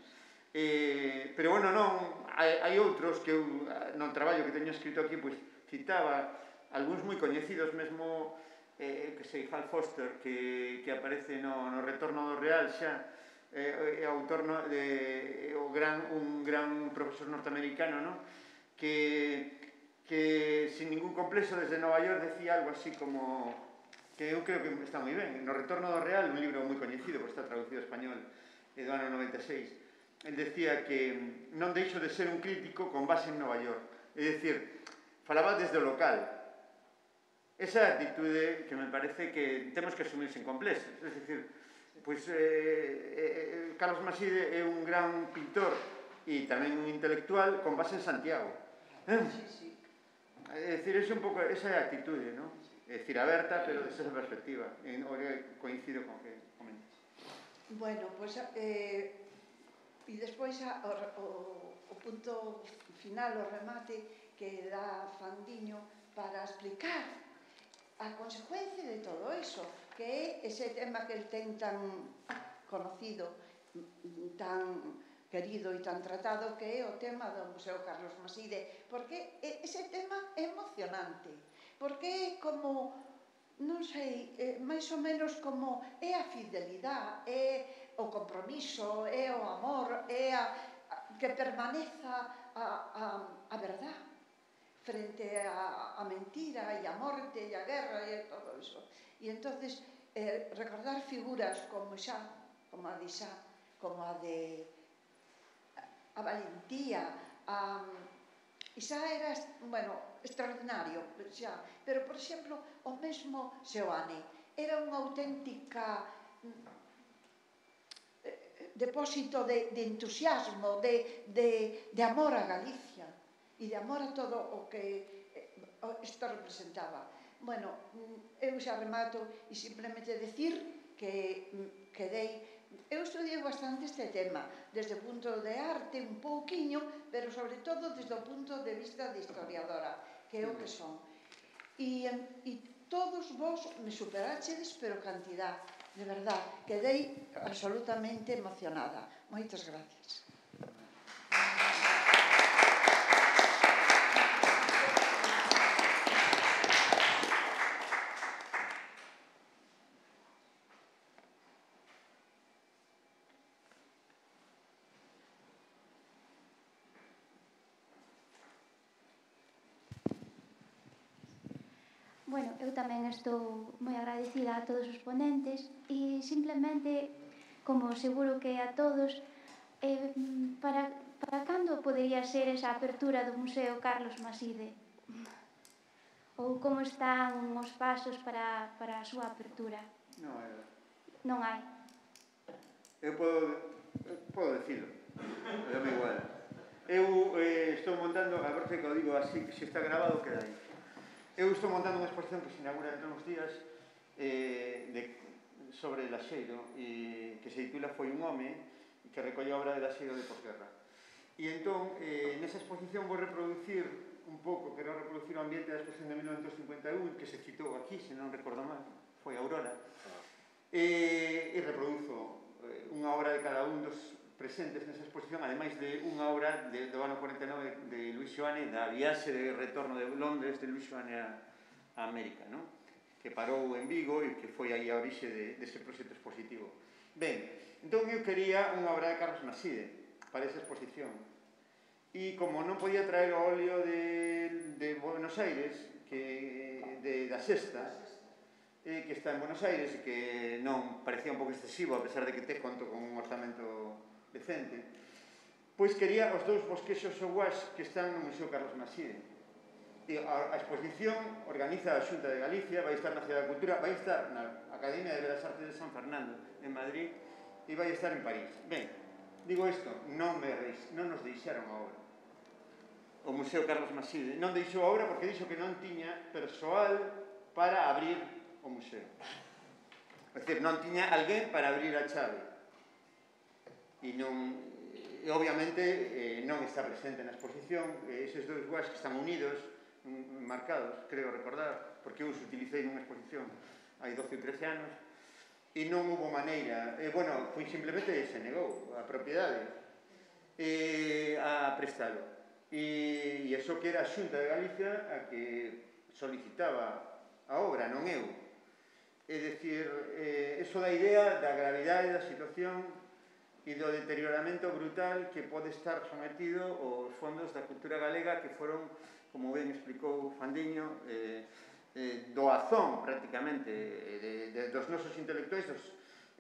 Eh, pero bueno, non, hai, hai outros que eu, no traballo que teño escrito aquí, pois citaba algúns moi coñecidos, mesmo eh, que sei, Hal Foster, que, que aparece no, no Retorno do Real xa, eh, é autor no, de, o gran, un gran profesor norteamericano, no? que, que sin ningún complexo desde Nova York decía algo así como, que eu creo que está moi ben, no Retorno do Real, un libro moi coñecido, porque está traducido ao español, do ano noventa e seis, el decía que non deixo de ser un crítico con base en Nova York, é dicir, falaba desde o local. Esa actitude que me parece que temos que asumir sen complexos, é dicir, pois eh, eh, Carlos Maside é un gran pintor e tamén un intelectual con base en Santiago. Eh? Sí, sí. É dicir, esa é un pouco esa é a actitude, non? É dicir, aberta, pero desde esa perspectiva. En, coincido con que comentas. Bueno, pois pues, eh, e despois a, o, o punto final, o remate que dá Fandiño para explicar a consecuencia de todo eso, que é ese tema que el ten tan conocido, tan querido e tan tratado, que é o tema do Museo Carlos Maside, porque ese tema é emocionante, porque é como non sei, eh, máis ou menos como é a fidelidade, é o compromiso, é o amor, é a, a que permaneza a, a, a verdade frente a, a mentira e a morte e a guerra e todo iso. E entonces eh, recordar figuras como xa, como a de xa, como a de a valentía, a e xa era, bueno, extraordinario, xa. Pero, por exemplo, o mesmo Seoane era unha auténtica depósito de, de entusiasmo, de, de, de amor a Galicia e de amor a todo o que isto representaba. Bueno, eu xa remato e simplemente decir que quedei. Eu estudiei bastante este tema, desde o punto de arte un pouquiño, pero sobre todo desde o punto de vista de historiadora, que é o que son. E, e todos vos me superachedes, pero cantidad, de verdad, quedei absolutamente emocionada. Moitas gracias. Bueno, eu tamén estou moi agradecida a todos os ponentes e simplemente, como seguro que a todos, eh, para, para cando podería ser esa apertura do Museo Carlos Maside? Ou como están os pasos para, para a súa apertura? Non hai. Non hai. Eu podo, eu podo dicilo, é moi igual. Eu eh, estou montando, a ver que o digo así, que se está grabado queda aí. Eu estou montando unha exposición que se inaugura entre uns días eh, de, sobre Laxeiro e que se titula Foi un home que recolle a obra de Laxeiro de posguerra. E entón, eh, nesa exposición vou reproducir un pouco, quero reproducir o ambiente da exposición de mil novecientos cincuenta e un que se citou aquí, se non recordo mal, foi Aurora, e, e reproduzo eh, unha obra de cada un dos presentes nesa exposición, ademais de unha obra de, do ano cuarenta e nove de Luis Xoane, da viaxe de retorno de Londres de Luis Xoane a, a América, ¿no? Que parou en Vigo e que foi aí a orixe de, dese proxecto expositivo. Ben, entón eu quería unha obra de Carlos Maside para esa exposición. E como non podía traer o óleo de, de Buenos Aires, que, de, da Sexta, eh, que está en Buenos Aires e que non parecía un pouco excesivo, a pesar de que te conto con un orzamento decente, pois quería os dous bosquexos ouás que están no Museo Carlos Maside. E a, a exposición organiza a Xunta de Galicia, vai estar na Cidade da Cultura, vai estar na Academia de Belas Artes de San Fernando, en Madrid, e vai estar en París. Ben, digo isto, non, me, non nos deixaron a obra. O Museo Carlos Maside non deixou a obra porque dixo que non tiña persoal para abrir o museo. É dicir, non tiña alguén para abrir a chave. E non, e obviamente eh, non está presente na exposición, eh, eses dois guas que están unidos, mm, marcados, creo recordar, porque eu os utilicei nunha exposición hai doce ou trece anos, e non hubo maneira, e, bueno, foi simplemente se negou a propiedade eh, a prestalo. E, e iso que era a Xunta de Galicia a que solicitaba a obra, non eu. É dicir, eh, eso da idea da gravidade da situación e do deterioramento brutal que pode estar sometido os fondos da cultura galega que foron, como ben explicou Fandiño, eh, eh, doazón prácticamente de, de, dos nosos intelectuais dos,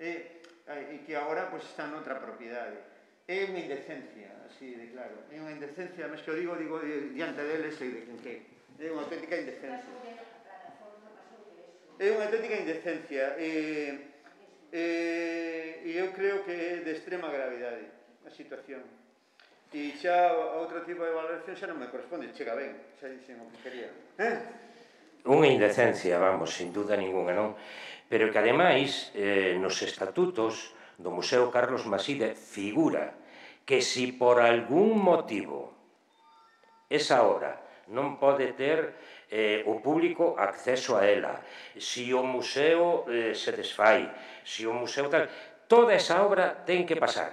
eh, e que agora pues, están noutra propiedade. É unha indecencia, así de claro. É unha indecencia, mas que o digo, digo diante deles e de quen que. É unha auténtica indecencia. É unha auténtica indecencia. E... E, e eu creo que é de extrema gravidade a situación. E xa outro tipo de valoración xa non me corresponde, chega ben, xa dixen o que quería. Eh? Unha indecencia, vamos, sin duda ninguna, non? Pero que ademais, eh, nos estatutos do Museo Carlos Maside figura que si por algún motivo esa obra non pode ter eh, o público acceso a ela, si o museo eh, se desfai, si o museo tal, toda esa obra ten que pasar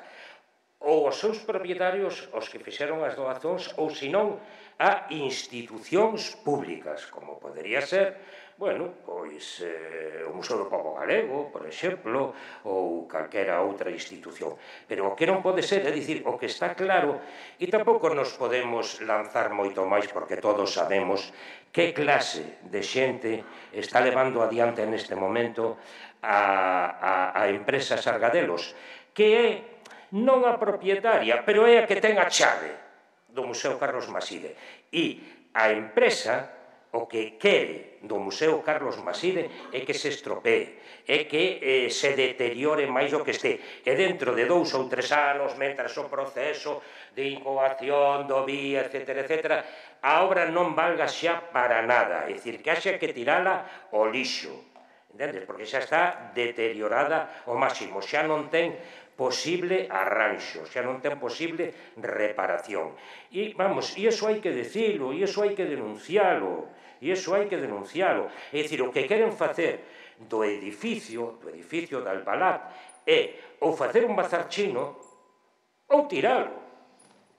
ou aos seus propietarios, os que fixeron as doazóns, ou senón a institucións públicas, como podería ser bueno, pois eh, o Museo do Pobo Galego, por exemplo, ou calquera outra institución. Pero o que non pode ser, é dicir, o que está claro, e tampouco nos podemos lanzar moito máis, porque todos sabemos que clase de xente está levando adiante neste momento a, a, a empresa Sargadelos, que é non a propietaria, pero é a que ten a chave do Museo Carlos Maside. E a empresa o que quere do Museo Carlos Maside é que se estropee, é que eh, se deteriore máis do que este. E dentro de dous ou tres anos, mentras o proceso de incoación do V I A, etcétera, etcétera, a obra non valga xa para nada, é dicir, que haxa que tirala ao lixo, entendes? Porque xa está deteriorada ao máximo, xa non ten posible arranxo, xa non ten posible reparación. E, vamos, e iso hai que decilo, e iso hai que denuncialo, e iso hai que denuncialo. É dicir, o que queren facer do edificio, do edificio de Albalat, é ou facer un bazar chino ou tiralo.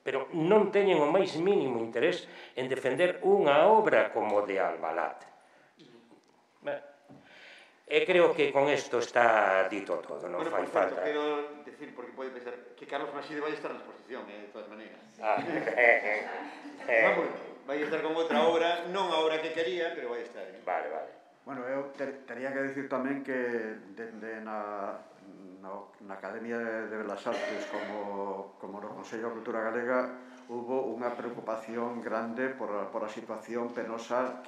Pero non teñen o máis mínimo interés en defender unha obra como de Albalat. E creo que con isto está dito todo, non fai falta. Quero decir, porque pode pensar que Carlos Maside vai estar na exposición, de todas maneiras. Vamos, vai estar con outra obra, non a obra que quería, pero vai estar. Vale, vale. Bueno, eu tería que decir tamén que dende na na Academia de Belas Artes como no Consello de Cultura Galega hubo unha preocupación grande por a situación penosa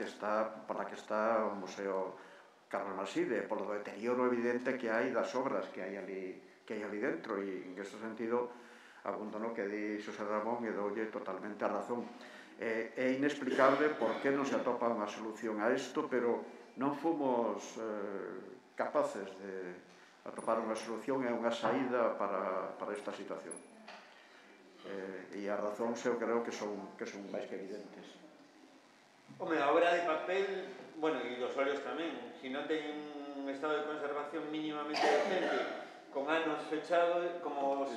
por a que está o Museo Carlos Maside, polo deterioro evidente que hai das obras que hai ali que hai ali dentro, e en ese sentido abundo no que di Xosé Ramón e doulle totalmente a razón. É inexplicable por que non se atopa unha solución a isto, pero non fomos capaces de atopar unha solución e unha saída para esta situación. E as razóns eu creo que son máis que evidentes. Home, a obra de papel, bueno, e os óleos tamén, se non teñen un estado de conservación mínimamente decente, con anos fechado, como os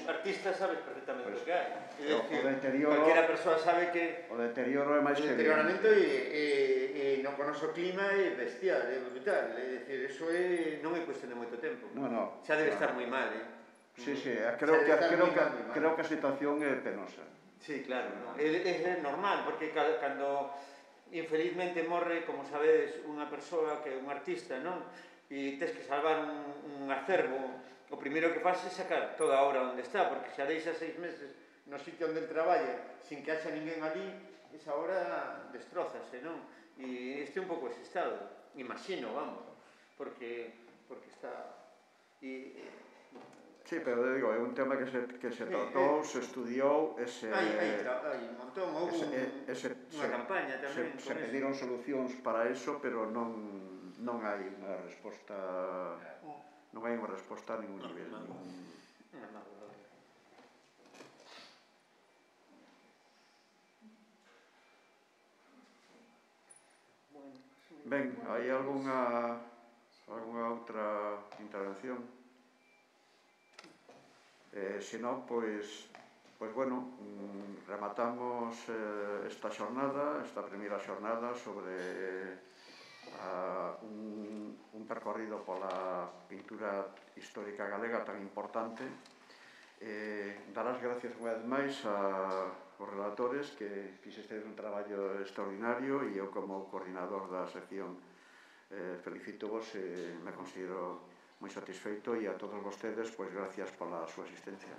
artistas sabes perfectamente o que hai. É dicir, calquera persoa sabe que o deterioro é máis que evidente. O deterioramento e non con o noso clima é bestial, é brutal. É dicir, eso non é cuestión de moito tempo. Non, non. Xa debe estar moi mal, eh? Sí, sí, creo que a situación é penosa. Sí, claro, é normal, porque cando infelizmente morre, como sabedes, unha persoa que é un artista, non? E tes que salvar un acervo, o primeiro que faz é sacar toda a obra onde está, porque xa deixa seis meses no sitio onde el traballa sin que haxa ninguén ali, esa obra destrozase, non? E este é un pouco ese estado, imagino, vamos, porque está... Sí, pero digo, é un tema que se tratou, se estudiou, se... Hai un montón, houve unha campaña tamén. Se pediron solucións para iso, pero non... non hai unha resposta non hai unha resposta a ningún nivel. Ben, hai algunha algunha outra intervención? Se non, pois pois bueno, rematamos esta xornada, esta primeira xornada sobre un, un percorrido pola pintura histórica galega tan importante. Eh, dar as gracias unha vez máis aos relatores que fixestes un traballo extraordinario, e eu como coordinador da sección eh, felicito vos e me considero moi satisfeito, e a todos vostedes, pois gracias pola súa asistencia.